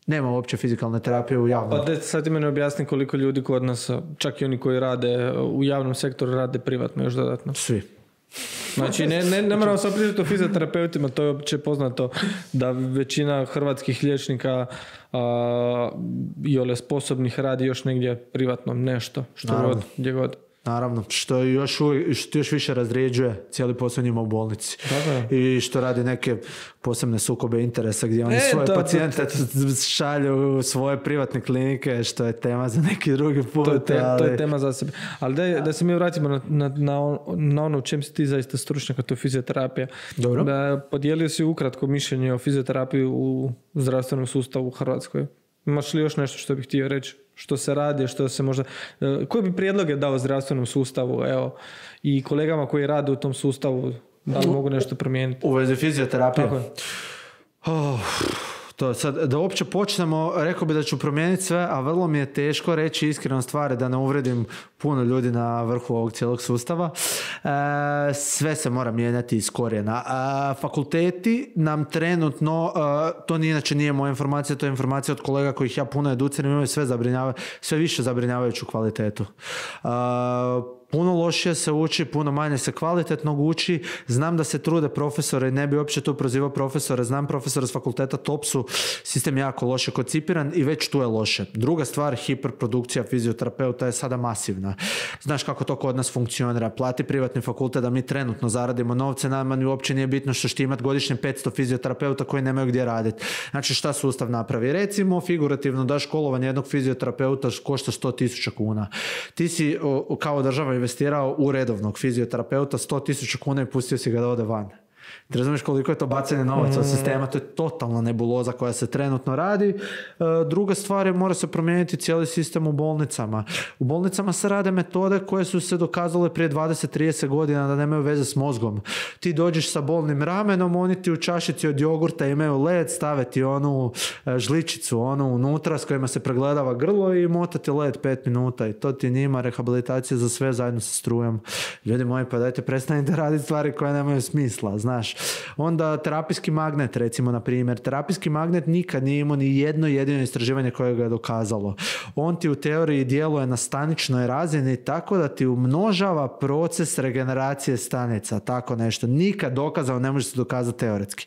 Nema uopće fizikalne terapije u javnom. Pa de, sad ti meni objasni koliko ljudi kod nas, čak i oni koji rade u javnom sektoru, rade privatno još dodatno. Svi. Znači, ne, ne, ne moramo sad pričati o fizioterapeutima, to je opće poznato da većina hrvatskih liječnika a, i ole sposobnih radi još negdje privatno nešto, što Naravno. god, gdje god. Naravno, što još, što još više razrijeđuje cijeli posao njima u bolnici. Tako. I što radi neke posebne sukobe interesa gdje oni e, svoje to, pacijente to, to. šalju u svoje privatne klinike, što je tema za neki drugi put. To je, te, ali... to je tema za sebe. Ali da, da se mi vratimo na, na, na, na ono u čem si ti zaista stručnjak, a to je fizioterapija. Dobro. Da, podijelio si ukratko mišljenje o fizioterapiji u zdravstvenom sustavu u Hrvatskoj. Imaš li još nešto što bih htio reći? Što se radi, što se možda... Koji bi prijedloge dao zdravstvenom sustavu, evo, i kolegama koji rade u tom sustavu, da li mogu nešto promijeniti? U vezi fizioterapije? Tako je. Oh, to sad, da uopće počnemo, rekao bi da ću promijeniti sve, a vrlo mi je teško reći iskreno stvari da ne uvredim puno ljudi na vrhu ovog cijelog sustava. E, sve se mora mijenjati iz korijena. E, fakulteti nam trenutno, e, to ni inače nije moja informacija, to je informacija od kolega kojih ja puno educiram, imaju sve, sve više zabrinjavajuću kvalitetu. E, Puno lošije se uči, puno manje se kvalitetno uči. Znam da se trude profesore, ne bi uopće tu prozivao profesore, znam profesora s fakulteta Topsu, sistem je jako loše koncipiran i već tu je loše. Druga stvar, hiperprodukcija fizioterapeuta je sada masivna. Znaš kako to kod nas funkcionira. Plati privatni fakultet da mi trenutno zaradimo novce, nama ni uopće nije bitno što će imati godišnje petsto fizioterapeuta koji nemaju gdje raditi. Znači šta sustav napravi? Recimo, figurativno da školovanje jednog fizioterapeuta košta sto tisuća kuna. Ti si o, kao država investirao u redovnog fizioterapeuta sto tisuća kuna i pustio si ga da ode van. Ti razumiješ koliko je to bacanje novaca od sistema, to je totalna nebuloza koja se trenutno radi. Druga stvar je, mora se promijeniti cijeli sistem u bolnicama. U bolnicama se rade metode koje su se dokazale prije dvadeset do trideset godina da nemaju veze s mozgom. Ti dođeš sa bolnim ramenom, oni ti u čašici od jogurta imaju led, stave ti onu žličicu onu unutra s kojima se pregledava grlo i mota ti led pet minuta i to ti njima rehabilitacija za sve zajedno sa strujom. Ljudi moji, pa dajte prestanite raditi stvari koje nemaju smisla, znaš. Onda terapijski magnet, recimo, na primjer. Terapijski magnet nikad nije imao ni jedno jedino istraživanje koje ga je dokazalo. On ti u teoriji djeluje na staničnoj razini tako da ti umnožava proces regeneracije stanica, tako nešto. Nikad dokazao, ne može se dokazati teoretski.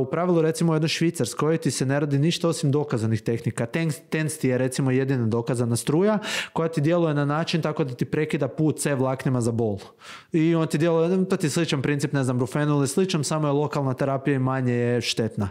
U pravilu, recimo, u jednoj Švicarskoj ti se ne radi ništa osim dokazanih tehnika. TENS ti je, recimo, jedina dokazana struja koja ti djeluje na način tako da ti prekida put C vlaknima za bol. I on ti djeluje, to ti je sličan princip, ne znam, brufenu ili sličan, samo je lokalna terapija i manje je štetna.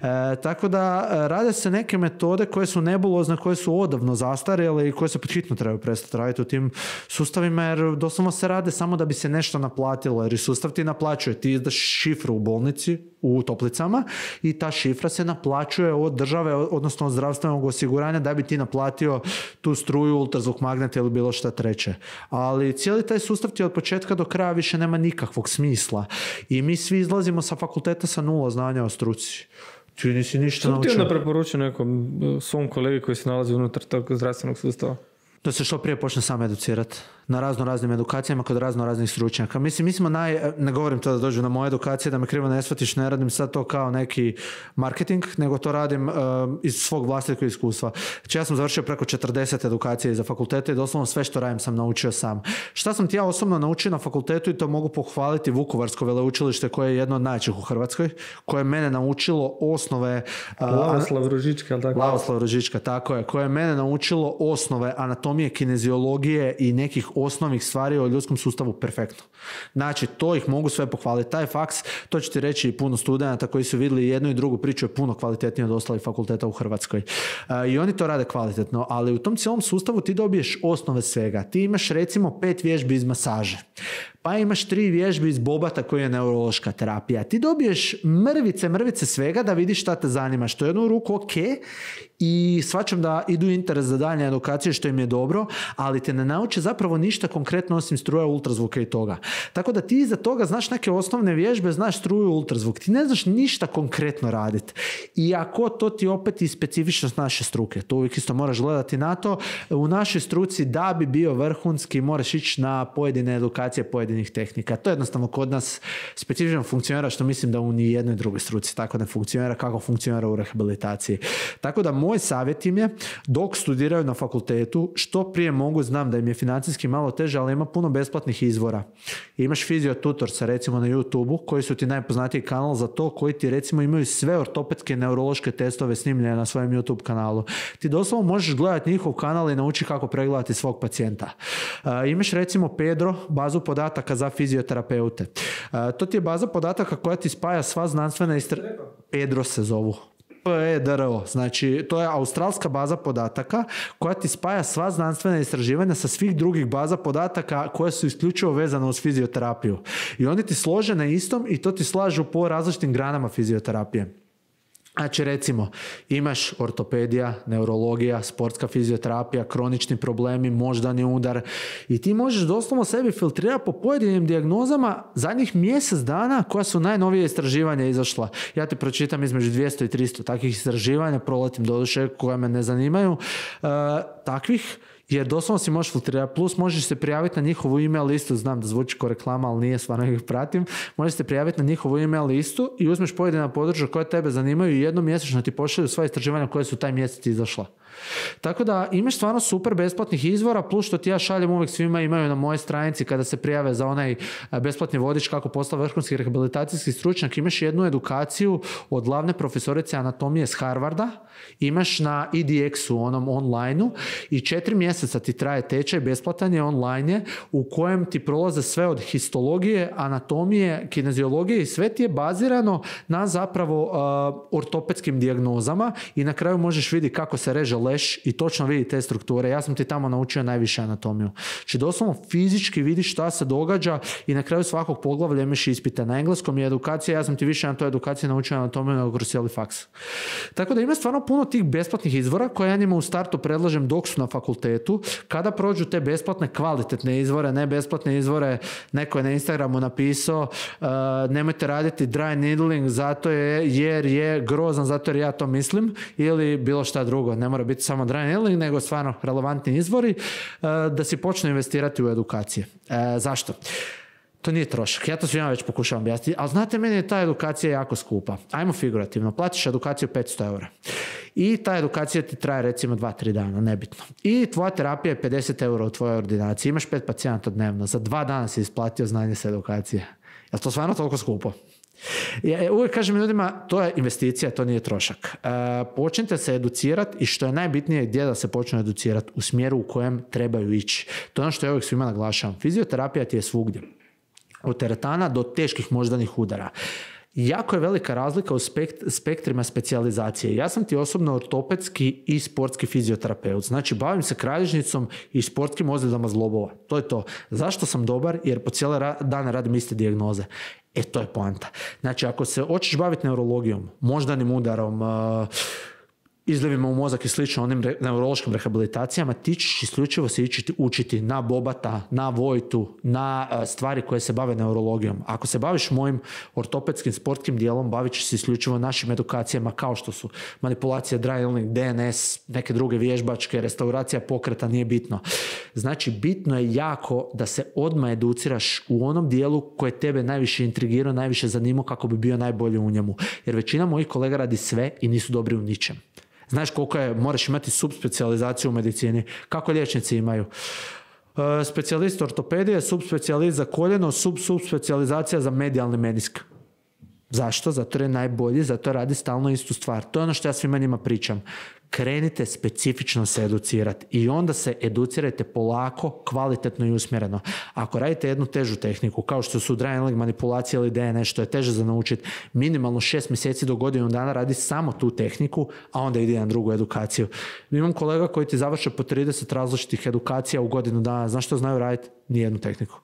E, tako da rade se neke metode koje su nebulozne, koje su odavno zastarjele i koje se pod hitno trebaju prestati raditi u tim sustavima, jer doslovno se rade samo da bi se nešto naplatilo, jer sustav ti naplaćuje, ti izdaš šifru u bolnici, u toplicama i ta šifra se naplaćuje od države, odnosno od zdravstvenog osiguranja da bi ti naplatio tu struju, ultrazvuk magneta ili bilo šta treće. Ali cijeli taj sustav ti od početka do kraja više nema nikakvog smisla i mi svi izlazimo sa fakulteta sa nula znanja o struci. Ti nisi ništa naučio. Što ti onda preporučio nekom svom kolegi koji se nalazi unutar tog zdravstvenog sustava? Da se što prije počne sam educirati. Na razno raznim edukacijama kod razno raznih stručnjaka. Mislim, mi smo naj... Ne govorim to da dođu na moje edukacije, da me krivo ne shvatiš, ne radim sad to kao neki marketing, nego to radim uh, iz svog vlastitog iskustva. Znači, ja sam završio preko četrdeset edukacija iza fakulteta i doslovno sve što radim sam naučio sam. Šta sam ti ja osobno naučio na fakultetu i to mogu pohvaliti Vukovarsko veleučilište koje je jedno od najjačih u Hrvatskoj, koje je mene naučilo osnove... Uh, Lavoslav Ružička, tako? Lavoslav Ružička, tako je. Koje je mene naučilo osnove anatomije, kineziologije i nekih osnovnih stvari o ljudskom sustavu perfektno. Znači, to ih mogu sve pohvaliti. Taj faks, to ću ti reći i puno studenata koji su vidjeli jednu i drugu priču je puno kvalitetnije od ostalih fakulteta u Hrvatskoj. Uh, I oni to rade kvalitetno, ali u tom cijelom sustavu ti dobiješ osnove svega. Ti imaš recimo pet vježbi iz masaže. Pa imaš tri vježbi iz bobata koji je neurološka terapija. Ti dobiješ mrvice, mrvice svega da vidiš šta te zanima. Što je jednu ruku ok i shvaćam da idu interes za daljnje edukacije što im je dobro, ali te ne nauče zapravo ništa konkretno osim struja, ultrazvuka i toga. Tako da ti iza toga znaš neke osnovne vježbe, znaš struju, ultrazvuk. Ti ne znaš ništa konkretno raditi. Iako to ti opet i specifičnost naše struke. To uvijek isto moraš gledati na to. U našoj struci da bi bio vrhunski moraš ići na pojedine edukacije, pojedine tehnika. To jednostavno kod nas specifično funkcionira, što mislim da u ni jednoj drugoj struci tako ne funkcionira kako funkcionira u rehabilitaciji. Tako da moj savjet im je, dok studiraju na fakultetu, što prije mogu, znam da im je financijski malo teže, ali ima puno besplatnih izvora. Imaš fiziotutorsa recimo na YouTube-u, koji su ti najpoznatiji kanal za to, koji ti recimo imaju sve ortopedske neurološke testove snimljene na svojem YouTube kanalu. Ti doslovno možeš gledati njihov kanal i nauči kako pregledati svog pacijenta. Uh, imaš recimo Pedro, bazu podataka za fizioterapeute. Uh, to ti je baza podataka koja ti spaja sva znanstvena istraživanja. Pedro se zovu. P E D R O, znači to je australska baza podataka koja ti spaja sva znanstvena istraživanja sa svih drugih baza podataka koje su isključivo vezane uz fizioterapiju. I oni ti slože na istom i to ti slažu po različitim granama fizioterapije. Znači recimo imaš ortopedija, neurologija, sportska fizioterapija, kronični problemi, moždani udar i ti možeš doslovno sebi filtrirati po pojedinim dijagnozama zadnjih mjesec dana koja su najnovije istraživanja izašla. Ja ti pročitam između dvjesto i tristo takvih istraživanja, proletim doduše koje me ne zanimaju, uh, takvih jer doslovno si možeš filtrirati, plus možeš se prijaviti na njihovu email listu, znam da zvuči kao reklama, ali nije, stvarno ih pratim, možeš se prijaviti na njihovu email listu i uzmeš pojedina područja koje tebe zanimaju i jednom mjesečno ti pošalju sva istraživanja koje su taj mjesec izašla. Tako da imaš stvarno super besplatnih izvora, plus što ti ja šaljem uvijek svima imaju na mojoj stranici kada se prijave za onaj besplatni vodič kako postati vrhunski rehabilitacijski stručnjak, imaš jednu edukaciju od glavne profesorice anatomije s Harvarda, imaš na E D X-u, onom online-u i četiri mjeseca ti traje tečaj, besplatan je, online je, u kojem ti prolaze sve od histologije, anatomije, kineziologije i sve ti je bazirano na zapravo uh, ortopedskim dijagnozama i na kraju možeš vidjeti kako se reže leš i točno vidi te strukture. Ja sam ti tamo naučio najviše anatomiju. Znači doslovno fizički vidiš šta se događa i na kraju svakog poglavlja imaš ispite na engleskom i edukacija. Ja sam ti više na toj edukaciji naučio anatomiju nego kroz cijeli faks. Tako da ima stvarno puno tih besplatnih izvora koje ja njima u startu predlažem dok su na fakultetu. Kada prođu te besplatne kvalitetne izvore, ne besplatne izvore, neko je na Instagramu napisao uh, nemojte raditi dry needling zato je, jer je grozan, zato jer ja to mislim, ili bilo šta drugo. Ne mora biti samo dry needling, nego stvarno relevantni izvori uh, da si počne investirati u edukacije. Uh, zašto? To nije trošak. Ja to svima već pokušavam objasniti, ali znate, meni je ta edukacija jako skupa. Ajmo figurativno. Platiš edukaciju petsto eura. I ta edukacija ti traje recimo dva tri dana, nebitno. I tvoja terapija je pedeset eura u tvojoj ordinaciji. Imaš pet pacijenata dnevno. Za dva dana si isplatio znanje sa edukacije. Je li to stvarno toliko skupo? Ja uvijek kažem ljudima, to je investicija, to nije trošak. E, počnite se educirati i što je najbitnije gdje da se počnu educirati, u smjeru u kojem trebaju ići. To je ono što ja uvijek svima naglašavam. Fizioterapija ti je svugdje. Od teretana do teških moždanih udara. Jako je velika razlika u spekt- spektrima specijalizacije. Ja sam ti osobno ortopedski i sportski fizioterapeut. Znači, bavim se kralježnicom i sportskim ozljedama zglobova. To je to. Zašto sam dobar? Jer po cijele ra- dane radim iste dijagnoze. E, to je poanta. Znači, ako se hoćeš baviti neurologijom, moždanim udarom, uh, izljevima u mozak i slično, onim re- neurološkim rehabilitacijama, ti ćeš isključivo se ići učiti na Bobata, na Vojtu, na uh, stvari koje se bave neurologijom. Ako se baviš mojim ortopedskim sportskim dijelom, bavit ćeš se isključivo našim edukacijama kao što su manipulacija, dry needling, D N S, neke druge vježbačke, restauracija pokreta, nije bitno. Znači, bitno je jako da se odmah educiraš u onom dijelu koje tebe najviše intrigirao, najviše zanimao kako bi bio najbolji u njemu. Jer većina mojih kolega radi sve i nisu dobri u ničem. Znaš koliko je, moraš imati subspecijalizaciju u medicini. Kako liječnici imaju? Uh, specijalist ortopedije, subspecijalist za koljeno, sub-subspecijalizacija za medijalni menisk. Zašto? Zato je najbolji, zato radi stalno istu stvar. To je ono što ja svima njima pričam. Krenite specifično se educirati i onda se educirajte polako, kvalitetno i usmjereno. Ako radite jednu težu tehniku, kao što su dry needling, manipulacija ili D N S, što je teže za naučiti, minimalno šest mjeseci do godinu dana radi samo tu tehniku, a onda ide na drugu edukaciju. Imam kolega koji ti završe po trideset različitih edukacija u godinu dana. Znaš što znaju raditi? Nijednu tehniku.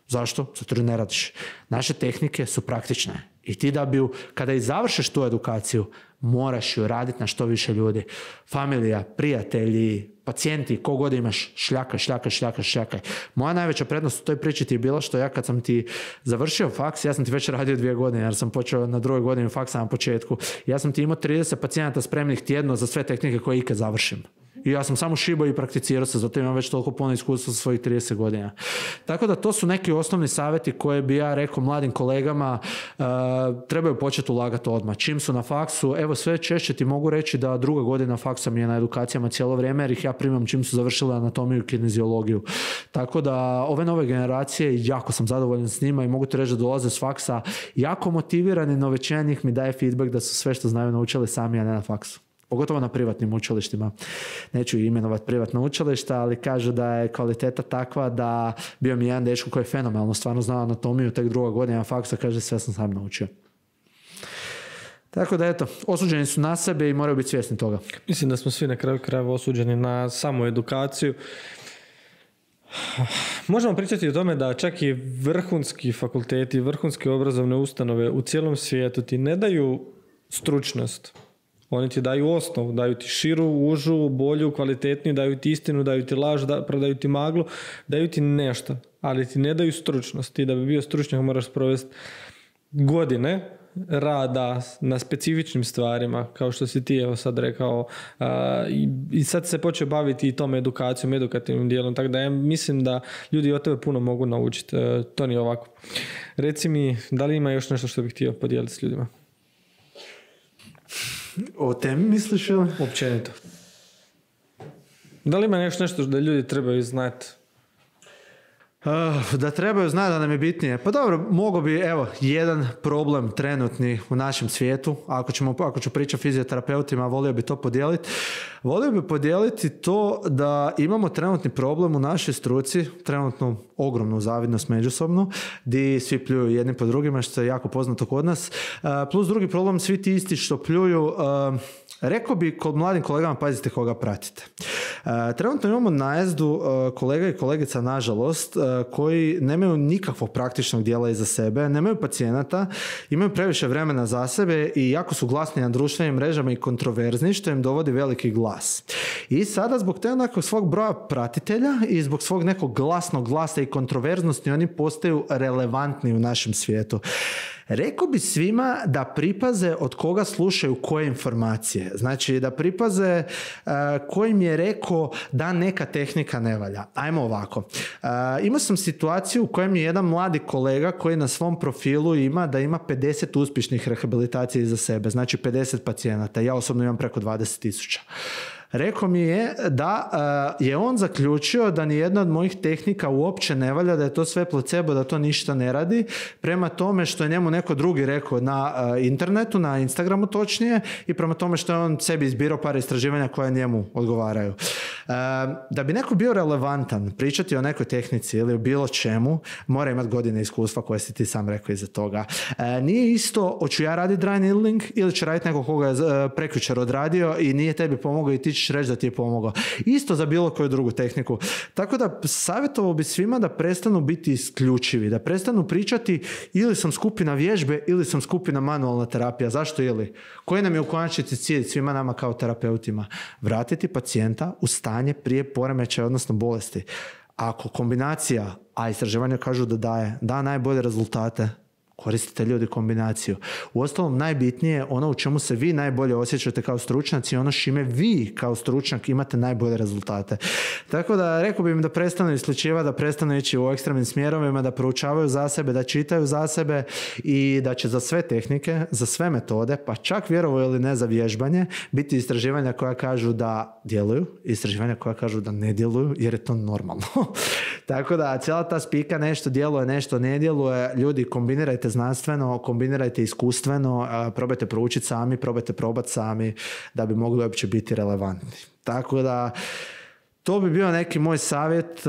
Zašto? Zato jer ne radiš. Naše tehnike su praktične. I ti da bi, kada i završiš tu edukaciju, moraš ju raditi na što više ljudi. Familija, prijatelji, pacijenti, kogod imaš, šljakaj, šljakaj, šljakaj, šljakaj. Moja najveća prednost u toj priči ti je bila što ja kad sam ti završio faks, ja sam ti već radio dvije godine, jer sam počeo na drugoj godini faksa na početku. Ja sam ti imao trideset pacijenata spremnih tjedno za sve tehnike koje ikad završim. I ja sam samo šibao i prakticirao se, zato imam već toliko puno iskustva sa svojih trideset godina. Tako da to su neki osnovni savjeti koje bi ja rekao mladim kolegama, uh, trebaju početi ulagati odmah. Čim su na faksu, evo sve češće ti mogu reći da druga godina faksa mi je na edukacijama cijelo vrijeme, jer ih ja primam čim su završile anatomiju i kineziologiju. Tako da ove nove generacije, jako sam zadovoljan s njima i mogu ti reći da dolaze s faksa jako motivirani, no većina njih mi daje feedback da su sve što znaju naučili sami, a ne na faksu. Pogotovo na privatnim učilištima. Neću imenovati privatna učilišta, ali kažu da je kvaliteta takva da bio mi jedan dečko koji je fenomenalno stvarno znao anatomiju, tek druga godina faksa, kaže sve sam sam naučio. Tako da eto, osuđeni su na sebe i moraju biti svjesni toga. Mislim da smo svi na kraju krajeva osuđeni na samu edukaciju. Možemo pričati o tome da čak i vrhunski fakulteti, vrhunske obrazovne ustanove u cijelom svijetu ti ne daju stručnost. Oni ti daju osnovu, daju ti širu, užu, bolju, kvalitetniju, daju ti istinu, daju ti laž, da, prodaju ti maglu, daju ti nešto, ali ti ne daju stručnost. Ti da bi bio stručnjak moraš provesti godine rada na specifičnim stvarima, kao što si ti evo sad rekao, a, i, i sad se počeo baviti i tom edukacijom, edukativnim dijelom, tako da ja mislim da ljudi od tebe puno mogu naučiti. E, to nije ovako. Reci mi, da li ima još nešto što bih htio podijeliti s ljudima? O temi misliš ili? Općenito. Da li ima još nešto da ljudi trebaju znati? Uh, da trebaju znati da nam je bitnije. Pa dobro, mogo bi, evo, jedan problem trenutni u našem svijetu, ako, ćemo, ako ću pričati o fizioterapeutima, volio bi to podijeliti. Volio bi podijeliti to da imamo trenutni problem u našoj struci, trenutno ogromnu zavidnost međusobnu, gdje svi pljuju jedni po drugima, što je jako poznato kod nas. Uh, plus drugi problem, svi ti isti što pljuju, uh, Rekao bi kod mladim kolegama, pazite koga pratite. E, trenutno imamo najezdu e, kolega i kolegica, nažalost, e, koji nemaju nikakvog praktičnog dijela iza sebe, nemaju pacijenata, imaju previše vremena za sebe i jako su glasni na društvenim mrežama i kontroverzni, što im dovodi veliki glas. I sada zbog te nekog svog broja pratitelja i zbog svog nekog glasnog glasa i kontroverznosti oni postaju relevantni u našem svijetu. Rekao bi svima da pripaze od koga slušaju koje informacije. Znači da pripaze uh, kojim je rekao da neka tehnika ne valja. Ajmo ovako. Uh, imao sam situaciju u kojem je jedan mladi kolega koji na svom profilu ima da ima pedeset uspješnih rehabilitacija iza sebe. Znači pedeset pacijenata. Ja osobno imam preko dvadeset tisuća. Rekao mi je da uh, je on zaključio da nijedna od mojih tehnika uopće ne valja, da je to sve placebo, da to ništa ne radi, prema tome što je njemu neko drugi rekao na uh, internetu, na Instagramu točnije, i prema tome što je on sebi izbirao par istraživanja koja njemu odgovaraju. Uh, da bi neko bio relevantan, pričati o nekoj tehnici ili o bilo čemu, mora imati godine iskustva koje si ti sam rekao iza toga. Uh, nije isto hoću ja raditi dry needling ili će raditi neko koga je uh, prekjučer odradio i nije tebi pomogao i ti ćeš reći da ti je pomogao. Isto za bilo koju drugu tehniku. Tako da savjetovao bi svima da prestanu biti isključivi, da prestanu pričati ili sam skupina vježbe ili sam skupina manualna terapija. Zašto ili? Koji nam je u konačnici cilj svima nama kao terapeutima? Vratiti pacijenta u stanje prije poremećaja, odnosno bolesti. Ako kombinacija, a istraživanja kažu da daje, da najbolje rezultate, koristite ljudi kombinaciju. Uostalom, najbitnije je ono u čemu se vi najbolje osjećate kao stručnjaci i ono šime vi kao stručnjak imate najbolje rezultate. Tako da rekao bih im da prestanu isključivati, da prestanu ići u ekstremnim smjerovima, da proučavaju za sebe, da čitaju za sebe i da će za sve tehnike, za sve metode, pa čak vjerovo ili ne za vježbanje, biti istraživanja koja kažu da djeluju, istraživanja koja kažu da ne djeluju, jer je to normalno. Tako da cijela ta spika nešto djeluje, nešto ne djeluje. Ljudi, kombinirajte znanstveno, kombinirajte iskustveno, probajte proučiti sami, probajte probati sami da bi mogli uopće biti relevantni. Tako da to bi bio neki moj savjet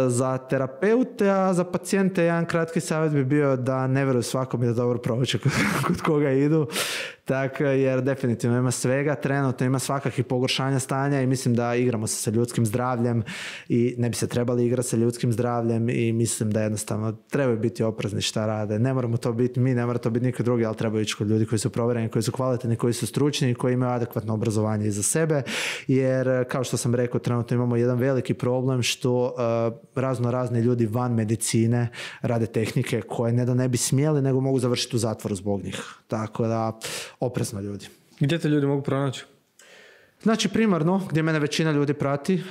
za terapeute, a za pacijente jedan kratki savjet bi bio da ne vjeruju svakom i da dobro prouče kod koga idu. Tako, jer definitivno ima svega, trenutno ima svakakvih pogoršanja stanja i mislim da igramo se sa ljudskim zdravljem i ne bi se trebali igrati sa ljudskim zdravljem i mislim da jednostavno trebaju biti oprezni šta rade. Ne moramo to biti mi, ne mora to biti niko drugi, ali trebaju ići kod ljudi koji su provjereni, koji su kvalitetni, koji su stručni i koji imaju adekvatno obrazovanje iza sebe, jer kao što sam rekao, trenutno imamo jedan veliki problem što uh, razno razni ljudi van medicine rade tehnike koje ne da ne bi smjeli, nego mogu završiti u zatvoru zbog njih. Tako da oprezno ljudi. Gdje te ljudi mogu pronaći? Znači primarno, gdje mene većina ljudi prati,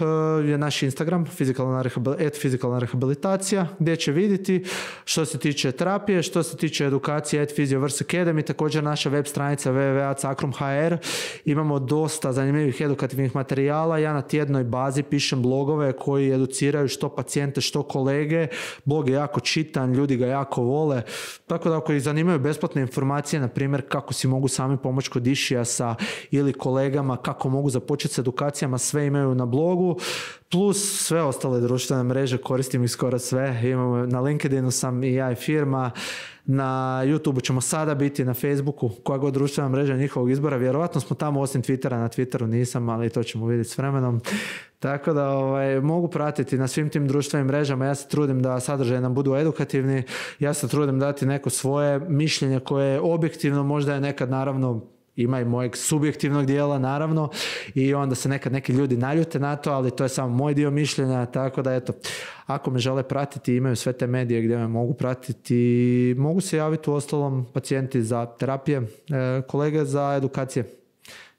je naš Instagram, fizikalna et fizikalna rehabilitacija, gdje će vidjeti što se tiče terapije, što se tiče edukacije et Physioverse Academy, također naša web stranica w w w tačka sacrum tačka h r. Imamo dosta zanimljivih edukativnih materijala. Ja na tjednoj bazi pišem blogove koji educiraju što pacijente, što kolege. Blog je jako čitan, ljudi ga jako vole. Tako da ako ih zanimaju besplatne informacije, na primjer kako si mogu sami pomoći kod išijasa ili kolegama, kako mogu započeti s edukacijama, sve imaju na blogu, plus sve ostale društvene mreže, koristim ih skoro sve. Imamo, na LinkedInu sam i ja i firma, na YouTubeu ćemo sada biti, na Facebooku, koja god društvena mreža njihovog izbora. Vjerovatno smo tamo osim Twittera, na Twitteru nisam, ali to ćemo vidjeti s vremenom. Tako da ovaj, mogu pratiti na svim tim društvenim mrežama. Ja se trudim da sadržaje nam budu edukativni, ja se trudim dati neko svoje mišljenje koje je objektivno, možda je nekad naravno ima i mojeg subjektivnog dijela, naravno, i onda se nekad neki ljudi naljute na to, ali to je samo moj dio mišljenja, tako da eto, ako me žele pratiti, imaju sve te medije gdje me mogu pratiti, mogu se javiti u ostalom pacijenti za terapije, kolege za edukacije.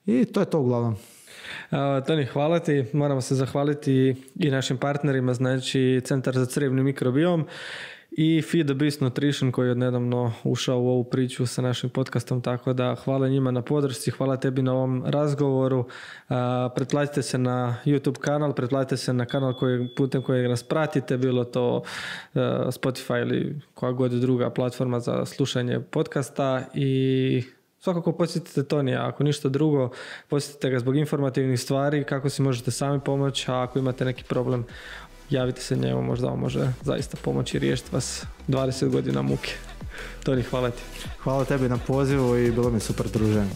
I to je to uglavnom. Uh, Toni, hvala ti. Moramo se zahvaliti i našim partnerima, znači Centar za crjevni mikrobiom i Feed the Beast Nutrition koji je odnedavno ušao u ovu priču sa našim podcastom, tako da hvala njima na podršci, hvala tebi na ovom razgovoru. Uh, pretplatite se na YouTube kanal, pretplatite se na kanal koji, putem kojeg nas pratite, bilo to uh, Spotify ili koja god druga platforma za slušanje podcasta i svakako posjetite Tonija, ako ništa drugo, posjetite ga zbog informativnih stvari, kako si možete sami pomoći, a ako imate neki problem, javite se njemu, možda on može zaista pomoći i riješiti vas dvadeset godina muke. Toni, hvala ti. Hvala tebi na pozivu i bilo mi super druženje.